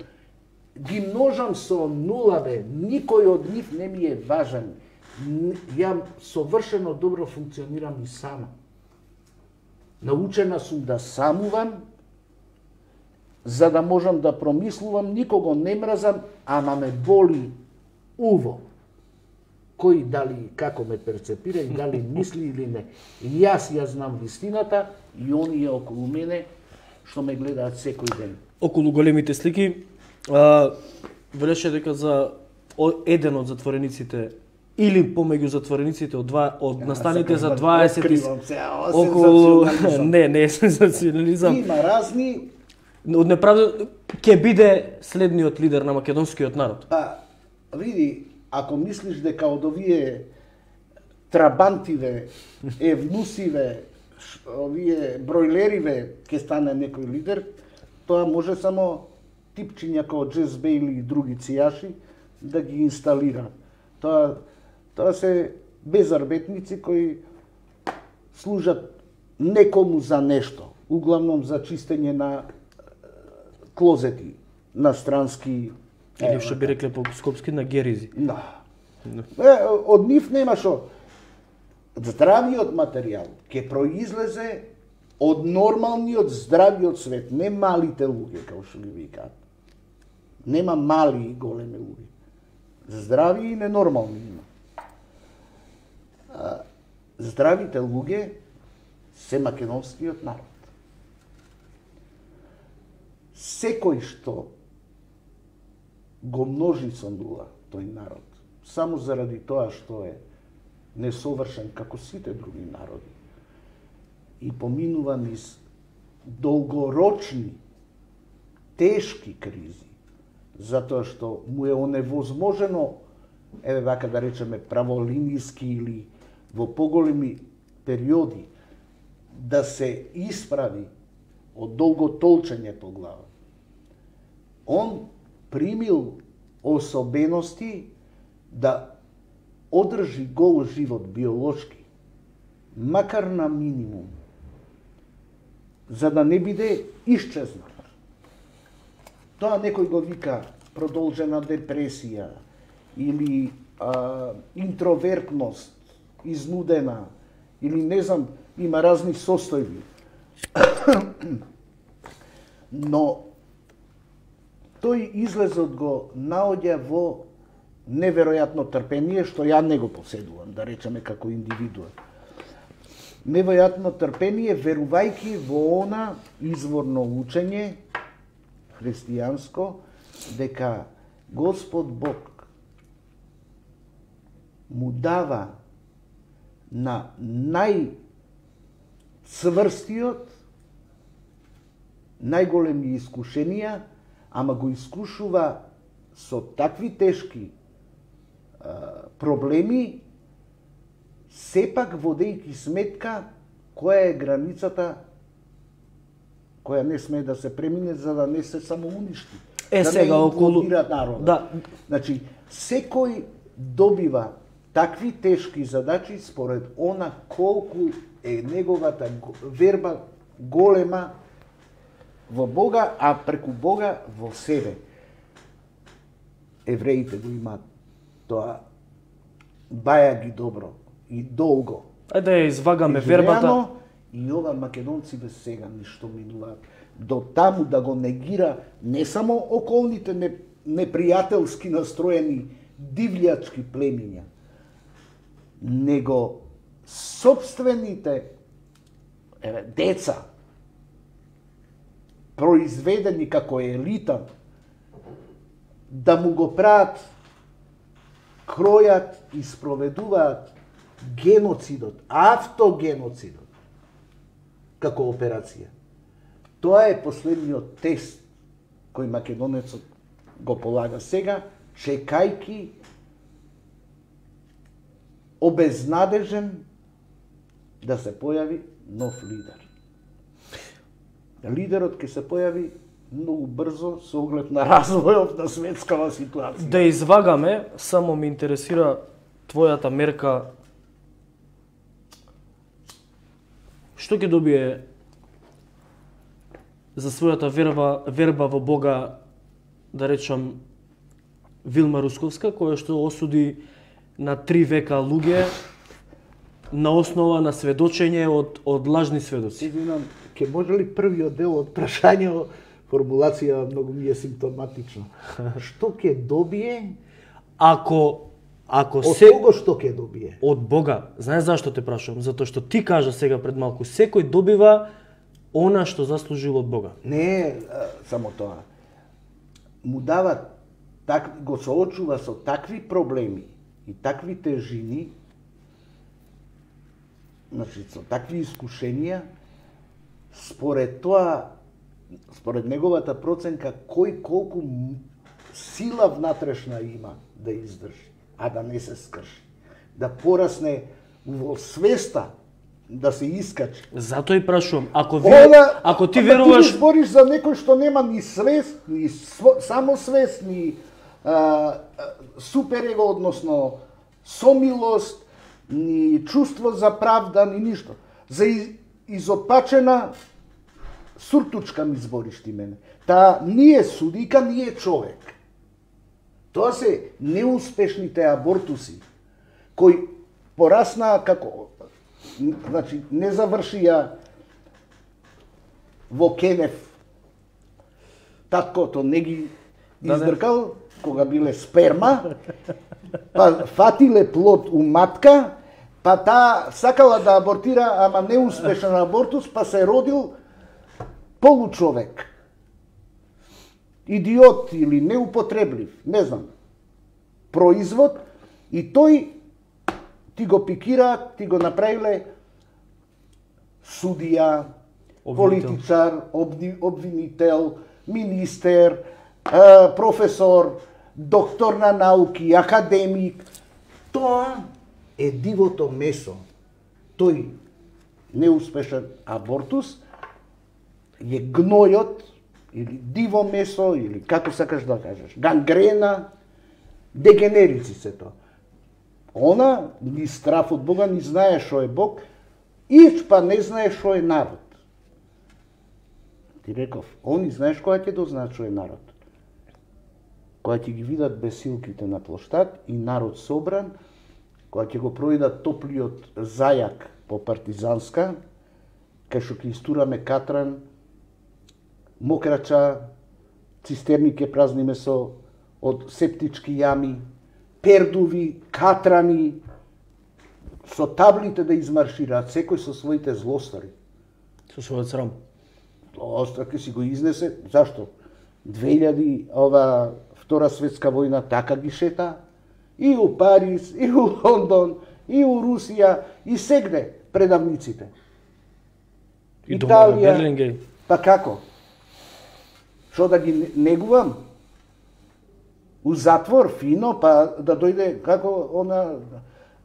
Ги множам со нула, бе, никој од нив не ми е важен. Н- Ја совршено добро функционирам и сама. Научена сум да самувам, за да можам да промислувам, никого не мразам, ама ме боли уво. Кој дали и како ме перцепира и дали мисли или не. И јас ја знам вистината и оние околу мене што ме гледаат секој ден. Околу големите слики, а, велеше дека за о- еден од затворениците или помеѓу затворениците од два од настаните за дваесет и- Откривам се, а, околу сензационализам. не, не е сензационализам. Има разни, Од неправда ќе биде следниот лидер на македонскиот народ. па види, ако мислиш дека од овие трабантиве, евнусиве, ш- овие бройлериве ќе стане некој лидер, тоа може само типчиња како Джез Бейли и други цијаши да ги инсталира. Тоа тоа се безарбетници кои служат некому за нешто, углавном за чистење на е, клозети, на странски. Или што би рекле по скопски на геризи. Да. Е, од нив нема што. Здравиот материјал ќе произлезе од нормалниот здравиот свет, не малите луѓе, како што ги викаат. Нема мали и големи луѓе. Здрави и ненормални има. А, здравите луѓе се македонскиот народ. Секој што го множи со нула тој народ, само заради тоа што е несовршен како сите други народи и поминува низ долгорочни, тешки кризи, затоа што му е оневозможено, еве вака да речеме праволинијски или во поголеми периоди, да се исправи од долго толчење по глава. Он примил особености да одржи гол живот биолошки, макар на минимум, за да не биде исчезнат. Тоа некој го вика продолжена депресија или а, интровертност, изнудена, или не знам, има разни состојби. Но тој излезот го наоѓа во неверојатно трпение, што ја не го поседувам, да речеме како индивидуа. Неверојатно трпение, верувајќи во она изворно учење христијанско, дека Господ Бог му дава на најцврстиот, најголеми искушенија, ама го искушува со такви тешки а, проблеми, сепак водејќи сметка која е границата која не смее да се премине за да не се само уништи. Е, да сега не околу народот. Да. Значи, секој добива такви тешки задачи според она колку е неговата верба голема во Бога, а преку Бога во себе. Евреите го имаат тоа, баја ги добро и долго. Ајде да ја извагаме вербата. И ова македонци без сега ништо минуваат. До таму да го негира не само околните непријателски настроени дивљачки племиња, него собствените еве, деца, произведени како елита, да му го прават, кројат и спроведуваат геноцидот, автогеноцидот, како операција. Тоа е последниот тест кој македонецот го полага сега, чекајки обезнадежен да се појави нов лидер. Лидерот ќе се појави многу брзо со оглед на развојот на светскава ситуација. Да извагаме, само ме интересира твојата мерка. Што ќе добие за својата верба, верба во Бога, да речам, Вилма Русковска, која што осуди на три века луѓе на основа на сведочење од, од лажни сведоци? Извинам, ќе може ли првиот дел од прашањето, формулација многу ми е симптоматична. Што ќе добие Ако ако од се кого што ќе добие? од Бога? Знаеш зашто те прашувам? Затоа што ти кажа сега пред малку, секој добива она што заслужил од Бога. Не а, само тоа. Му дава, так, го соочува со такви проблеми и такви тежини, значи со такви искушенија, според тоа, според неговата проценка, кој колку сила внатрешна има да издржи, а да не се скрши. Да порасне во свеста, да се искачи. Затоа и прашувам, ако ви, Она, ако ти ама веруваш, Ти збориш за некој што нема ни свест, ни сво, самосвест, ни а, а, суперего, односно сомилост, ни чувство за правда, ни ништо. За из, изопачена суртучка ми збориш ти мене. Та ние судика, ние човек. Тоа се неуспешните абортуси, кои пораснаа како, значи, не завршија во Кенев. Таткото не ги издркал, кога биле сперма, па фатиле плод у матка, па таа сакала да абортира, ама неуспешен абортус, па се родил получовек. Идиот или неупотреблив, не знам, производ, и тој ти го пикираат, ти го направиле судија, политичар, обни, обвинител, министер, е, професор, доктор на науки, академик. Тоа е дивото месо. Тој неуспешен абортус е гнојот, или диво месо, или како сакаш да кажеш, гангрена, дегенерици се тоа. Она ни страф од Бога, ни знае што е Бог, и па не знае што е народ. Ти реков, они знаеш која ќе дознаат што е народ. Која ќе ги видат бесилките на плоштад и народ собран, која ќе го проидат топлиот зајак по партизанска, кај што ќе истураме катран, мокрача, цистерни ќе празниме со од септички јами, пердуви, катрани, со таблите да измаршираат, секој со своите злостари. Со својот срам. Остра ќе си го изнесе, зашто? две илјади ова Втора светска војна така ги шета и у Париз, и у Лондон, и у Русија, и сегде предавниците. И дома на Италија, Берлингеј. па како? Што да ги негувам? У затвор, фино, па да дојде како она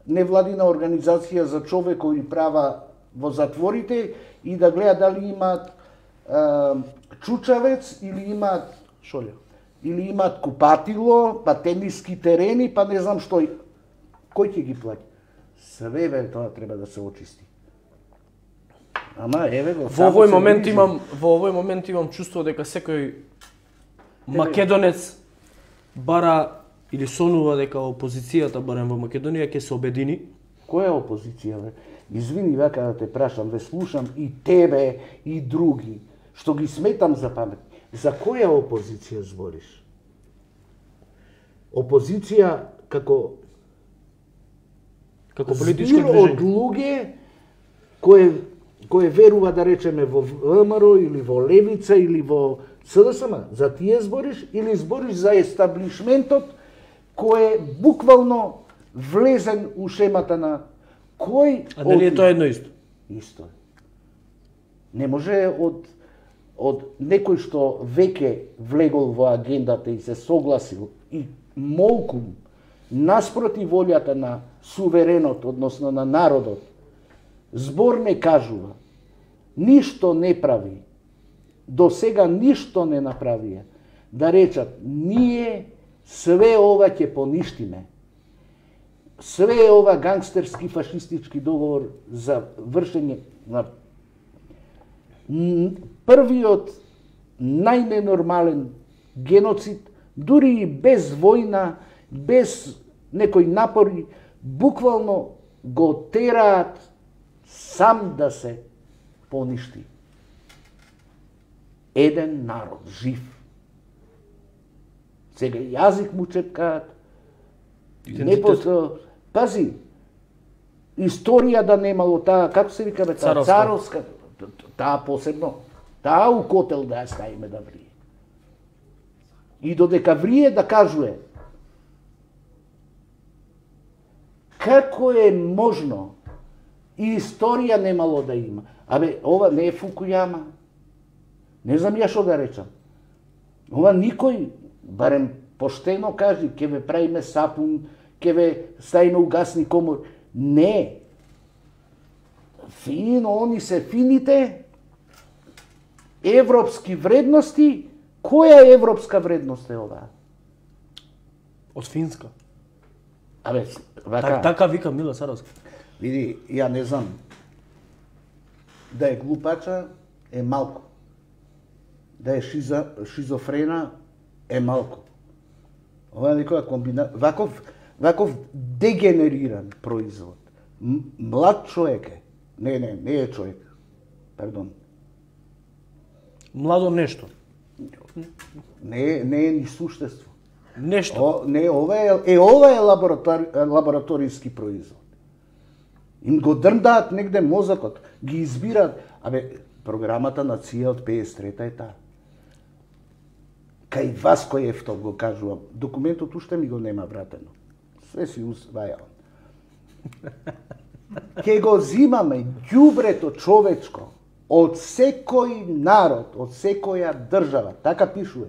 невладина организација за човекови права во затворите и да гледа дали имаат е, чучавец или имаат Шолја. или имаат купатило, па тениски терени, па не знам што. Кој ќе ги плаќа? Све бе, тоа треба да се очисти. Ама еве го. Во овој момент имам во овој момент имам чувство дека секој македонец бара или сонува дека опозицијата барем во Македонија ќе се обедини. Која е опозиција, бе? Извини вака да те прашам, ве слушам и тебе и други, што ги сметам за памет. За која опозиција збориш? Опозиција како Како политичко збир од движење. луѓе кои кои верува да речеме во ВМРО или во Левица или во СДСМ. За тие збориш или збориш за естаблишментот кој е буквално влезен у шемата на кој... А дали е тоа едно исто? Исто е. Не може од од некој што веќе влегол во агендата и се согласил и молкум наспроти волјата на суверенот, односно на народот, збор не кажува, ништо не прави, до сега ништо не направија, да речат, ние све ова ќе поништиме. Све ова гангстерски фашистички договор за вршење на првиот најненормален геноцид, дури и без војна, без некои напори, буквално го тераат сам да се поништи. Еден народ, жив. Сега јазик му чепкаат, не после... Пази, историја да немало таа, како се вика бе, таа царовска, таа посебно, таа у котел да ја ставиме да врие. И додека врие да кажуе, како е можно и историја немало да има. Абе, ова не е Фукујама. Не знам ја што да речам. Ова никој, барем поштено кажи, ќе ве правиме сапун, ќе ве ставиме у гасни комор. Не. Фино, они се фините европски вредности. Која европска вредност е ова? Од Финска. Абе, вака... Так, така вика Мила Царовска. Види, ја не знам. Да е глупача е малку. Да е шиза, шизофрена е малку. Ова е некоја комбина... Ваков, ваков дегенериран производ. М млад човек е. Не, не, не е човек. Пардон. Младо нешто. Не, не е ни суштество. Нешто. О, не, ова е, е ова е лаборатори, лабораториски производ. Им го дрндаат негде мозокот, ги избираат. Абе, програмата на ЦИА од пеесет и трета е таа. Кај Васко Ефтов го кажувам. Документот уште ми го нема вратено. Све си усвајал. Ке го зимаме ѓубрето човечко од секој народ, од секоја држава, така пишува.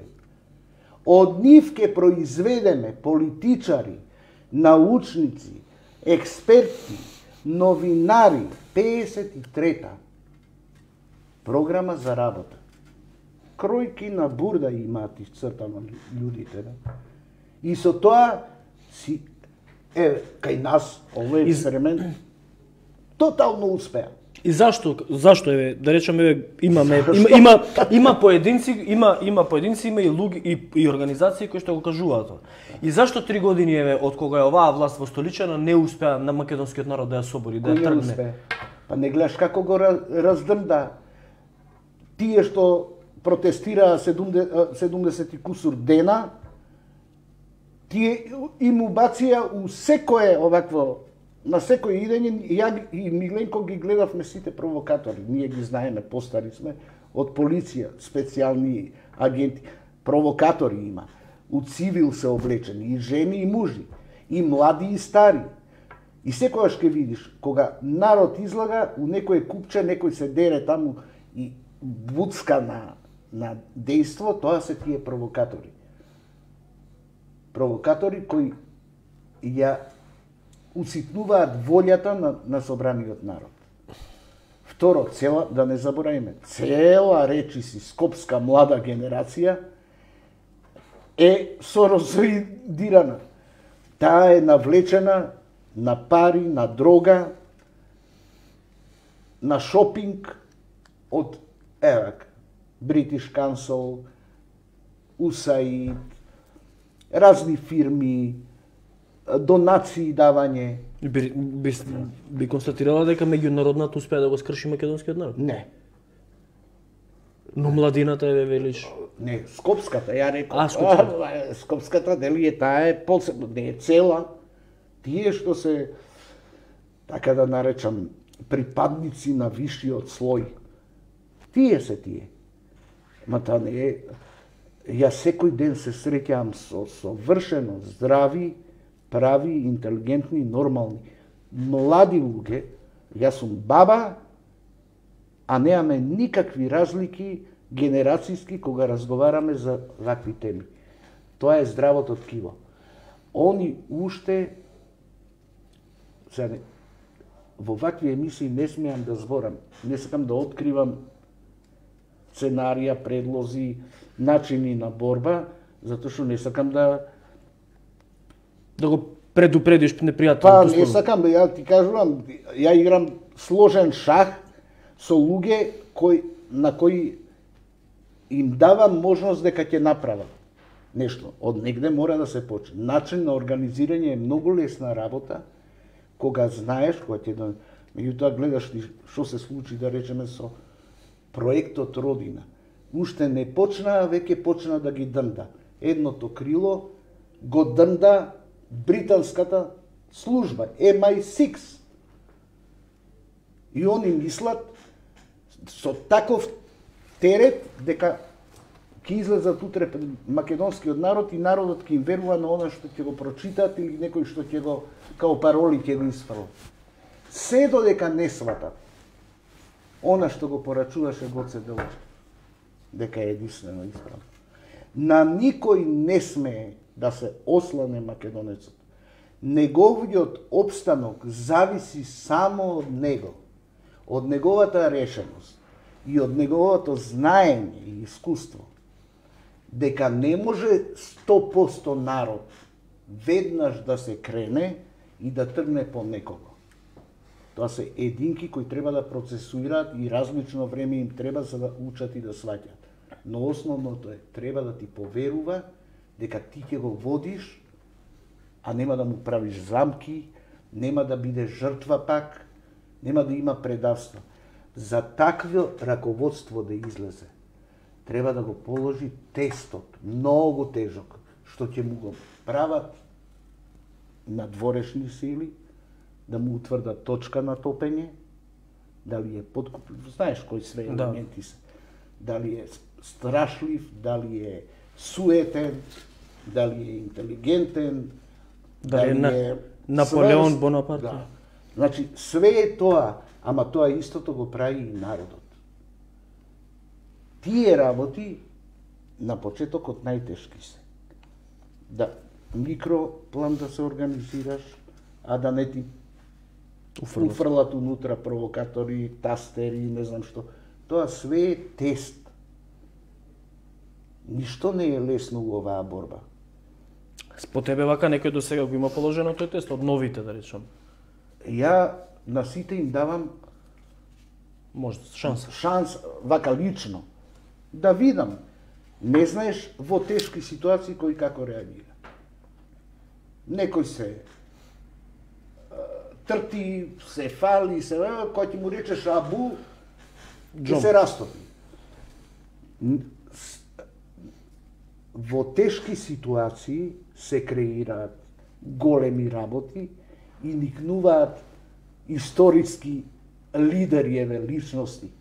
Од нив ке произведеме политичари, научници, експерти, новинари, пеесет и трета програма за работа. Кројки на бурда имаат исцртано луѓите. И со тоа си е кај нас овој експеримент тотално успеа. И зашто зашто еве да речеме еве имаме има има има поединци има има поединци има и луѓе и, и организации кои што го кажуваат тоа. И зашто три години еве од кога е оваа власт во столичана не успеа на македонскиот народ да ја собори, да ја тргне? Па не гледаш како го раздрнда тие што протестираа седумдесет и кусур дена, тие им убација у секое овакво, на секој идење, ја и Миленко ги гледавме сите провокатори, ние ги знаеме, постари сме, од полиција, специјални агенти. провокатори има, у цивил се облечени, и жени и мужи, и млади и стари. И секогаш ќе видиш, кога народ излага, у некој купче, некој се дере таму и буцка на, на дејство, тоа се тие провокатори. Провокатори кои ја уситнуваат волјата на, на собраниот народ. Второ, цела, да не забораваме, цела речиси скопска млада генерација е сорозоидирана. Таа е навлечена на пари, на дрога, на шопинг од евак, British Council, ю ес ей ай ди, разни фирми, донации давање. Би, би, би констатирала дека меѓународната успеа да го скрши македонскиот народ? Не. Но младината е велиш. Не, скопската, ја реков. А, скопската. А, скопската, дали е таа е посебно, не е цела. Тие што се, така да наречам, припадници на вишиот слој. Тие се тие. Ма та не е... Ја секој ден се среќавам со совршено здрави, прави, интелигентни, нормални, млади луѓе. Јас сум баба, а немаме никакви разлики генерацијски кога разговараме за вакви теми. Тоа е здравото ткиво. Они уште, сега, во вакви емисии не смеам да зборам, не сакам да откривам сценарија, предлози, начини на борба, затоа што не сакам да Да го предупредиш непријателното. Па не сакам, ја ти кажувам, ја играм сложен шах со луѓе кои на кои им давам можност дека ќе направат нешто. Од негде мора да се почне. Начин на организирање е многу лесна работа, кога знаеш, кога ќе да меѓутоа гледаш што се случи, да речеме, со проектот Родина. Уште не почнаа, веќе почна да ги днда. Едното крило го днда британската служба, ем ај шест. И они мислат со таков терет дека ќе излезат утре пред македонскиот народ и народот ќе им верува на она што ќе го прочитаат или некој што ќе го, као пароли ќе го исфрлат. Се додека не сватат она што го порачуваше Гоце Делчев, дека е единствено исправно. На никој не смее да се ослане македонецот. Неговиот опстанок зависи само од него, од неговата решеност и од неговото знаење и искуство, дека не може сто проценти народ веднаш да се крене и да тргне по некого. Тоа се единки кои треба да процесуираат и различно време им треба за да учат и да сваќат. Но основното е, треба да ти поверува дека ти ќе го водиш, а нема да му правиш замки, нема да биде жртва пак, нема да има предавство. За такво раководство да излезе, треба да го положи тестот, многу тежок, што ќе му го прават надворешни сили, да му утврдат точка на топење, дали е подкуплив, знаеш кои све елементи се, дали е страшлив, дали е суетен, дали е интелигентен, дали е на... Наполеон Бонапарт. Да. Значи, све е тоа, ама тоа истото го прави и народот. Тие работи на почетокот најтешки се. Да микроплан да се организираш, а да не ти уфрлат, уфрлат унутра провокатори, тастери, не знам што. Тоа све е тест. Ништо не е лесно во оваа борба. По тебе вака некој до сега го има положено тој тест, од новите, да речам? Ја на сите им давам може шанс. Шанс, вака лично, да видам. Не знаеш во тешки ситуации кој како реагира. Некој се трти, се фали, се, кој ти му речеш абу, ќе се растопи. Во тешки ситуации се креираат големи работи и никнуваат историски лидери, еве, личности.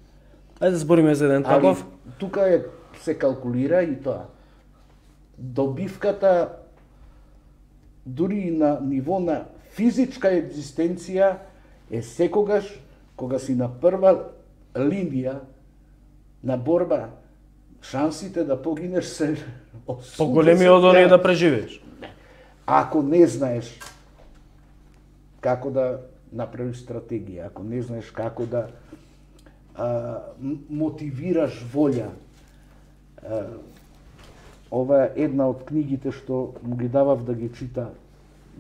Ајде да збориме за еден таков. Тука е се калкулира и тоа. добивката дури и на ниво на физичка екзистенција е секогаш кога си на прва линија на борба, шансите да погинеш се поголеми од оние да преживееш. Ако не знаеш како да направиш стратегија, ако не знаеш како да а, мотивираш волја. А, ова е една од книгите што му ги давав да ги чита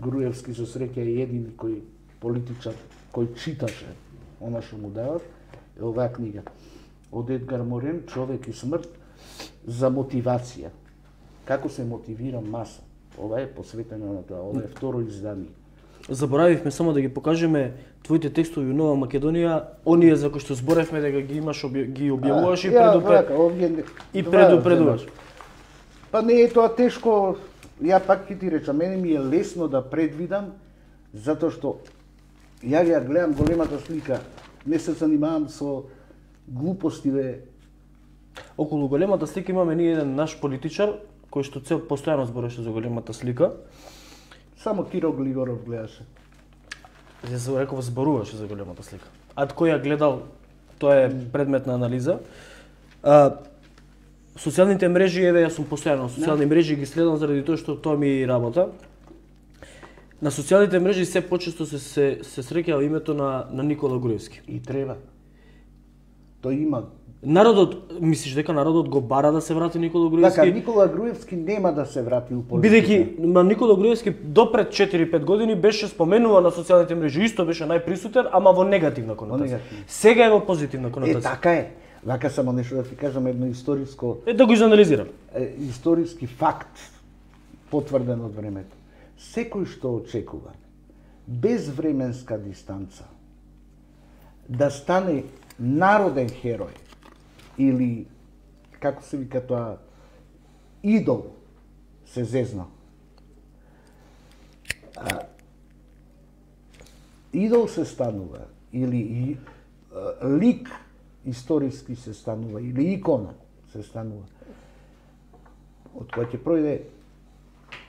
Груевски, со среќа е едини кој политичар кој читаше она што му давав, е оваа книга од Едгар Морен, Човек и смрт, за мотивација. Како се мотивира маса. Ова е посветено на тоа, ова е второ издание. Заборавивме само да ги покажеме твоите текстови во Нова Македонија, оние за кои што зборевме дека ги имаш, ги објавуваш и предупредуваш. И предупредуваш. Па не е тоа тешко, ја пак ќе ти речам, мене ми е лесно да предвидам, затоа што ја ја гледам големата слика, не се занимавам со глупостиве. Околу големата слика имаме ние еден наш политичар, кој што цел постојано збореше за големата слика. Само Киро Глигоров гледаше. Ја се реков зборуваше за големата слика. А кој ја гледал, тоа е предмет на анализа. А, социјалните мрежи, еве јас сум постојано на социјални мрежи, ги следам заради тоа што тоа ми е работа. На социјалните мрежи се почесто се се, се среќава името на на Никола Груевски. И треба. Тој има. Народот, мислиш дека народот го бара да се врати Никола Груевски? Така, Никола Груевски нема да се врати у политика. Бидејќи ма Никола Груевски до пред четири-пет години беше споменуван на социјалните мрежи, исто беше најприсутен, ама во негативна конотација. Сега е во позитивна конотација. Е, така е. Вака само нешто да ти кажам, едно историско... Е, да го изанализирам. Е, историски факт, потврден од времето. Секој што очекува, без временска дистанца, да стане народен херој, или, како се вика тоа, идол, се зезна. А, идол се станува, или и, а, лик историски се станува, или икона се станува. Од која ќе пројде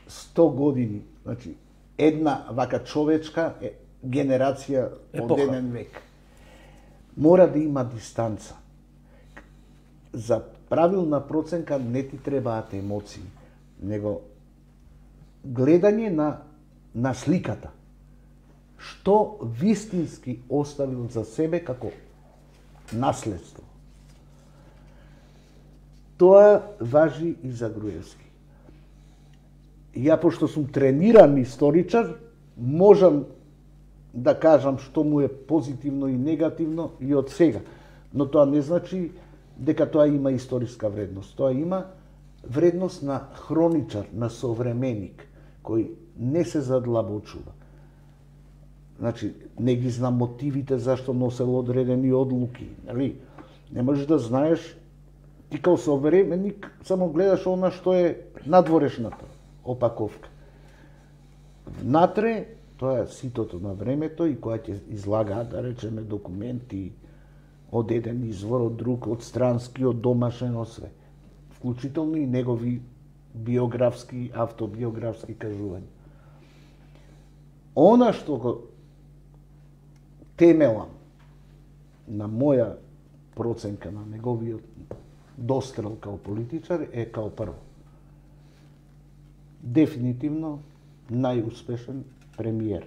сто години, значи, една вака човечка е, генерација од еден век. Мора да има дистанца. За правилна проценка не ти требаат емоции, него гледање на, на сликата. Што вистински оставил за себе како наследство. Тоа важи и за Груевски. Ја, пошто сум трениран историчар, можам да кажам што му е позитивно и негативно и од сега. Но тоа не значи дека тоа има историска вредност. Тоа има вредност на хроничар, на современик, кој не се задлабочува. Значи, не ги знам мотивите зашто носел одредени одлуки. Нали? Не можеш да знаеш, ти као современик само гледаш она што е надворешната опаковка. Внатре, тоа е ситото на времето и која ќе излагаат, да речеме, документи од еден извор, од друг, од странски, од домашен, од све. Вклучително и негови биографски, автобиографски кажувања. Она што го темелам на моја проценка на неговиот дострел као политичар е као прво. Дефинитивно најуспешен премиер.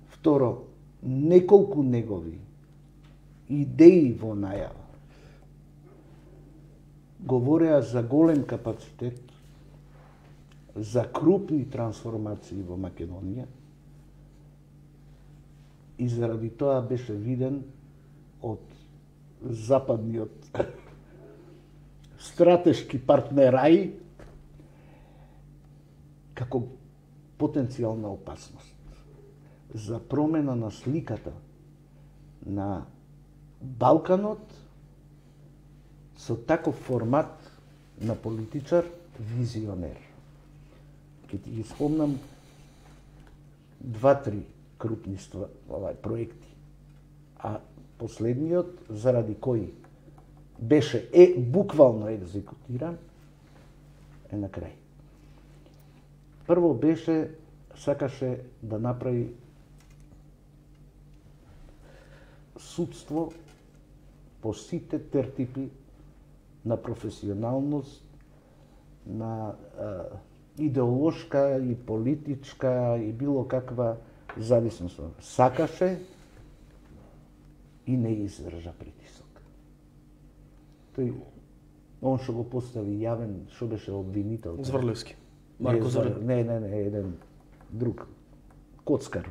Второ, неколку негови идеи во најава говореа за голем капацитет, за крупни трансформации во Македонија и заради тоа беше виден од западниот стратешки партнераи како потенцијална опасност за промена на сликата на Балканот со таков формат на политичар визионер. Ке ти ги спомнам два-три крупни ства, овај, проекти. А последниот, заради кој беше е буквално екзекутиран, е на крај. Прво беше, сакаше да направи судство по сите тертипи на професионалност, на а, идеолошка и политичка и било каква зависност. Сакаше и не издржа притисок. Тој, он што го постави јавен, што беше обвинител. Зврлевски. Марко Зврлевски. Не, не, не, еден друг коцкар.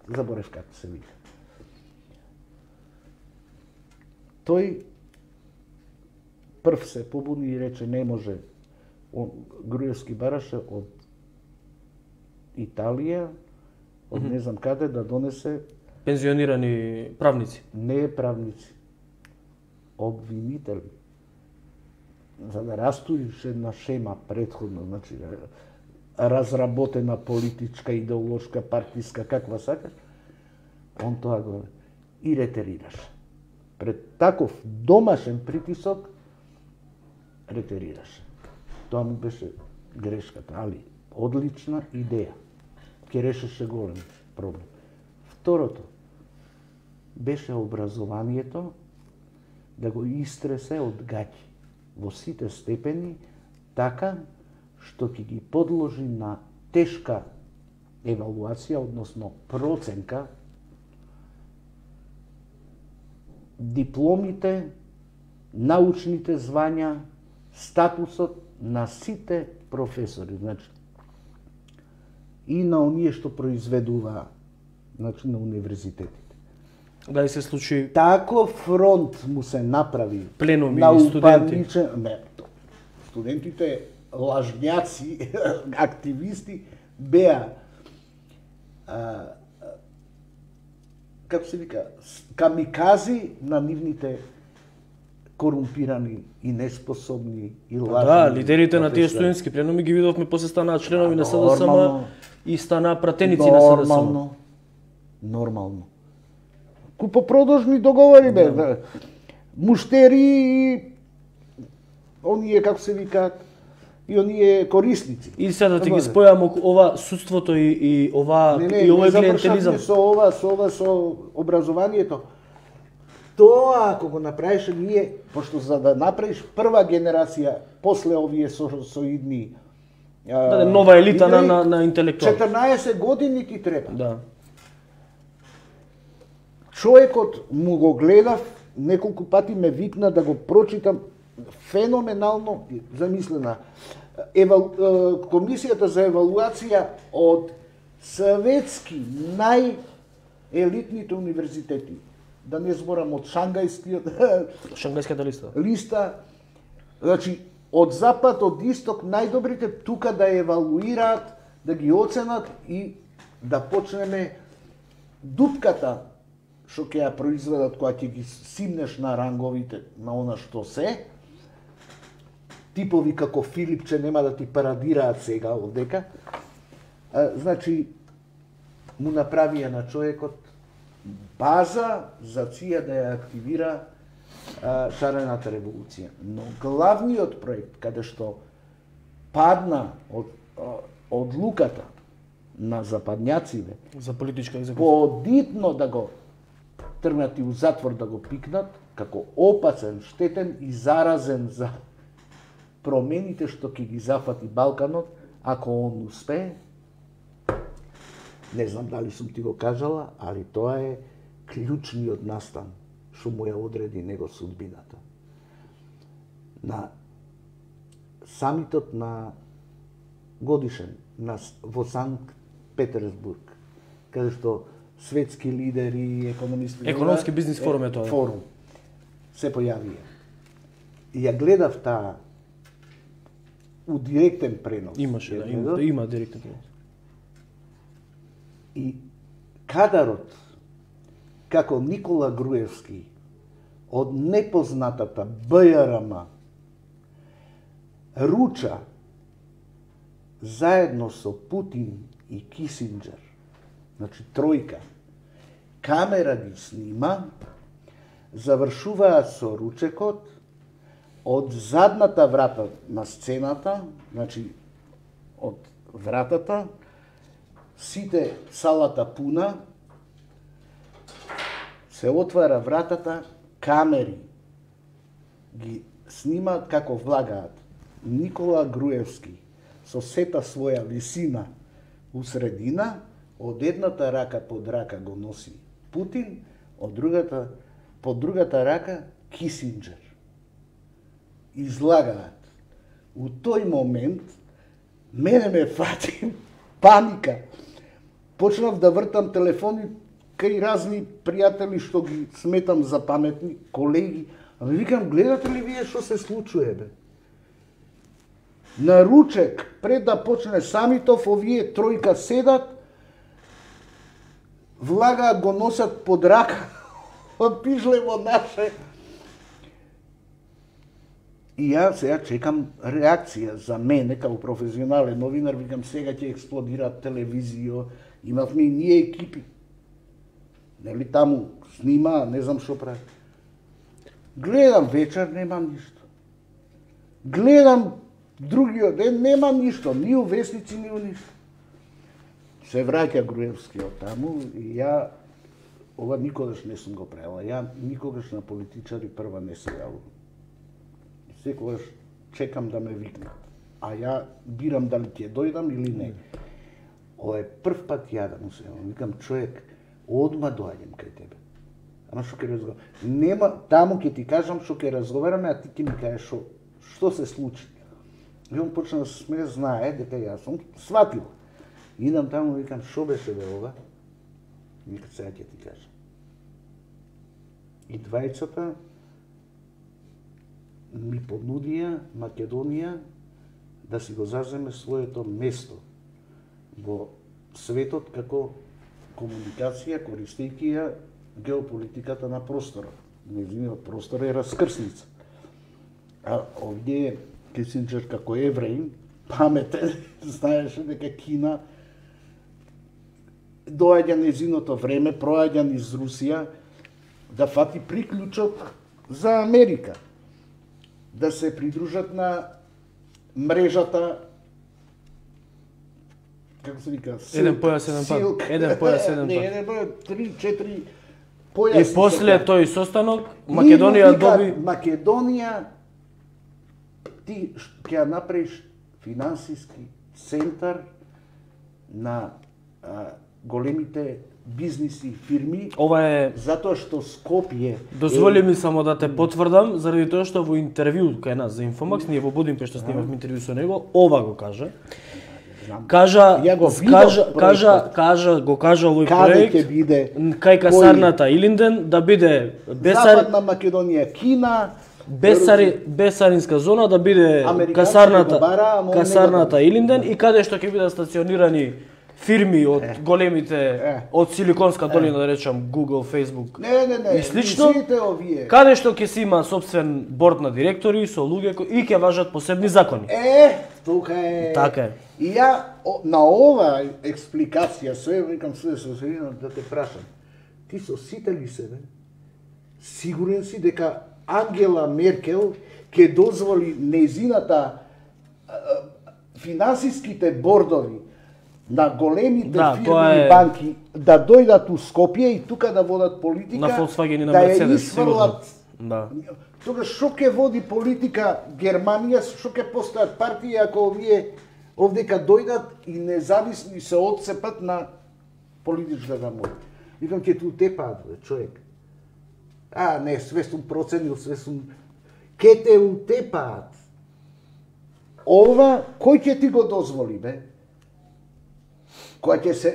Заборев како се вика. Тој прв се побуни и рече не може. Он, Груевски бараше од Италија, од не знам каде да донесе пензионирани правници. Не правници, обвинители. За да растоиш една шема предходно, значи разработена политичка, идеолошка, партиска, каква сакаш, он тоа го и ретерираш. Пред таков домашен притисок ретерираш. Тоа му беше грешката, али одлична идеја. Ке решеше голем проблем. Второто беше образованието да го истресе од гаќи во сите степени, така што ќе ги подложи на тешка евалуација, односно проценка, дипломите, научните звања, статусот на сите професори, значи и на оние што произведува, значи на универзитетите. Да и се случи Таков фронт му се направи пленуми на и студенти. упаничен... Не, студентите лажњаци, активисти беа а, како се вика, камикази на нивните корумпирани и неспособни и лажни. Да, лидерите на тие студентски пленуми ги видовме, после станаа членови на СДСМ и станаа пратеници на СДСМ. Нормално. Нормално. Купопродажни договори бе. Да. Муштери и оние како се викаат и оние корисници. И сега да ти ги спојам ова судството и, и ова не, не, и овој не клиентелизам. со ова, со ова, со образованието. Тоа ако го направише ние, пошто за да направиш прва генерација после овие со, соидни Да, да, нова елита на, на, на интелектуал. четрнаесет години ти треба. Да. Човекот му го гледав, неколку пати ме викна да го прочитам, феноменално замислена. Евал, комисијата за евалуација од светски најелитните универзитети, да не зборам од шангајскиот Шангајската листа. листа, значи од запад, од исток, најдобрите тука да евалуираат, да ги оценат и да почнеме дупката што ќе ја произведат кога ќе ги симнеш на ранговите на она што се. Типови како Филипче нема да ти парадираат сега овдека. А, значи, му направија на човекот база за ција да ја активира а, шарената револуција. Но главниот проект, каде што падна од одлуката на западњаците За политичка екзекуција. подитно да го тргнат и у затвор да го пикнат, како опасен, штетен и заразен за промените што ќе ги зафати Балканот, ако он успее. Не знам дали сум ти го кажала, али тоа е клучниот настан што му ја одреди него судбината. На самитот на годишен на, во Санкт Петерсбург, каде што светски лидери, економисти... Економски бизнис форум е тоа. Форум. Се појавија. И ја гледав таа у директен пренос. Имаше, да, има, има директен пренос. И кадарот, како Никола Груевски, од непознатата Б Ј Р М руча заедно со Путин и Кисинџер, значи тројка, камера ги снима, завршуваат со ручекот од задната врата на сцената, значи од вратата, сите салата пуна, се отвара вратата, камери ги снимаат како влагаат. Никола Груевски со сета своја висина у средина, од едната рака под рака го носи Путин, од другата под другата рака Кисинџер. Излагаат. У тој момент мене ме фати паника. Почнав да вртам телефони кај разни пријатели што ги сметам за паметни, колеги. Ами викам, гледате ли вие што се случува, бе? На ручек, пред да почне самитов, овие тројка седат, влагаат, го носат под рака, пижлево наше. И ја сега чекам реакција за мене, како професионален новинар, викам, сега ќе експлодира телевизија, имавме и ние екипи. Нели таму снима, не знам што прави. Гледам вечер, нема ништо. Гледам другиот ден, нема ништо, ни у весници, ни у ништо. Се враќа Груевски од таму и ја, ова никогаш не сум го правила, ја никогаш на политичари прва не се јавувам. Секогаш чекам да ме викнат, а ја бирам дали ќе дојдам или не. Ова е прв пат ја да му се јавам, викам, човек, одма доаѓам кај тебе. Ама што ќе разговараме? Нема, таму ќе ти кажам што ќе разговараме, а ти ќе ми кажеш што што се случи. И он почна да се смее, знае дека јас сум сватил. Идам таму и викам, што беше бе ова? Вика, сега ќе ти кажам. И двајцата ми понудија Македонија да си го заземе своето место во светот како комуникација, користејќи ја геополитиката на просторот. Нејзиниот простор е раскрсница. А овде Кисинџер како евреин, паметен, знаеше дека Кина доаѓа нејзиното време, проаѓа низ Русија, да фати приклучок за Америка. Да се придружат на мрежата, како се вика, Еден појас, еден пат. Еден појас, еден Не, пат. еден појас, три, четири појаси. И после тој состанок, Македонија доби... Македонија, ти ќе ја направиш финансиски центар на а, големите бизниси, фирми, Ова е... затоа што Скопје... Дозволи ми само да те потврдам, заради тоа што во интервју кај нас за Инфомакс, ние во Будимпешта снимавме интервју со него, ова го кажа. Кажа, Ја го видов кажа, проектот. кажа, кажа, го кажа овој Каде проект, ќе биде? кај касарната Илинден, да биде бесар... Западна Македонија, Кина, Бесари, бесаринска зона, да биде Американците касарната, го бара, ама он не касарната го- Илинден и каде што ќе бидат стационирани фирми од големите, Е. од Силиконска долина, да речам, Google, Facebook Не, не, не, и слично, сите овие. каде што ќе си има собствен борд на директори со луѓе кои и ќе важат посебни закони. Е, тука е. Така е. И ја о, на ова експликација се викам се со средина да те прашам. Ти со сите ли се, бе? Сигурен си дека Ангела Меркел ќе дозволи нејзината а, финансиските бордови на големите Да, фирми тоа и е- банки да дојдат у Скопје и тука да водат политика, На Volkswagen и на да ја Мерцедес, сигурно. исфрлат. Да. Тога што ќе води политика Германија, што ќе постојат партии ако овие овдека дојдат и независни се отцепат на политичката моќ. Викам, ќе ту тепаат, бе, човек. А, не, све сум проценил, све сум... Ке те утепаат. Ова, кој ќе ти го дозволи, бе? Која ќе се...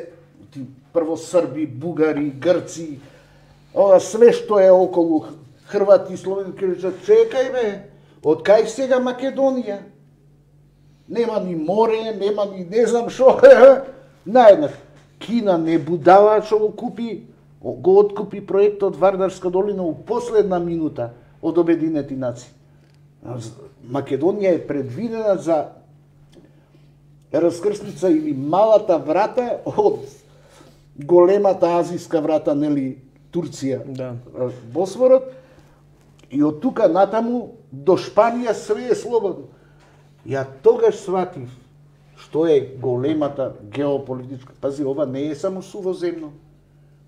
Ти, прво Срби, Бугари, Грци, ова све што е околу Хрвати, Словени, ќе речат, чекај, бе, од кај сега Македонија? Нема ни море, нема ни не знам шо, наеднак. Кина не будала што го купи, го откупи проектот Вардарска долина у последна минута од Обединети нации. Македонија е предвидена за раскрсница или малата врата од големата азиска врата, нели, Турција, Да. Босфорот, И од тука натаму до Шпанија све е слободно. Ја тогаш сватив што е големата геополитичка. Пази, ова не е само сувоземно.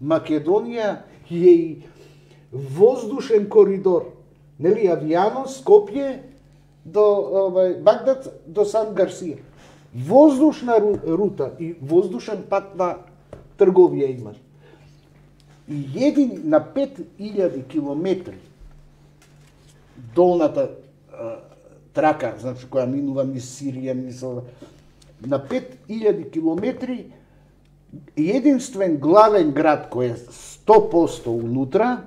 Македонија е и воздушен коридор. Нели, авијано, Скопје до овај Багдад до Сан Гарсија. Воздушна рута и воздушен пат на трговија имаш. И един на пет илјади километри долната а, трака, значи која минува низ Сирија, низ на пет илјади километри единствен главен град кој е сто проценти унутра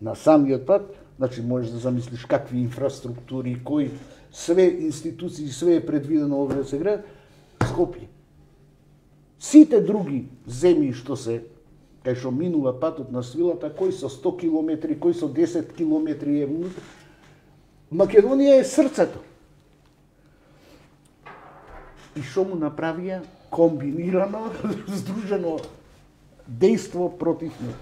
на самиот пат, значи можеш да замислиш какви инфраструктури, кои све институции, све е предвидено овде да се град, Скопје. Сите други земји што се кај што минува патот на свилата, кои со сто километри, кои со десет километри е внутре. Македонија е срцето. И што му направија? Комбинирано, здружено дејство против него.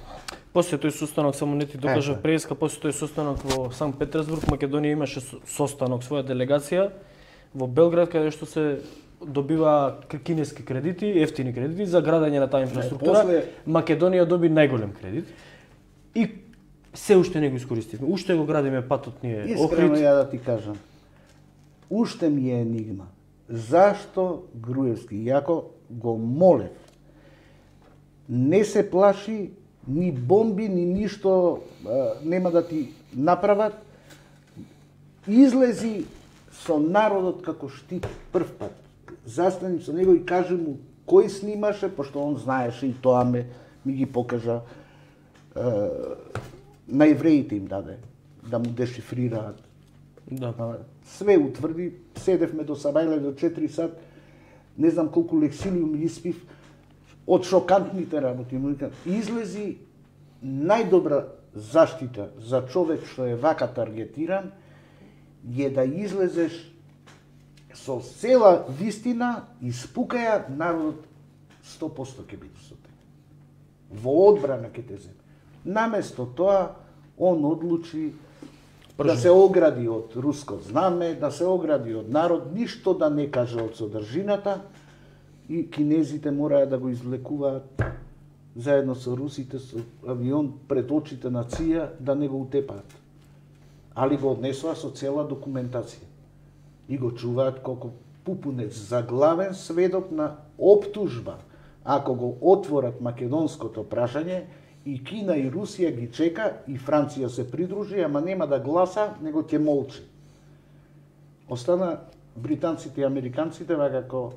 После тој состанок, само не ти докажа преска, после тој состанок во Санкт Петерсбург, Македонија имаше состанок, своја делегација во Белград, каде што се добива кинески кредити, ефтини кредити за градење на таа инфраструктура. После... Македонија доби најголем кредит и се уште не го искористивме. Уште го градиме патот ние. Искрено ја да ти кажам, уште ми е енигма. Зашто Груевски, јако го молев, не се плаши ни бомби, ни ништо а, нема да ти направат, излези со народот како штит прв пат. Застани со него и кажи му кој снимаше, пошто он знаеше и тоа ме ми ги покажа. Е, на евреите им даде да му дешифрираат. Да. Све утврди, седевме до Сабајле до четири сат, не знам колку лексилиум испив, од шокантните работи. Излези најдобра заштита за човек што е вака таргетиран, е да излезеш со цела вистина и спукаја народот сто проценти ќе биде со тебе. Во одбрана ќе те земе. Наместо тоа, он одлучи Пржен. Да се огради од руско знаме, да се огради од народ, ништо да не каже од содржината и кинезите мораја да го извлекуваат заедно со русите со авион пред очите на ЦИА да не го утепаат. Али го однесоа со цела документација и го чуваат колку пупунец за главен сведок на оптужба. Ако го отворат македонското прашање, и Кина и Русија ги чека, и Франција се придружи, ама нема да гласа, него ќе молчи. Остана британците и американците вака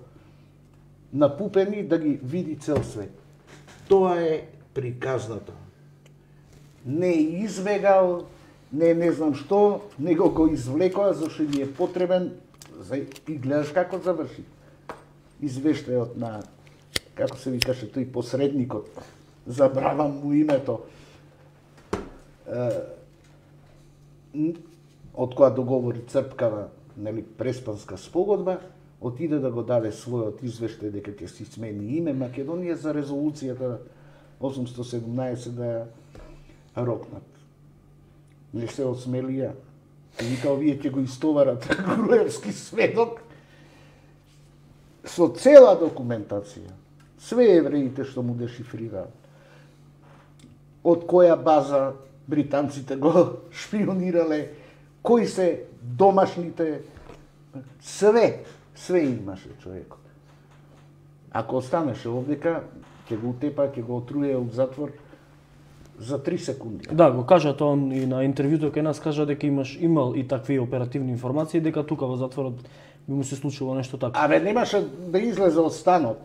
напупени да ги види цел свет. Тоа е приказната. Не избегал, не не знам што, него го извлекоа зашто ни е потребен за... и гледаш како заврши. Извештајот на, како се викаше тој посредникот, забравам му името, од која договори црпкава, нели, преспанска спогодба, отиде да го даде својот извештај дека ќе си смени име Македонија за резолуцијата осумстотини и седумнаесет да ја рокнат. Не се осмелија. И вика, овие ќе го истоварат Груевски сведок со цела документација. Све евреите што му дешифрираат. Од која база британците го шпионирале, кои се домашните, све, све имаше човекот. Ако останеше овдека, ќе го утепа, ќе го отруе од затвор за три секунди. Да, го кажа тоа и на интервјуто кај нас, кажа дека имаш имал и такви оперативни информации, дека тука во затворот би му се случило нешто така. Абе, немаше да излезе од станот.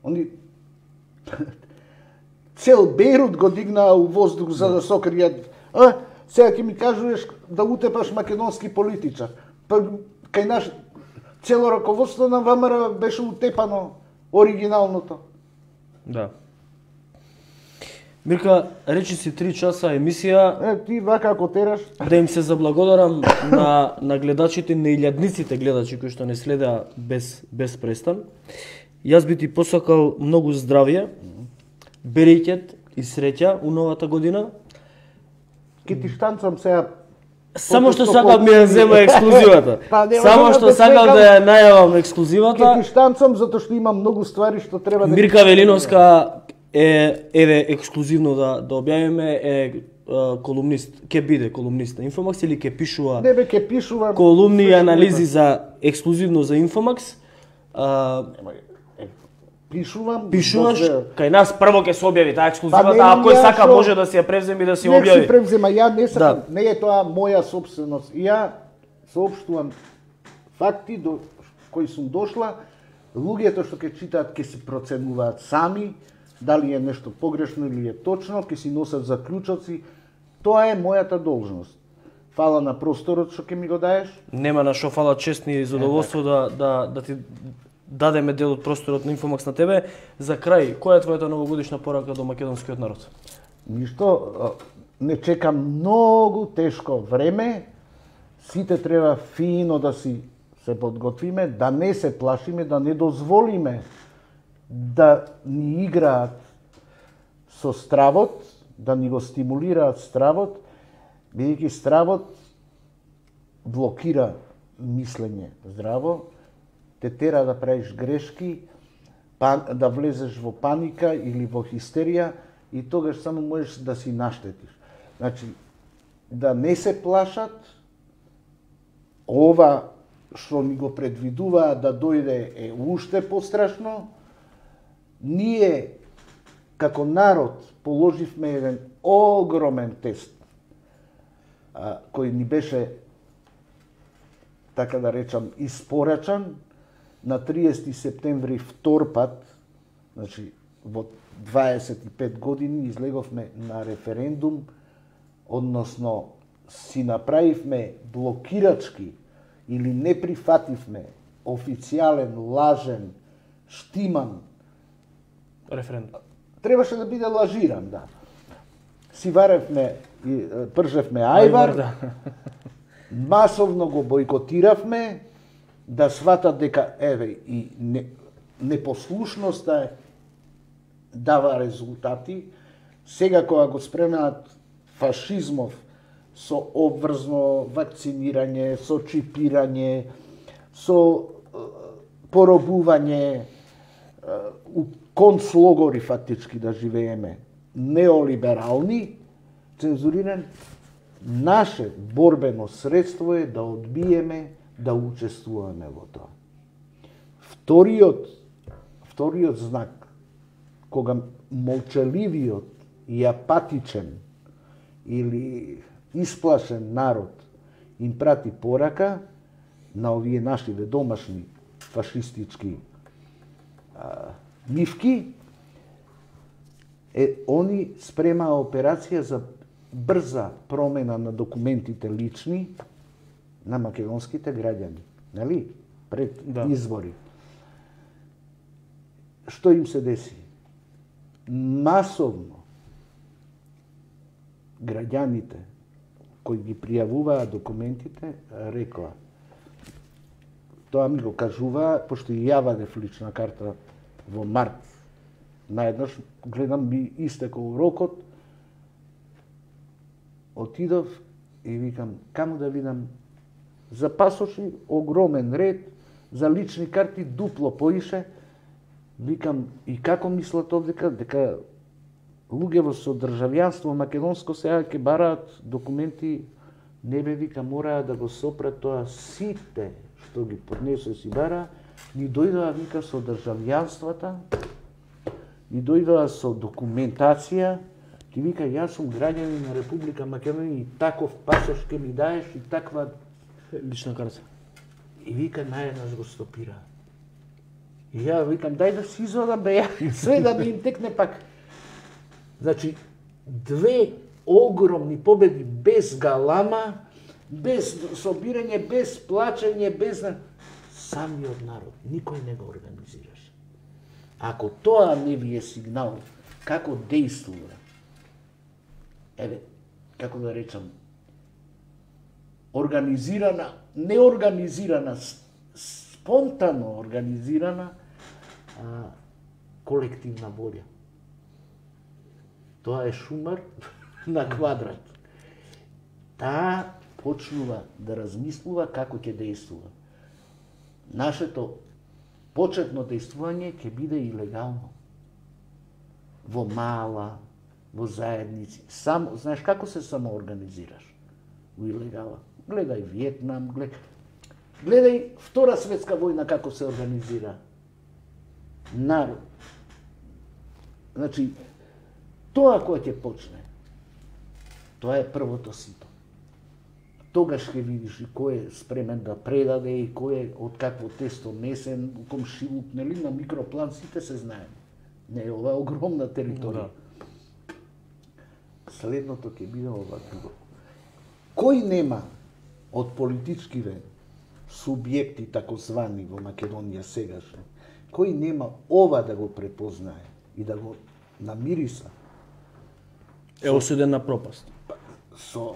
Они цел Бейрут го дигнаа у воздух за да сокријат. А, сега ќе ми кажуваш да утепаш македонски политичар. Па кај наш цело раководство на ВМРО беше утепано оригиналното. Да. Мирка, речи си три часа емисија. Е, ти вака ако тераш. Да им се заблагодарам на, на гледачите, на илјадниците гледачи кои што не следеа без, без престан. Јас би ти посакал многу здравје, берекет и среќа у новата година. Ке ти штанцам сега. Само што сакам ми ја зема ексклузивата. Само што сакам да ја најавам ексклузивата. Ке ти штанцам затоа што има многу ствари што треба да Мирка Велиновска е еве ексклузивно да да објавиме е колумнист, ќе биде колумнист на Инфомакс или ќе пишува Не бе, ќе пишува колумни и анализи за ексклузивно за Инфомакс. А, пишувам. пишуваш добре. кај нас прво ќе се објави таа ексклузивата, Па, а кој ја сака шо- може да си ја превземе и да си ја Нек си објави. превзема, ја не сакам, Да. не е тоа моја собственост. Ја соопштувам факти до кои сум дошла, луѓето што ќе читаат ќе се проценуваат сами, дали е нешто погрешно или е точно, ќе си носат заклучоци. Тоа е мојата должност. Фала на просторот што ќе ми го даеш. Нема на шо, фала, чест ни и задоволство да да да ти дадеме дел од просторот на Инфомакс на тебе. За крај, која е твојата новогодишна порака до македонскиот народ? Ништо, а, не чекам многу тешко време. Сите треба фино да си се подготвиме, да не се плашиме, да не дозволиме да ни играат со стравот, да ни го стимулираат стравот, бидејќи стравот блокира мислење здраво, те тера да правиш грешки, пан, да влезеш во паника или во хистерија и тогаш само можеш да си наштетиш. Значи, да не се плашат, ова што ни го предвидува да дојде е уште пострашно. Ние, како народ, положивме еден огромен тест, а, кој ни беше, така да речам, испорачан на триесети септември втор пат, значи во дваесет и пет години излеговме на референдум, односно си направивме блокирачки или не прифативме официјален, лажен, штиман, Референдум. требаше да биде лажиран, да. Си варевме, и, е, пржевме ајвар, да. масовно го бойкотиравме, да сватат дека, еве, и не, непослушноста дава резултати. Сега кога го спремаат фашизмов со обврзно вакцинирање, со чипирање, со е, поробување, е, у концлогори фактички да живееме, неолиберални, цензуриран, наше борбено средство е да одбиеме да учествуваме во тоа. Вториот, вториот знак, кога молчаливиот и апатичен или исплашен народ им прати порака на овие нашиве домашни фашистички а, нивки, е, они спремаа операција за брза промена на документите лични на македонските граѓани, нели? Пред Да. избори. Што им се деси? Масовно граѓаните кои ги пријавуваа документите рекла, тоа ми го кажуваа, пошто и ја вадев лична карта во март. Наеднаш гледам ми истекол рокот, отидов и викам, каму да видам за пасоши огромен ред, за лични карти дупло поише. Викам, и како мислат овдека, дека луѓето со државјанство македонско сега ќе бараат документи, не бе, вика, мораа да го сопрат тоа сите што ги поднесо си бара, ни дојдоа, вика, со државјанствата, ни дојдоа со документација, ти вика, јас сум граѓанин на Република Македонија и таков пасош ќе ми даеш и таква Лична карта. И вика, наједнаш го стопира. И ја викам, дај да си изодам, бе, ја, све да ми им текне пак. Значи, две огромни победи без галама, без собирање, без плачење, без... Самиот народ, никој не го организираше. Ако тоа не ви е сигнал, како действува, еве, како да речам, организирана, неорганизирана, спонтано организирана а, колективна волја. Тоа е шумар на квадрат. Таа почнува да размислува како ќе действува. Нашето почетно действување ќе биде илегално. Во мала, во заедници. Сам, знаеш како се самоорганизираш? Во илегала. Гледај Виетнам, гледај, гледај Втора светска војна како се организира. Народ. Значи, тоа кој ќе почне, тоа е првото сито. Тогаш ќе видиш и кој е спремен да предаде и кој е од какво тесто месен, комшилук, нели, на микроплан сите се знаеме. Не е ова огромна територија. Да. Следното ќе биде ова друго. Кој нема од политичкиве субјекти такозвани во Македонија сегашни, кој нема ова да го препознае и да го намириса, е осуден на пропаст. Со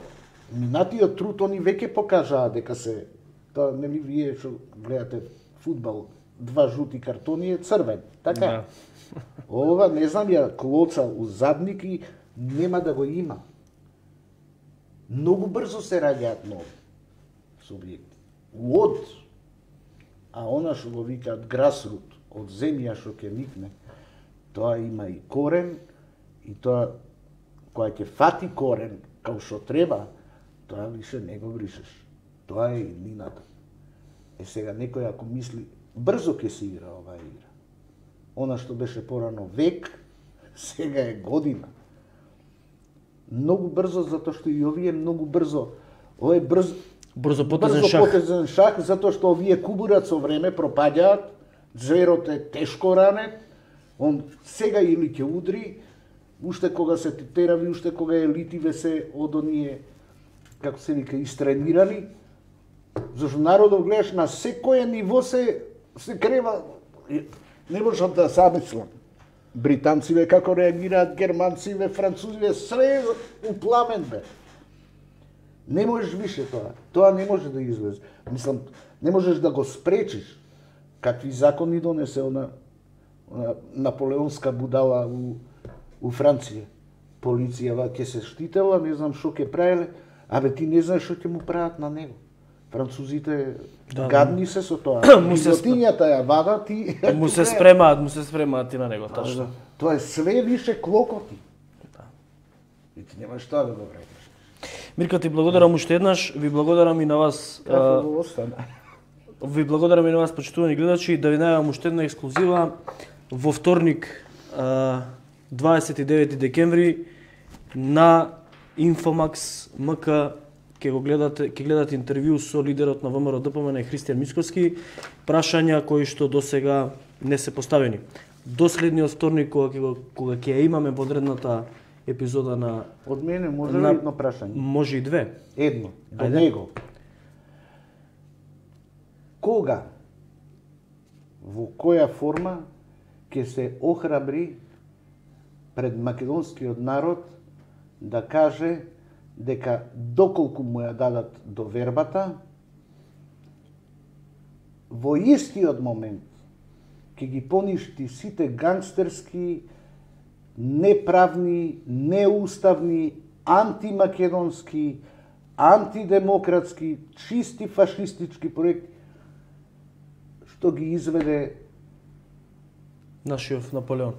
минатиот труд они веќе покажаа дека се, тоа нели вие што гледате фудбал, два жути картони е црвен, така? Да. Ова, не знам ја, клоца у задник и нема да го има. Многу брзо се раѓаат нови субјекти. Од, а она што го викаат грасрут, од земја што ќе никне, тоа има и корен, и тоа, која ќе фати корен, као што треба, тоа више не го бришеш. Тоа е иднината. Е сега некој ако мисли, брзо ќе се игра оваа игра. Она што беше порано век, сега е година. Многу брзо, затоа што и овие многу брзо, ова е брзо, брзо потезен брзо шах. потезен шах, затоа што овие кубурат со време пропаѓаат, зверот е тешко ранет, он сега или ќе удри, уште кога се терави, уште кога елитиве се од оние, како се вика, истренирани, зашто народот гледаш на секој ниво се се крева, не можам да замислам. Британциве како реагираат, германциве, французиве, све у пламен бе. Не можеш више тоа. Тоа не може да излезе. Мислам, не можеш да го спречиш. Какви закони донесе она, она наполеонска будала у, у Франција. Полицијава ќе се штитела, не знам што ќе правеле, абе ти не знаеш што ќе му прават на него. Французите да, гадни се со тоа. Гилотињата ја вада, ти... Му се спремаат, му се спремаат и на него, тачно. Тоа е све више клокоти. Да. И ти немаш тоа да го вредиш. Мирка, ти благодарам уште еднаш, ви благодарам и на вас. Како го остана? Ви благодарам и на вас, почитувани гледачи, да ви најавам уште една ексклузива. Во вторник, дваесет и девети декември, на Инфомакс МК ќе го гледате, ќе гледате интервју со лидерот на ВМРО Д П М Н Христијан Мицкоски, прашања кои што досега не се поставени. До следниот вторник кога ќе го кога ќе имаме во одредната епизода на од мене може на, ли едно прашање? Може и две. Едно, до Ајде. него. Кога, во која форма ќе се охрабри пред македонскиот народ да каже дека доколку му ја дадат довербата, во истиот момент ќе ги поништи сите гангстерски, неправни, неуставни, антимакедонски, антидемократски, чисти фашистички проекти, што ги изведе Нашиот Наполеон.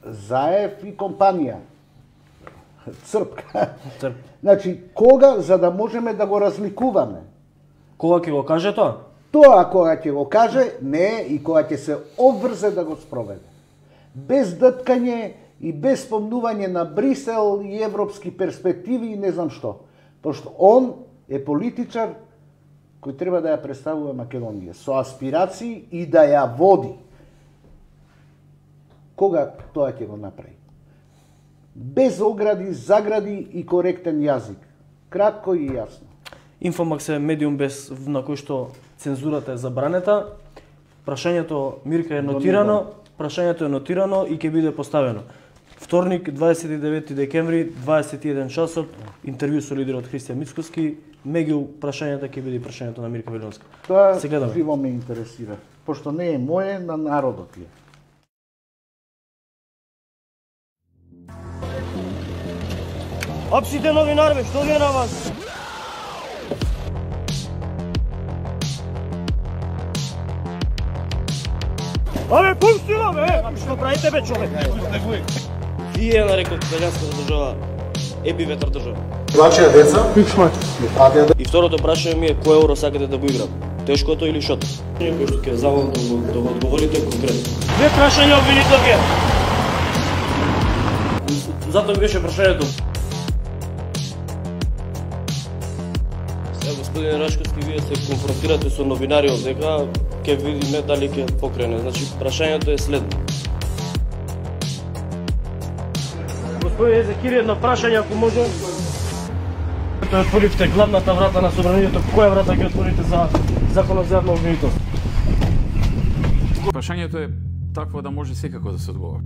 Заев и компанија. Црпка. Црп. Значи, кога, за да можеме да го разликуваме? Кога ќе го каже тоа? Тоа кога ќе го каже, не, и кога ќе се обврзе да го спроведе. Без дъткање и без спомнување на Брисел и европски перспективи и не знам што. Пошто он е политичар кој треба да ја представува Македонија со аспирации и да ја води. Кога тоа ќе го направи? Без огради, загради и коректен јазик. Кратко и јасно. Инфомакс е медиум без на кој што цензурата е забранета. Прашањето, Мирка, е нотирано, прашањето е нотирано и ќе биде поставено. Вторник, дваесет и девети декември, дваесет и еден часот, интервју со лидерот Христијан Мицкоски. Меѓу прашањата ќе биде прашањето на Мирка Велонска. Тоа живо ме интересира, пошто не е моје, на народот е. Апсите новинар, бе, што ви е на вас? Абе, пусти го, бе! Што правите, бе, човек? Вие нарекот италијанската држава еби ветар држава. Вашија деца? И второто прашање ми е кој евро сакате да го играм? Тешкото или шото? Кој што ќе завам да го, да го одговорите конкретно. Две прашања обвинителке. Затоа ми беше прашањето. Сега, господин Рашковски, вие се конфронтирате со новинари од дека ќе видиме дали ќе покрене. Значи, прашањето е следно. Господин Езекири, едно прашање, ако може. Тоа отворивте главната врата на собранието, која врата ќе отворите за законот за јавно обвинителство? Прашањето е такво да може секако да се одговори.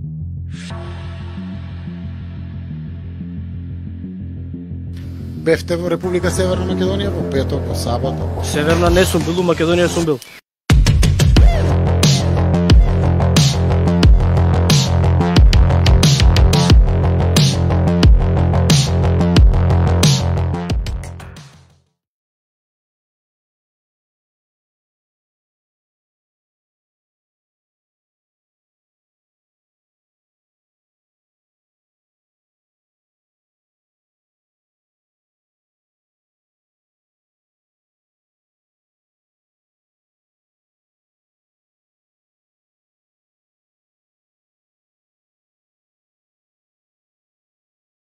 Бевте во Република Северна Македонија во петок, во сабота. Северна не сум бил, у Македонија сум бил.